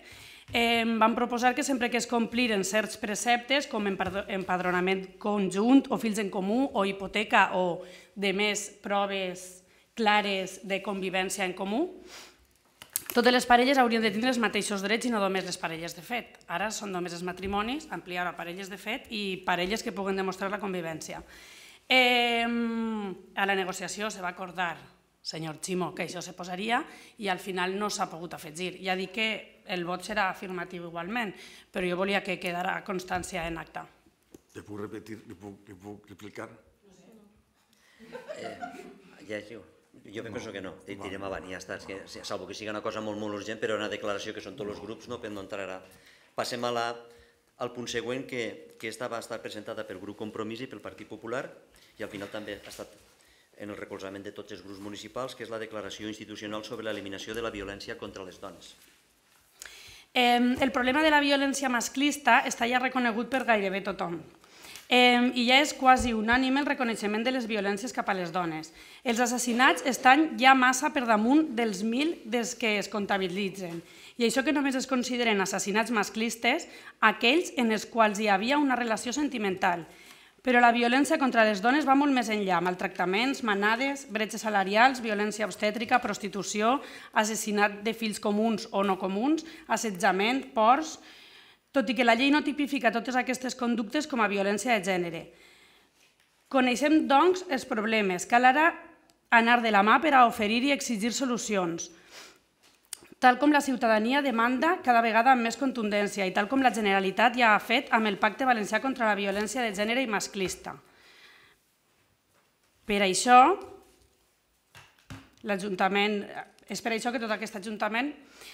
Vam proposar que sempre que es compliren certs preceptes, com empadronament conjunt o fills en comú o hipoteca o de més proves clares de convivència en comú, totes les parelles haurien de tindre els mateixos drets i no només les parelles de fet. Ara són només els matrimonis, ampliar a parelles de fet i parelles que puguen demostrar la convivència. A la negociació se va acordar, senyor Ximo, que això se posaria i al final no s'ha pogut afegir. Ja dic que el vot serà afirmatiu igualment, però jo volia que quedara constància en acta. Li puc repetir, li puc replicar? Ja és jo. Jo penso que no, direm avant i ja està, salvo que sigui una cosa molt, molt urgent, però una declaració que són tots els grups, no entrarà. Passem al punt següent, que esta va estar presentada pel grup Compromís i pel Partit Popular, i al final també ha estat en el recolzament de tots els grups municipals, que és la declaració institucional sobre l'eliminació de la violència contra les dones. El problema de la violència masclista està ja reconegut per gairebé tothom. I ja és quasi unànime el reconeixement de les violències cap a les dones. Els assassinats estan ja massa per damunt dels mil des que es comptabilitzen. I això que només es consideren assassinats masclistes aquells en els quals hi havia una relació sentimental. Però la violència contra les dones va molt més enllà, maltractaments, manades, bretxes salarials, violència obstètrica, prostitució, assassinat de fills comuns o no comuns, assetjament, ports... Tot i que la llei no tipifica totes aquestes conductes com a violència de gènere. Coneixem, doncs, els problemes. Cal ara anar de la mà per a oferir i exigir solucions, tal com la ciutadania demanda cada vegada amb més contundència i tal com la Generalitat ja ha fet amb el Pacte Valencià contra la Violència de Gènere i Masclista. Per això, l'Ajuntament... És per això que tot aquest Ajuntament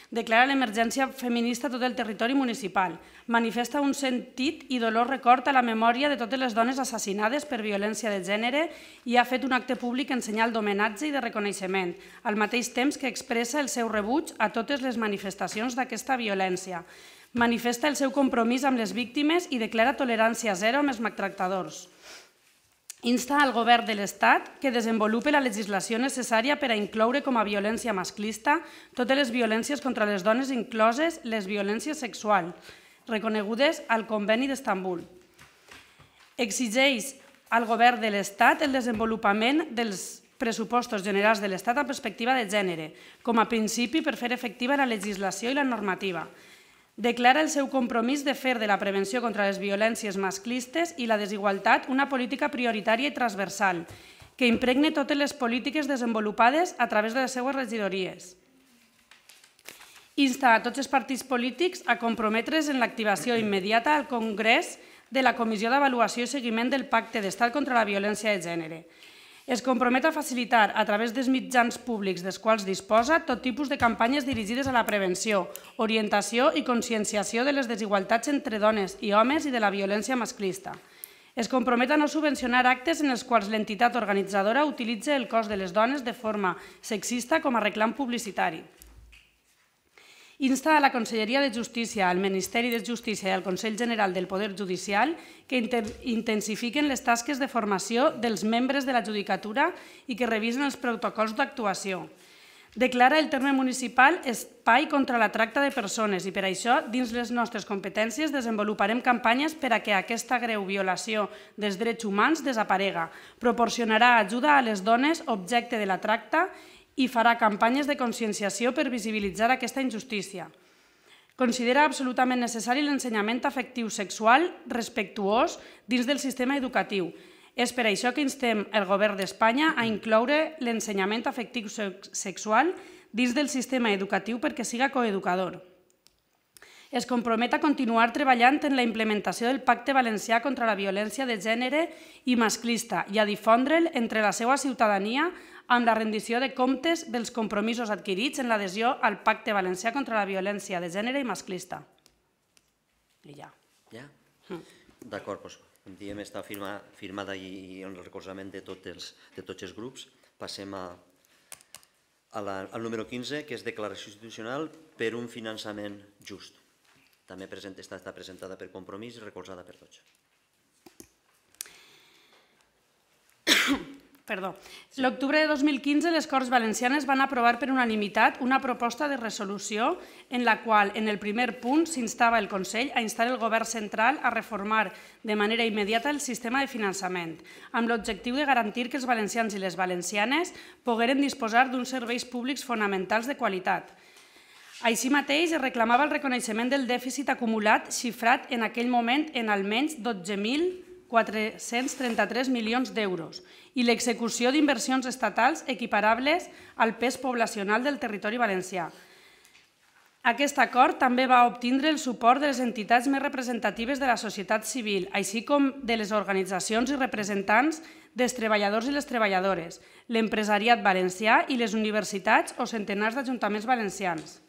declara l'emergència feminista a tot el territori municipal, manifesta un sentit i dolor record a la memòria de totes les dones assassinades per violència de gènere i ha fet un acte públic en senyal d'homenatge i de reconeixement, al mateix temps que expressa el seu rebuig a totes les manifestacions d'aquesta violència. Manifesta el seu compromís amb les víctimes i declara tolerància zero amb els maltractadors. Insta al Govern de l'Estat que desenvolupi la legislació necessària per a incloure com a violència masclista totes les violències contra les dones, incloses les violències sexuals, reconegudes al Conveni d'Estambul. Exigeix al Govern de l'Estat el desenvolupament dels pressupostos generals de l'Estat amb perspectiva de gènere, com a principi per fer efectiva la legislació i la normativa. Declara el seu compromís de fer de la prevenció contra les violències masclistes i la desigualtat una política prioritària i transversal, que impregne totes les polítiques desenvolupades a través de les seues regidories. Insta a tots els partits polítics a comprometre's en l'activació immediata al Congrés de la Comissió d'Avaluació i Seguiment del Pacte d'Estat contra la Violència de Gènere. Es compromet a facilitar, a través dels mitjans públics dels quals disposa, tot tipus de campanyes dirigides a la prevenció, orientació i conscienciació de les desigualtats entre dones i homes i de la violència masclista. Es compromet a no subvencionar actes en els quals l'entitat organitzadora utilitza el cos de les dones de forma sexista com a reclam publicitari. Insta a la Conselleria de Justícia, al Ministeri de Justícia i al Consell General del Poder Judicial que intensifiquen les tasques de formació dels membres de la Judicatura i que revisen els protocols d'actuació. Declara el terme municipal espai contra la tracta de persones i per això, dins les nostres competències, desenvoluparem campanyes per a que aquesta greu violació dels drets humans desaparega. Proporcionarà ajuda a les dones objecte de la tracta i farà campanyes de conscienciació per visibilitzar aquesta injustícia. Considera absolutament necessari l'ensenyament afectiu sexual respectuós dins del sistema educatiu. És per això que instem el Govern d'Espanya a incloure l'ensenyament afectiu sexual dins del sistema educatiu perquè siga coeducador. Es compromet a continuar treballant en la implementació del Pacte Valencià contra la Violència de Gènere i Masclista i a difondre'l entre la seva ciutadania amb la rendició de comptes dels compromisos adquirits en l'adhesió al Pacte Valencià contra la Violència de Gènere i Masclista. I ja. Ja? D'acord, doncs, com diem, està firmada i el recolzament de tots els grups. Passem al número quinze, que és declaració institucional per un finançament just. També està presentada per Compromís i recolzada per tots. Perdó. L'octubre de dos mil quinze, les Corts Valencianes van aprovar per unanimitat una proposta de resolució en la qual, en el primer punt, s'instava el Consell a instar el Govern central a reformar de manera immediata el sistema de finançament, amb l'objectiu de garantir que els valencians i les valencianes pogueren disposar d'uns serveis públics fonamentals de qualitat. Així mateix, es reclamava el reconeixement del dèficit acumulat xifrat en aquell moment en almenys dotze mil quatre-cents trenta-tres milions d'euros i l'execució d'inversions estatals equiparables al pes poblacional del territori valencià. Aquest acord també va obtindre el suport de les entitats més representatives de la societat civil, així com de les organitzacions i representants dels treballadors i les treballadores, l'empresariat valencià i les universitats o centenars d'ajuntaments valencians.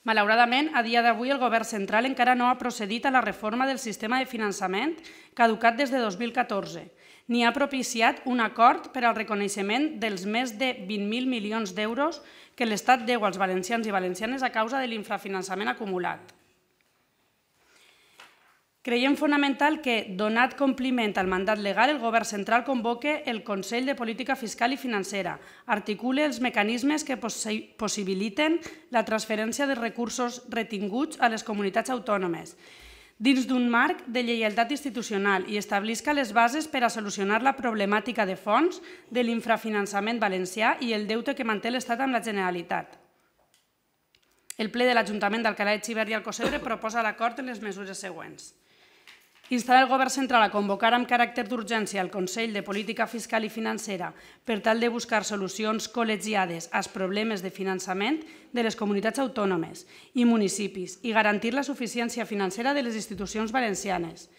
Malauradament, a dia d'avui el Govern central encara no ha procedit a la reforma del sistema de finançament caducat des de dos mil catorze, ni ha propiciat un acord per al reconeixement dels més de vint mil milions d'euros que l'Estat deu als valencians i valencianes a causa de l'infrafinançament acumulat. Creiem fonamental que, donat compliment al mandat legal, el Govern central convoque el Consell de Política Fiscal i Financera, articule els mecanismes que possibiliten la transferència de recursos retinguts a les comunitats autònomes, dins d'un marc de lleialtat institucional i establisca les bases per a solucionar la problemàtica de fons de l'infrafinançament valencià i el deute que manté l'Estat amb la Generalitat. El ple de l'Ajuntament d'Alcalà de Xivert i Alcossebre proposa l'acord en les mesures següents. Instar el Govern central a convocar amb caràcter d'urgència el Consell de Política Fiscal i Financera per tal de buscar solucions col·legiades als problemes de finançament de les comunitats autònomes i municipis i garantir la suficiència financera de les institucions valencianes.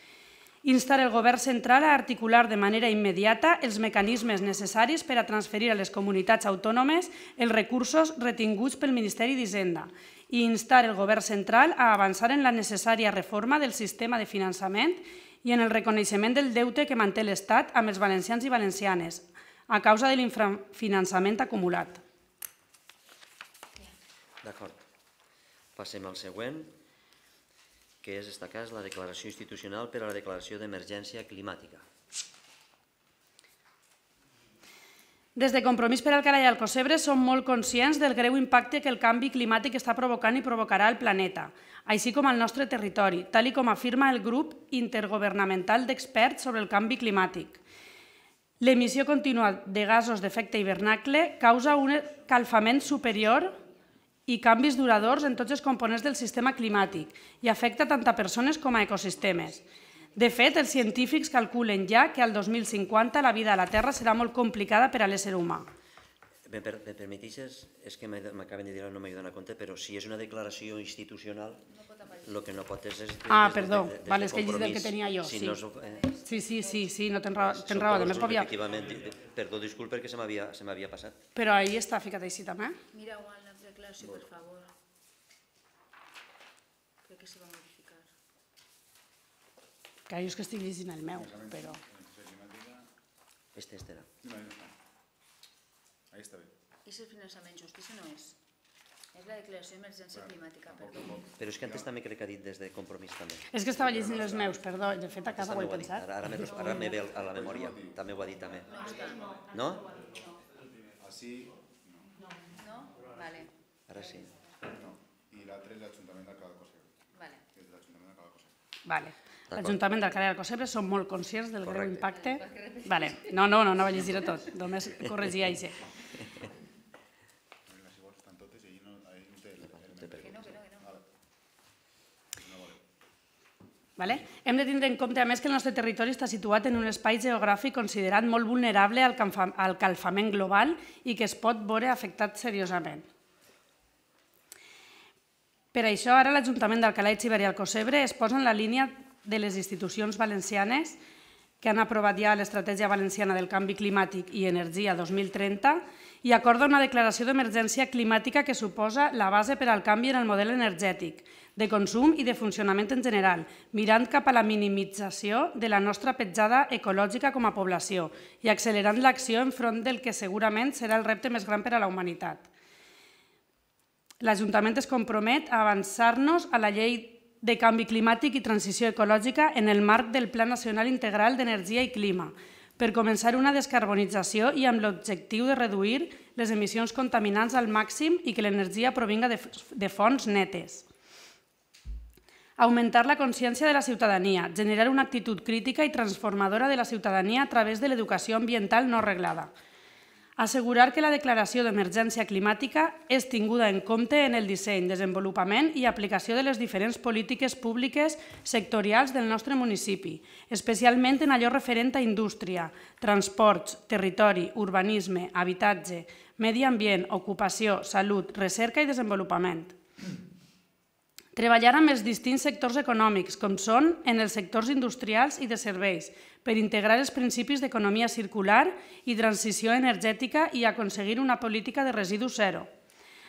Instar el Govern central a articular de manera immediata els mecanismes necessaris per a transferir a les comunitats autònomes els recursos retinguts pel Ministeri d'Hisenda i instar el Govern central a avançar en la necessària reforma del sistema de finançament i en el reconeixement del deute que manté l'Estat amb els valencians i valencianes a causa de l'infrafinançament acumulat. D'acord. Passem al següent, que és, en aquest cas, la declaració institucional per a la declaració d'emergència climàtica. Des de Compromís per Alcalà i Alcocebre som molt conscients del greu impacte que el canvi climàtic està provocant i provocarà al planeta, així com al nostre territori, tal com afirma el grup intergovernamental d'experts sobre el canvi climàtic. L'emissió contínua de gasos d'efecte hivernacle causa un escalfament superior i canvis duradors en tots els components del sistema climàtic i afecta tant a persones com a ecosistemes. De fet, els científics calculen ja que al dos mil cinquanta la vida a la Terra serà molt complicada per a l'ésser humà. Me permetixes, és que m'acaben de dir, no m'he donat compte, però si és una declaració institucional, el que no pot és... Ah, perdó, és que he llegit el que tenia jo. Sí, sí, sí, sí, no tens raó. Efectivament, perdó, disculpa, perquè se m'havia passat. Però ahí està ficat així també. Mira, Juan, la declaració, per favor. Crec que se va modificar. Que jo és que estic llegint el meu, però... Este, este era. Ahí està bé. És el finançament justícia, no és? És la declaració d'emergència climàtica, perdó. Però és que antes també crec que ha dit des de Compromís també. És que estava llegint els meus, perdó, de fet a casa ho he pensat. Ara me ve a la memòria, també ho ha dit també. No? Així, no. No? Vale. Ara sí. No. I l'altre és l'Ajuntament d'Alcalà de Cocebre. Vale. És l'Ajuntament d'Alcalà de Cocebre. Vale. L'Ajuntament d'Alcalà de Cocebre som molt conscients del greu impacte. Vale. No, no, no, no va llegir tot, només corregia això. Vale? Hem de tindre en compte, a més, que el nostre territori està situat en un espai geogràfic considerat molt vulnerable al calfament global i que es pot veure afectat seriosament. Per això, ara l'Ajuntament d'Alcalà de Xivert i Alcocebre es posa en la línia de les institucions valencianes que han aprovat ja l'Estratègia Valenciana del Canvi Climàtic i Energia dos mil trenta i acorda una declaració d'emergència climàtica que suposa la base per al canvi en el model energètic, de consum i de funcionament en general, mirant cap a la minimització de la nostra petjada ecològica com a població i accelerant l'acció enfront del que segurament serà el repte més gran per a la humanitat. L'Ajuntament es compromet a avançar-nos a la llei de canvi climàtic i transició ecològica en el marc del Pla Nacional Integral d'Energia i Clima, per començar una descarbonització i amb l'objectiu de reduir les emissions contaminants al màxim i que l'energia provinga de fonts netes. Augmentar la consciència de la ciutadania, generar una actitud crítica i transformadora de la ciutadania a través de l'educació ambiental no reglada. Assegurar que la declaració d'emergència climàtica és tinguda en compte en el disseny, desenvolupament i aplicació de les diferents polítiques públiques sectorials del nostre municipi, especialment en allò referent a indústria, transports, territori, urbanisme, habitatge, medi ambient, ocupació, salut, recerca i desenvolupament. Treballar amb els distints sectors econòmics, com són en els sectors industrials i de serveis, per integrar els principis d'economia circular i transició energètica i aconseguir una política de residus zero.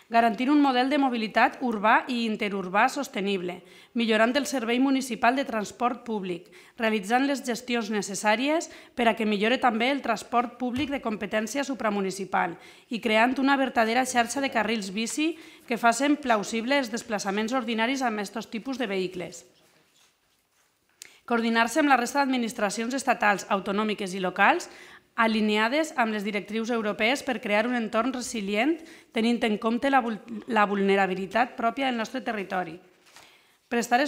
Garantir un model de mobilitat urbà i interurbà sostenible, millorant el servei municipal de transport públic, realitzant les gestions necessàries per a que millore també el transport públic de competència supramunicipal i creant una vertadera xarxa de carrils bici que facin plausibles els desplaçaments ordinaris amb aquests tipus de vehicles. Coordinar-se amb la resta d'administracions estatals, autonòmiques i locals alineades amb les directrius europees per crear un entorn resilient tenint en compte la vulnerabilitat pròpia del nostre territori. Prestar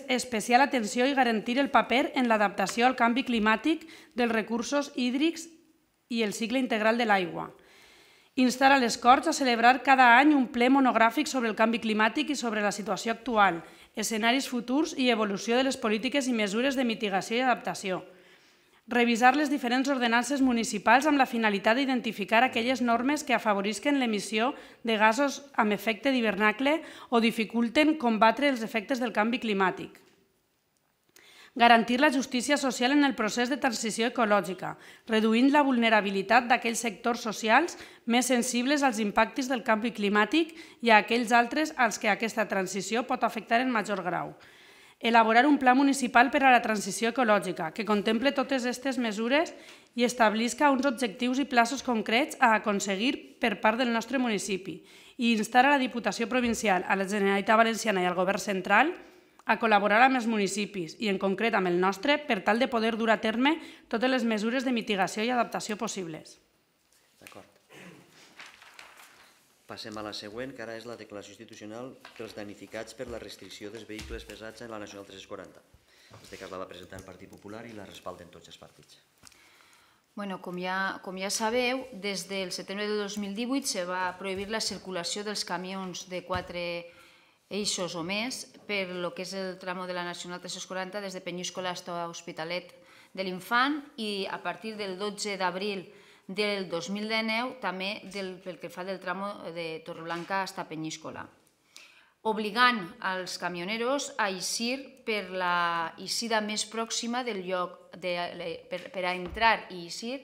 especial atenció i garantir el paper en l'adaptació al canvi climàtic dels recursos hídrics i el cicle integral de l'aigua. Instar a les Corts a celebrar cada any un ple monogràfic sobre el canvi climàtic i sobre la situació actual, escenaris futurs i evolució de les polítiques i mesures de mitigació i adaptació. Revisar les diferents ordenances municipals amb la finalitat d'identificar aquelles normes que afavorisquen l'emissió de gasos amb efecte d'hivernacle o dificulten combatre els efectes del canvi climàtic. Garantir la justícia social en el procés de transició ecològica, reduint la vulnerabilitat d'aquells sectors socials més sensibles als impactes del canvi climàtic i a aquells altres als que aquesta transició pot afectar en major grau. Elaborar un pla municipal per a la transició ecològica que contemple totes aquestes mesures i establisca uns objectius i plaços concrets a aconseguir per part del nostre municipi i instar a la Diputació Provincial, a la Generalitat Valenciana i al Govern Central a col·laborar amb els municipis i en concret amb el nostre per tal de poder dur a terme totes les mesures de mitigació i adaptació possibles. D'acord. Passem a la següent, que ara és la declaració institucional pels damnificats per la restricció dels vehicles pesats en la Nacional tres-cents quaranta. En aquest cas la va presentar el Partit Popular i la respalden tots els partits. Bueno, com ja, com ja sabeu, des del setembre de dos mil divuit se va prohibir la circulació dels camions de quatre eixos o més per lo que és el tramo de la Nacional tres-cents quaranta des de Penyíscola fins a Hospitalet de l'Infant i a partir del dotze d'abril del dos mil dinou també del, pel que fa del tramo de Torreblanca fins a Penyíscola, obligant als camioneros a eixir per la eixida més pròxima del lloc, de, per, per a entrar i eixir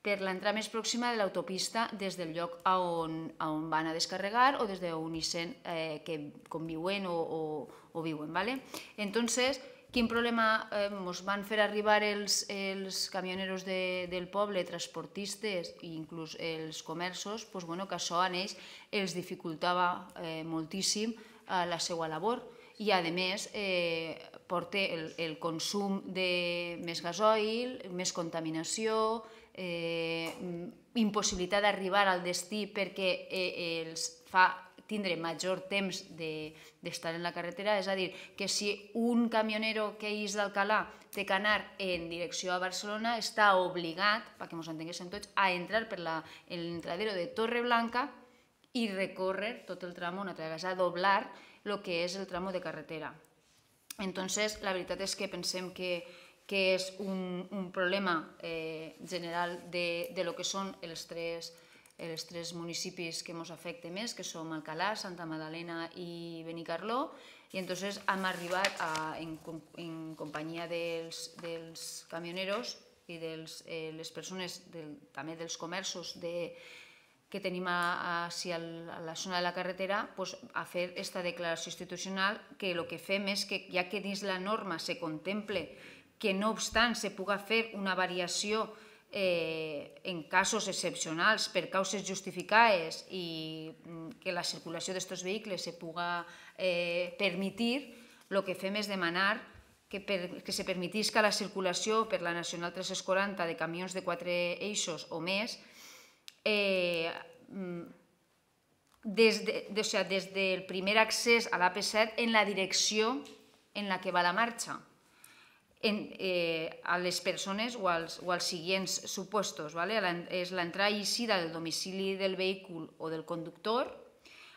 per l'entrada més pròxima de l'autopista des del lloc on, on van a descarregar o des d'on eixen eh, que conviuen o, o, o viuen. ¿vale? Entonces, quin problema eh, ens van fer arribar els, els camioneros de, del poble, transportistes i inclús els comerços, pues, bueno, que això a ells els dificultava eh, moltíssim eh, la seva labor i a més eh, porta el, el consum de més gasoil, més contaminació, eh, impossibilitat d'arribar al destí perquè eh, els fa tindre major temps d'estar en la carretera, és a dir, que si un camionero que és d'Alcalà té que anar en direcció a Barcelona, està obligat, perquè ens entenguéssim tots, a entrar per l'entradero de Torreblanca i recórrer tot el tramo una altra vegada, a doblar el que és el tramo de carretera. Entonces, la veritat és que pensem que, que és un, un problema eh, general de, de lo que són els tres els tres municipis que ens afecten més, que són Alcalà, Santa Magdalena i Benicarló, i entonces hem arribat a, en, en companyia dels, dels camioneros i de eh, les persones, del, també dels comerços de, que tenim a, a, a la zona de la carretera, pues, a fer aquesta declaració institucional que el que fem és que, ja que dins la norma se contemple que no obstant se puga fer una variació Eh, en casos excepcionals per causes justificades i que la circulació d'aquests vehicles se puga eh, permitir, el que fem és demanar que, per, que se permetisca la circulació per la Nacional tres-cents quaranta de camions de quatre eixos o més eh, des, de, de, o sea, des del primer accés a l'A P set en la direcció en la que va la marxa. En, eh, a les persones o als, o als següents supostos. ¿vale? És l'entrada i eixida del domicili del vehicle o del conductor,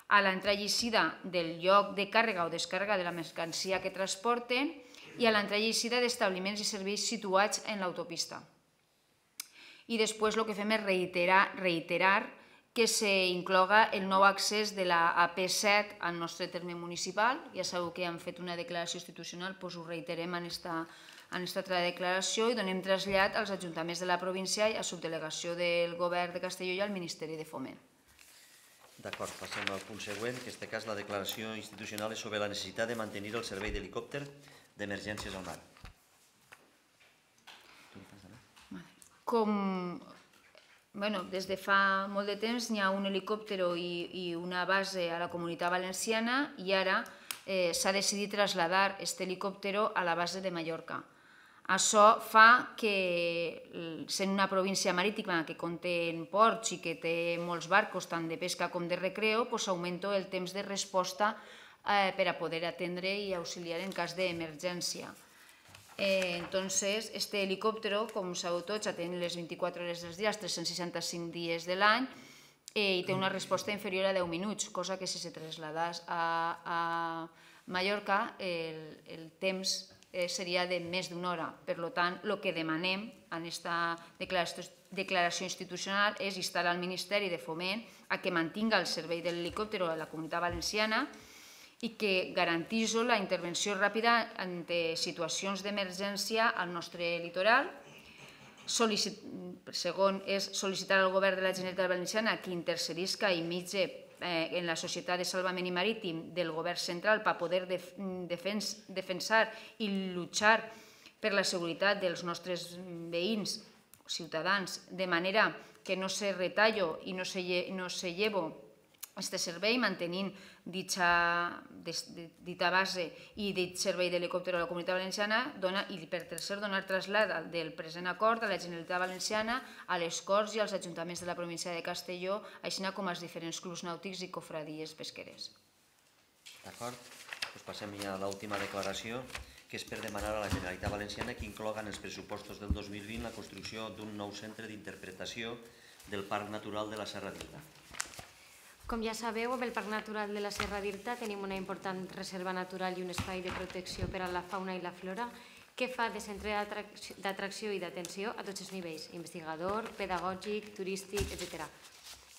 a l'entrada i eixida del lloc de càrrega o descàrrega de la mercancia que transporten i a l'entrada i eixida d'establiments i serveis situats en l'autopista. I després el que fem és reiterar, reiterar que s'incloga el nou accés de la A P set al nostre terme municipal. Ja sabeu que hem fet una declaració institucional, doncs ho reiterem en aquesta en aquesta altra declaració i donem trasllat als ajuntaments de la província i a subdelegació del govern de Castelló i al Ministeri de Foment. D'acord, passem al punt següent, que en aquest cas la declaració institucional és sobre la necessitat de mantenir el servei d'helicòpter d'emergències al mar. Com bueno, des de fa molt de temps hi ha un helicòpter i, i una base a la Comunitat Valenciana i ara eh, s'ha decidit traslladar aquest helicòpter a la base de Mallorca. Això fa que, sent una província marítima que conté ports i que té molts barcos, tant de pesca com de recreo, s'augmenta el temps de resposta per a poder atendre i auxiliar en cas d'emergència. Entonces, este helicòptero, com sabeu tots, atén les vint-i-quatre hores dels dies, tres-cents seixanta-cinc dies de l'any, i té una resposta inferior a deu minuts, cosa que si se traslladés a Mallorca el temps seria de més d'una hora. Per tant, el que demanem en aquesta declaració institucional és instar al Ministeri de Foment a que mantinga el servei de l'helicòpter a la Comunitat Valenciana i que garantís la intervenció ràpida en situacions d'emergència al nostre litoral. Segon, és sol·licitar al Govern de la Generalitat Valenciana que intercedisca i mitja en la Societat de Salvament i Marítim del Govern Central per poder defensar i lluitar per la seguretat dels nostres veïns, ciutadans, de manera que no se retallo i no se llevo este servei, mantenint dicha, dita base i dit servei d'helicòpter a la Comunitat Valenciana, dona, i per tercer donar trasllat del present acord a la Generalitat Valenciana, a les Corts i als ajuntaments de la província de Castelló, així com als diferents clubs nàutics i cofradies pesqueres. D'acord? Doncs passem ja a l'última declaració, que és per demanar a la Generalitat Valenciana que incloga en els pressupostos del dos mil vint la construcció d'un nou centre d'interpretació del Parc Natural de la Serra d'Irta. Com ja sabeu, amb el Parc Natural de la Serra d'Irta tenim una important reserva natural i un espai de protecció per a la fauna i la flora que fa de centre d'atracció i d'atenció a tots els nivells, investigador, pedagògic, turístic, etcètera.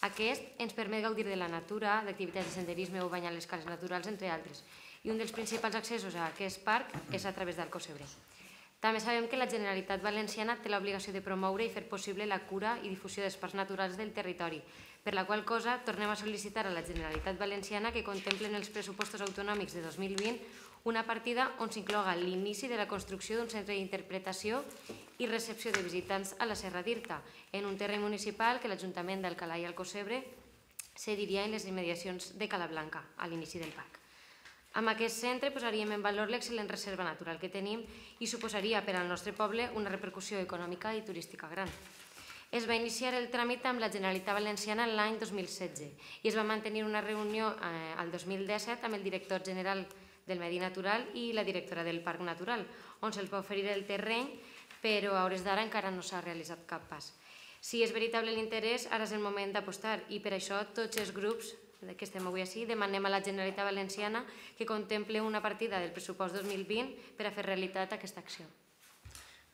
Aquest ens permet gaudir de la natura, d'activitats de senderisme o banyar les cales naturals, entre altres. I un dels principals accessos a aquest parc és a través del Cocebre. També sabem que la Generalitat Valenciana té l'obligació de promoure i fer possible la cura i difusió dels parcs naturals del territori, per la qual cosa tornem a sol·licitar a la Generalitat Valenciana que contemple en els pressupostos autonòmics de dos mil vint una partida on s'incloga l'inici de la construcció d'un centre d'interpretació i recepció de visitants a la Serra d'Irta, en un terreny municipal que l'Ajuntament d'Alcalà i Alcocebre cediria en les immediacions de Calablanca, a l'inici del parc. Amb aquest centre posaríem en valor l'excel·lent reserva natural que tenim i suposaria per al nostre poble una repercussió econòmica i turística gran. Es va iniciar el tràmit amb la Generalitat Valenciana l'any dos mil setze i es va mantenir una reunió al dos mil disset amb el director general del Medi Natural i la directora del Parc Natural, on se'ls va oferir el terreny, però a hores d'ara encara no s'ha realitzat cap pas. Si és veritable l'interès, ara és el moment d'apostar i per això tots els grups que estem avui així, demanem a la Generalitat Valenciana que contemple una partida del pressupost dos mil vint per a fer realitat aquesta acció.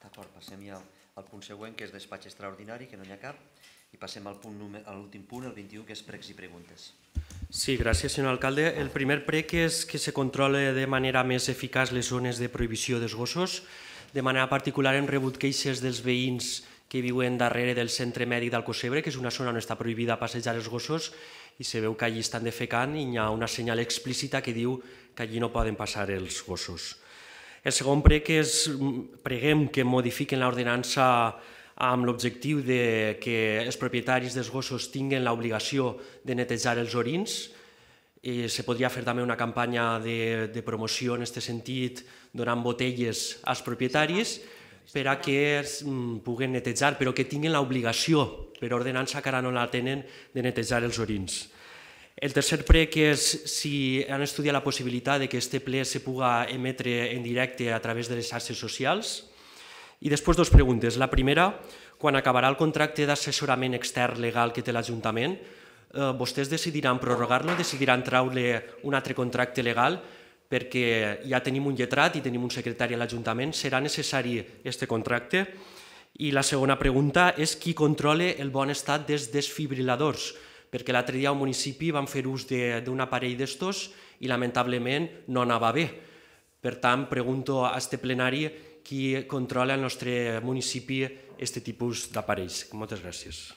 D'acord, passem ja al punt següent, que és despatx extraordinari, que no n'hi ha cap, i passem al l'últim punt, el vint-i-u, que és pregs i preguntes. Sí, gràcies, senyor alcalde. El primer prec és que se controle de manera més eficaç les zones de prohibició dels gossos. De manera particular hem rebut queixes dels veïns que viuen darrere del centre mèdic d'Alcocebre, que és una zona on està prohibida passejar els gossos, i se veu que allí estan defecant i hi ha una senyal explícita que diu que allí no poden passar els gossos. El segon prec és, preguem que modifiquen l'ordenança amb l'objectiu que els propietaris dels gossos tinguin l'obligació de netejar els orins. Se podria fer també una campanya de promoció en aquest sentit, donant botelles als propietaris per a que es puguen netejar, però que tinguin l'obligació, per ordenança que ara no la tenen, de netejar els orins. El tercer prec és si han estudiat la possibilitat que aquest ple se pugui emetre en directe a través de les xarxes socials. I després dues preguntes. La primera, quan acabarà el contracte d'assessorament extern legal que té l'Ajuntament, vostès decidiran prorrogar-lo, decidiran treure un altre contracte legal, perquè ja tenim un lletrat i tenim un secretari a l'Ajuntament. Serà necessari aquest contracte? I la segona pregunta és qui controla el bon estat dels desfibriladors, perquè l'altre dia al municipi van fer ús d'un aparell d'estos i lamentablement no anava bé. Per tant, pregunto a este plenari qui controla al nostre municipi aquest tipus d'aparells. Moltes gràcies.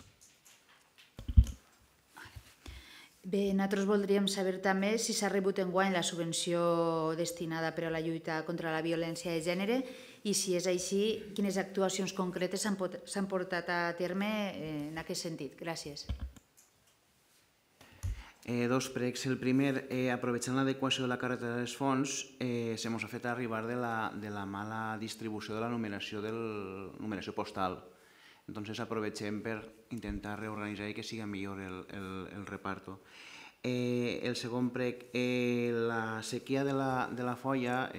Bé, nosaltres voldríem saber també si s'ha rebut enguany la subvenció destinada per a la lluita contra la violència de gènere i si és així, quines actuacions concretes s'han portat a terme en aquest sentit. Gràcies. Dos pregs. El primer, aprovechant l'adequació de la carretera dels fons, se mos ha fet arribar de la mala distribució de la numeració postal. Entonces aprovechem per intentar reorganitzar i que siga millor el reparto. El segon prec, la sequia de la folla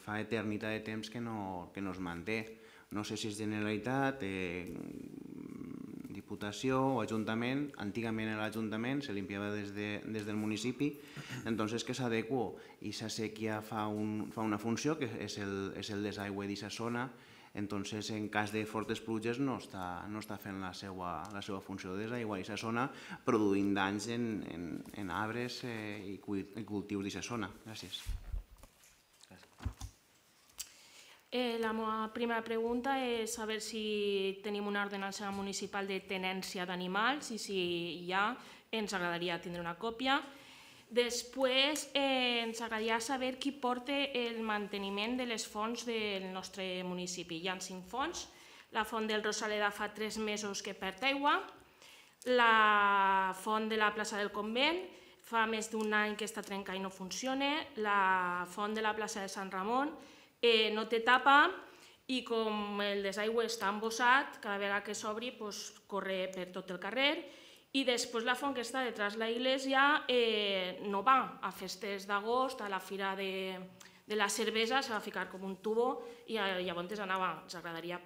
fa eternitat de temps que no es manté. No sé si és Generalitat, Diputació o Ajuntament. Antigament l'Ajuntament se limpiava des del municipi, entonces que s'adequa i la sequia fa una funció que és el desaigüe d'aquesta zona. Entonces, en cas de fortes pluges no està fent la seva funció de desaigüar aquesta zona, produint danys en arbres i cultius d'aquesta zona. Gràcies. La meva primera pregunta és saber si tenim una ordenança municipal de tenència d'animals i si hi ha, ens agradaria tindre una còpia. Després ens agradaria saber qui porta el manteniment de les fonts del nostre municipi. Hi ha cinc fonts. La font del Rosaleda fa tres mesos que perd aigua. La font de la plaça del Convent fa més d'un any que està trencada i no funciona. La font de la plaça de Sant Ramon no té tapa i com el desaigüe està embossat, cada vegada que s'obri corre per tot el carrer. I després la font que està detrás de l'església no va a festes d'agost, a la fira de la cervesa, se va ficar com un tubo i llavors anava, ens agradaria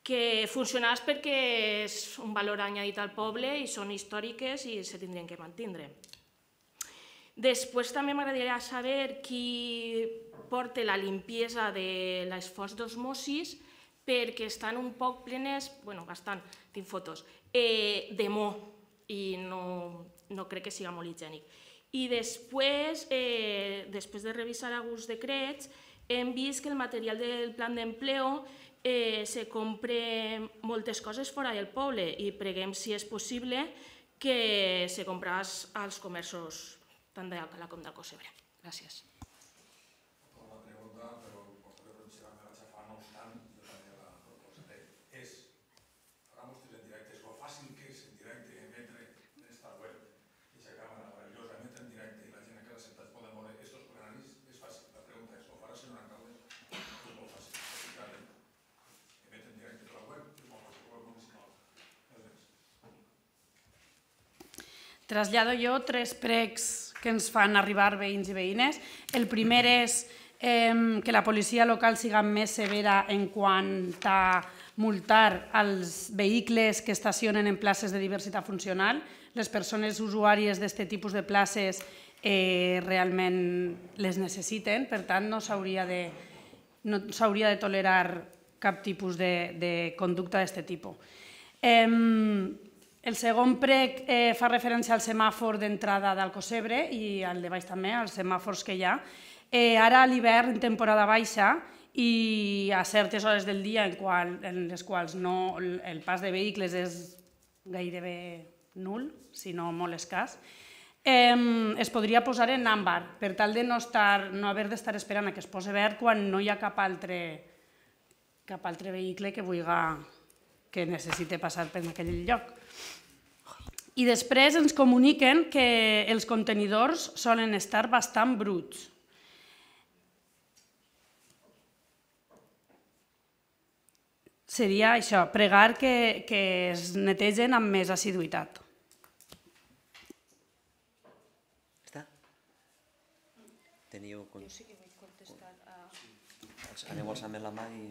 que funcionés perquè és un valor añadit al poble i són històriques i se tindrien que mantindre. Després també m'agradaria saber qui porta la limpiesa de les fonts d'osmosis perquè estan un poc plenes, bueno, bastant, tinc fotos, de mo i no crec que sigui molt higiènic. I després, després de revisar alguns decrets, hem vist que el material del plan d'empleo se compra moltes coses fora del poble i preguem si és possible que se compràs als comerços tant d'Alcalà com d'Alcocebre. Gràcies. La pregunta, però el portaveu de la xafa, no obstant, jo també la proposaré. És, farà mostres en directe, és lo fàcil que és en directe emetre en esta web, aquesta càmera meravellosa, emetre en directe i la gent que l'ha sentat poden veure estos plenaris, és fàcil. La pregunta és, ho farà senyor alcalde? És molt fàcil. Emetre en directe de la web, és molt fàcil, web municipal. Trasllado jo tres pregs que ens fan arribar veïns i veïnes. El primer és que la policia local siga més severa en quant a multar els vehicles que estacionen en places de diversitat funcional. Les persones usuàries d'aquest tipus de places realment les necessiten, per tant no s'hauria de tolerar cap tipus de conducta d'aquest tipus. El segon prec fa referència al semàfor d'entrada d'Alcocebre i al de baix també, als semàfors que hi ha. Ara a l'hivern, en temporada baixa, i a certes hores del dia en les quals el pas de vehicles és gairebé nul, si no molt escàs, es podria posar en àmbar per tal de no haver d'estar esperant que es posi verd quan no hi ha cap altre vehicle que necessiti passar per aquell lloc. I després ens comuniquen que els contenidors solen estar bastant bruts. Seria això, pregar que es netegen amb més assiduïtat. Està? Teniu... Jo sí que vull contestar a... Aneu alçant la mà i...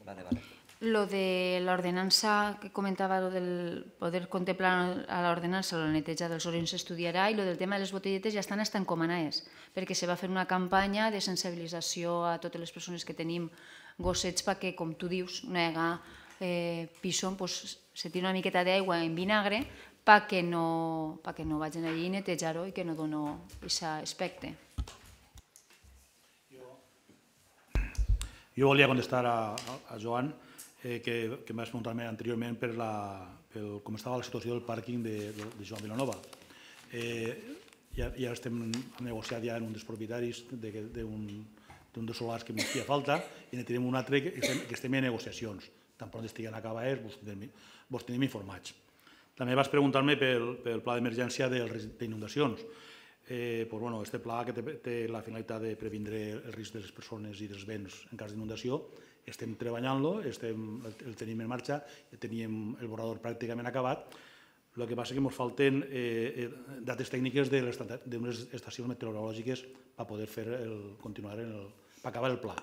Vale, vale. Lo de l'ordenança que comentava, lo del poder contemplar a l'ordenança la neteja dels orins s'estudiarà i lo del tema de les botelletes ja estan estan encomanades perquè se va fer una campanya de sensibilització a totes les persones que tenim gossets perquè, com tu dius, no hi haga pison, se tira una miqueta d'aigua en vinagre perquè no vagin allí a netejar-ho i que no doni aquest aspecte. Jo volia contestar a Joan que em vas preguntar anteriorment per com estava la situació del pàrquing de Joan Vilanova. Ja estem negociant ja amb un dels propietaris d'un dels solars que ens feia falta i ne tenim un altre que estem en negociacions. Tan pront estiguen acabades, vos tenim informats. També vas preguntar-me pel pla d'emergència d'inundacions. Aquest pla que té la finalitat de previndre el risc de les persones i dels béns en cas d'inundació, estem treballant-lo, el tenim en marxa, teníem el borrador pràcticament acabat. El que passa és que ens falten dates tècniques d'unes estacions meteorològiques per poder continuar, per acabar el pla.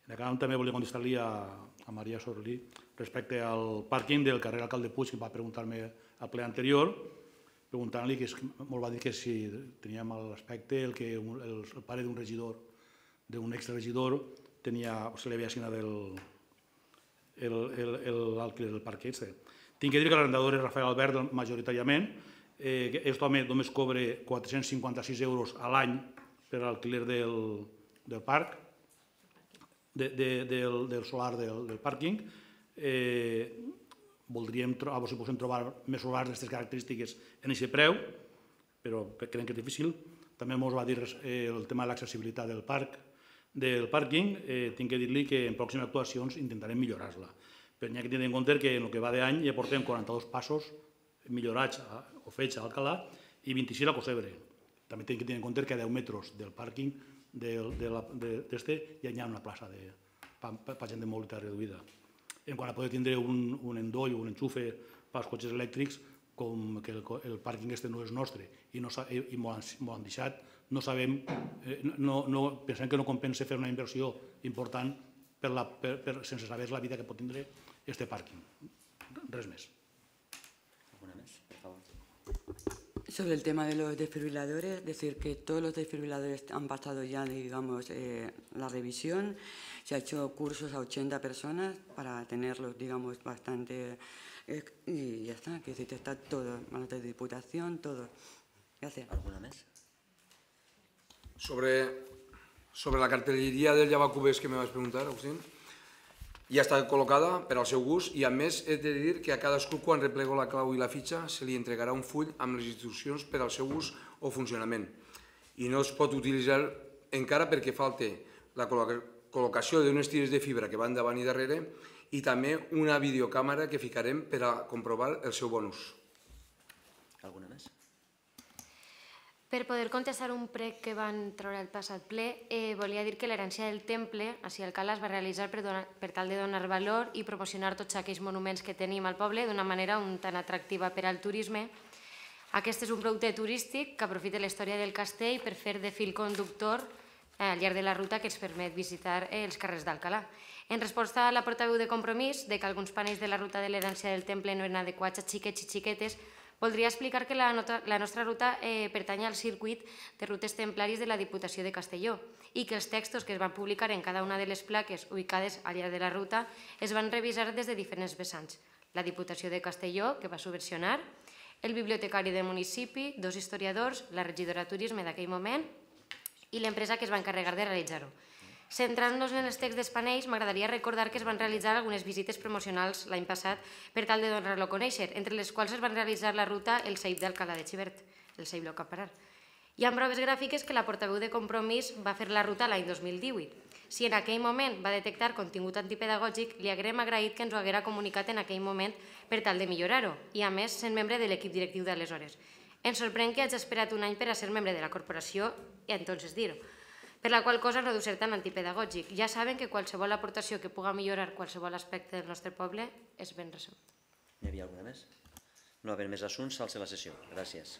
També volia contestar-li a Maria Sorlí respecte al pàrquing del carrer Alcalde Puig, que va preguntar-me al ple anterior, preguntant-li, que molt va dir que si teníem l'aspecte, que el pare d'un regidor, d'un exregidor, se li havia assignat l'alquiler del parc aquest. Tinc que dir que l'arrendador és Rafael Albert majoritàriament. Aquest home només cobra quatre-cents cinquanta-sis euros a l'any per l'alquiler del parc, del solar del pàrquing. Voldríem, a veure si podem trobar més solars d'aquestes característiques en aquest preu, però creiem que és difícil. També ens va dir el tema de l'accessibilitat del parc, del pàrquing. Tinc que dir-li que en pròximes actuacions intentarem millorar-la. Però n'hi ha que tenir en compte que en el que va d'any ja portem quaranta-dos passos millorats o fets a Alcalà i vint-i-sis a Cosebre. També hem de tenir en compte que a deu metres del pàrquing d'este ja hi ha una plaça per gent de mobilitat reduïda. En quant a poder tindre un endoll o un enxufe pels cotxes elèctrics, com que el pàrquing este no és nostre i m'ho han deixat, no sabem, pensem que no compensa fer una inversió important sense saber la vida que pot tindre este pàrquing. Res més. ¿Alguna más? Por favor. Sobre el tema de los desfibriladores, decir que todos los desfibriladores han pasado ya, digamos, eh, la revisión. Se ha hecho cursos a ochenta personas para tenerlos, digamos, bastante... Eh, y ya está, que decir, está todo, manos de diputación, todo. Gracias. ¿Alguna más? Sobre, sobre la cartelleria del Llavacubers que me vas preguntar, Agustín, ja està col·locada per al seu gust i a més he de dir que a cadascú quan replego la clau i la fitxa se li entregarà un full amb les instruccions per al seu ús o funcionament i no es pot utilitzar encara perquè falta la col·locació d'unes tires de fibra que van davant i darrere i també una videocàmera que ficarem per a comprovar el seu bon ús. Alguna més? Per poder contestar un prec que van treure el passat ple, volia dir que l'herència del temple, així Alcalà, es va realitzar per tal de donar valor i promocionar tots aquells monuments que tenim al poble d'una manera un tan atractiva per al turisme. Aquest és un producte turístic que aprofita la història del castell per fer de fil conductor al llarg de la ruta que ens permet visitar els carrers d'Alcalà. En resposta a la portaveu de Compromís de que alguns panells de la ruta de l'herència del temple no eren adequats a xiquets i xiquetes, voldria explicar que la nostra ruta pertany al circuit de rutes templaris de la Diputació de Castelló i que els textos que es van publicar en cada una de les plaques ubicades al llarg de la ruta es van revisar des de diferents vessants. La Diputació de Castelló, que va subvencionar, el bibliotecari del municipi, dos historiadors, la regidora de turisme d'aquell moment i l'empresa que es va encarregar de realitzar-ho. Centrant-nos en els texts dels panells, m'agradaria recordar que es van realitzar algunes visites promocionals l'any passat per tal de donar-lo a conèixer, entre les quals es van realitzar la ruta El Ceip d'Alcalà de Xivert, el Ceip Loc a Parar. Hi ha proves gràfiques que la portaveu de Compromís va fer la ruta l'any dos mil divuit. Si en aquell moment va detectar contingut antipedagògic, li haguem agraït que ens ho haguera comunicat en aquell moment per tal de millorar-ho, i a més sent membre de l'equip directiu d'aleshores. Ens sorprèn que hagi esperat un any per a ser membre de la corporació i entonces dir-ho, per la qual cosa no deu ser tan antipedagògic. Ja saben que qualsevol aportació que puga millorar qualsevol aspecte del nostre poble és ben rebut. N'hi havia alguna més? No haver més assumptes, s'alça la sessió. Gràcies.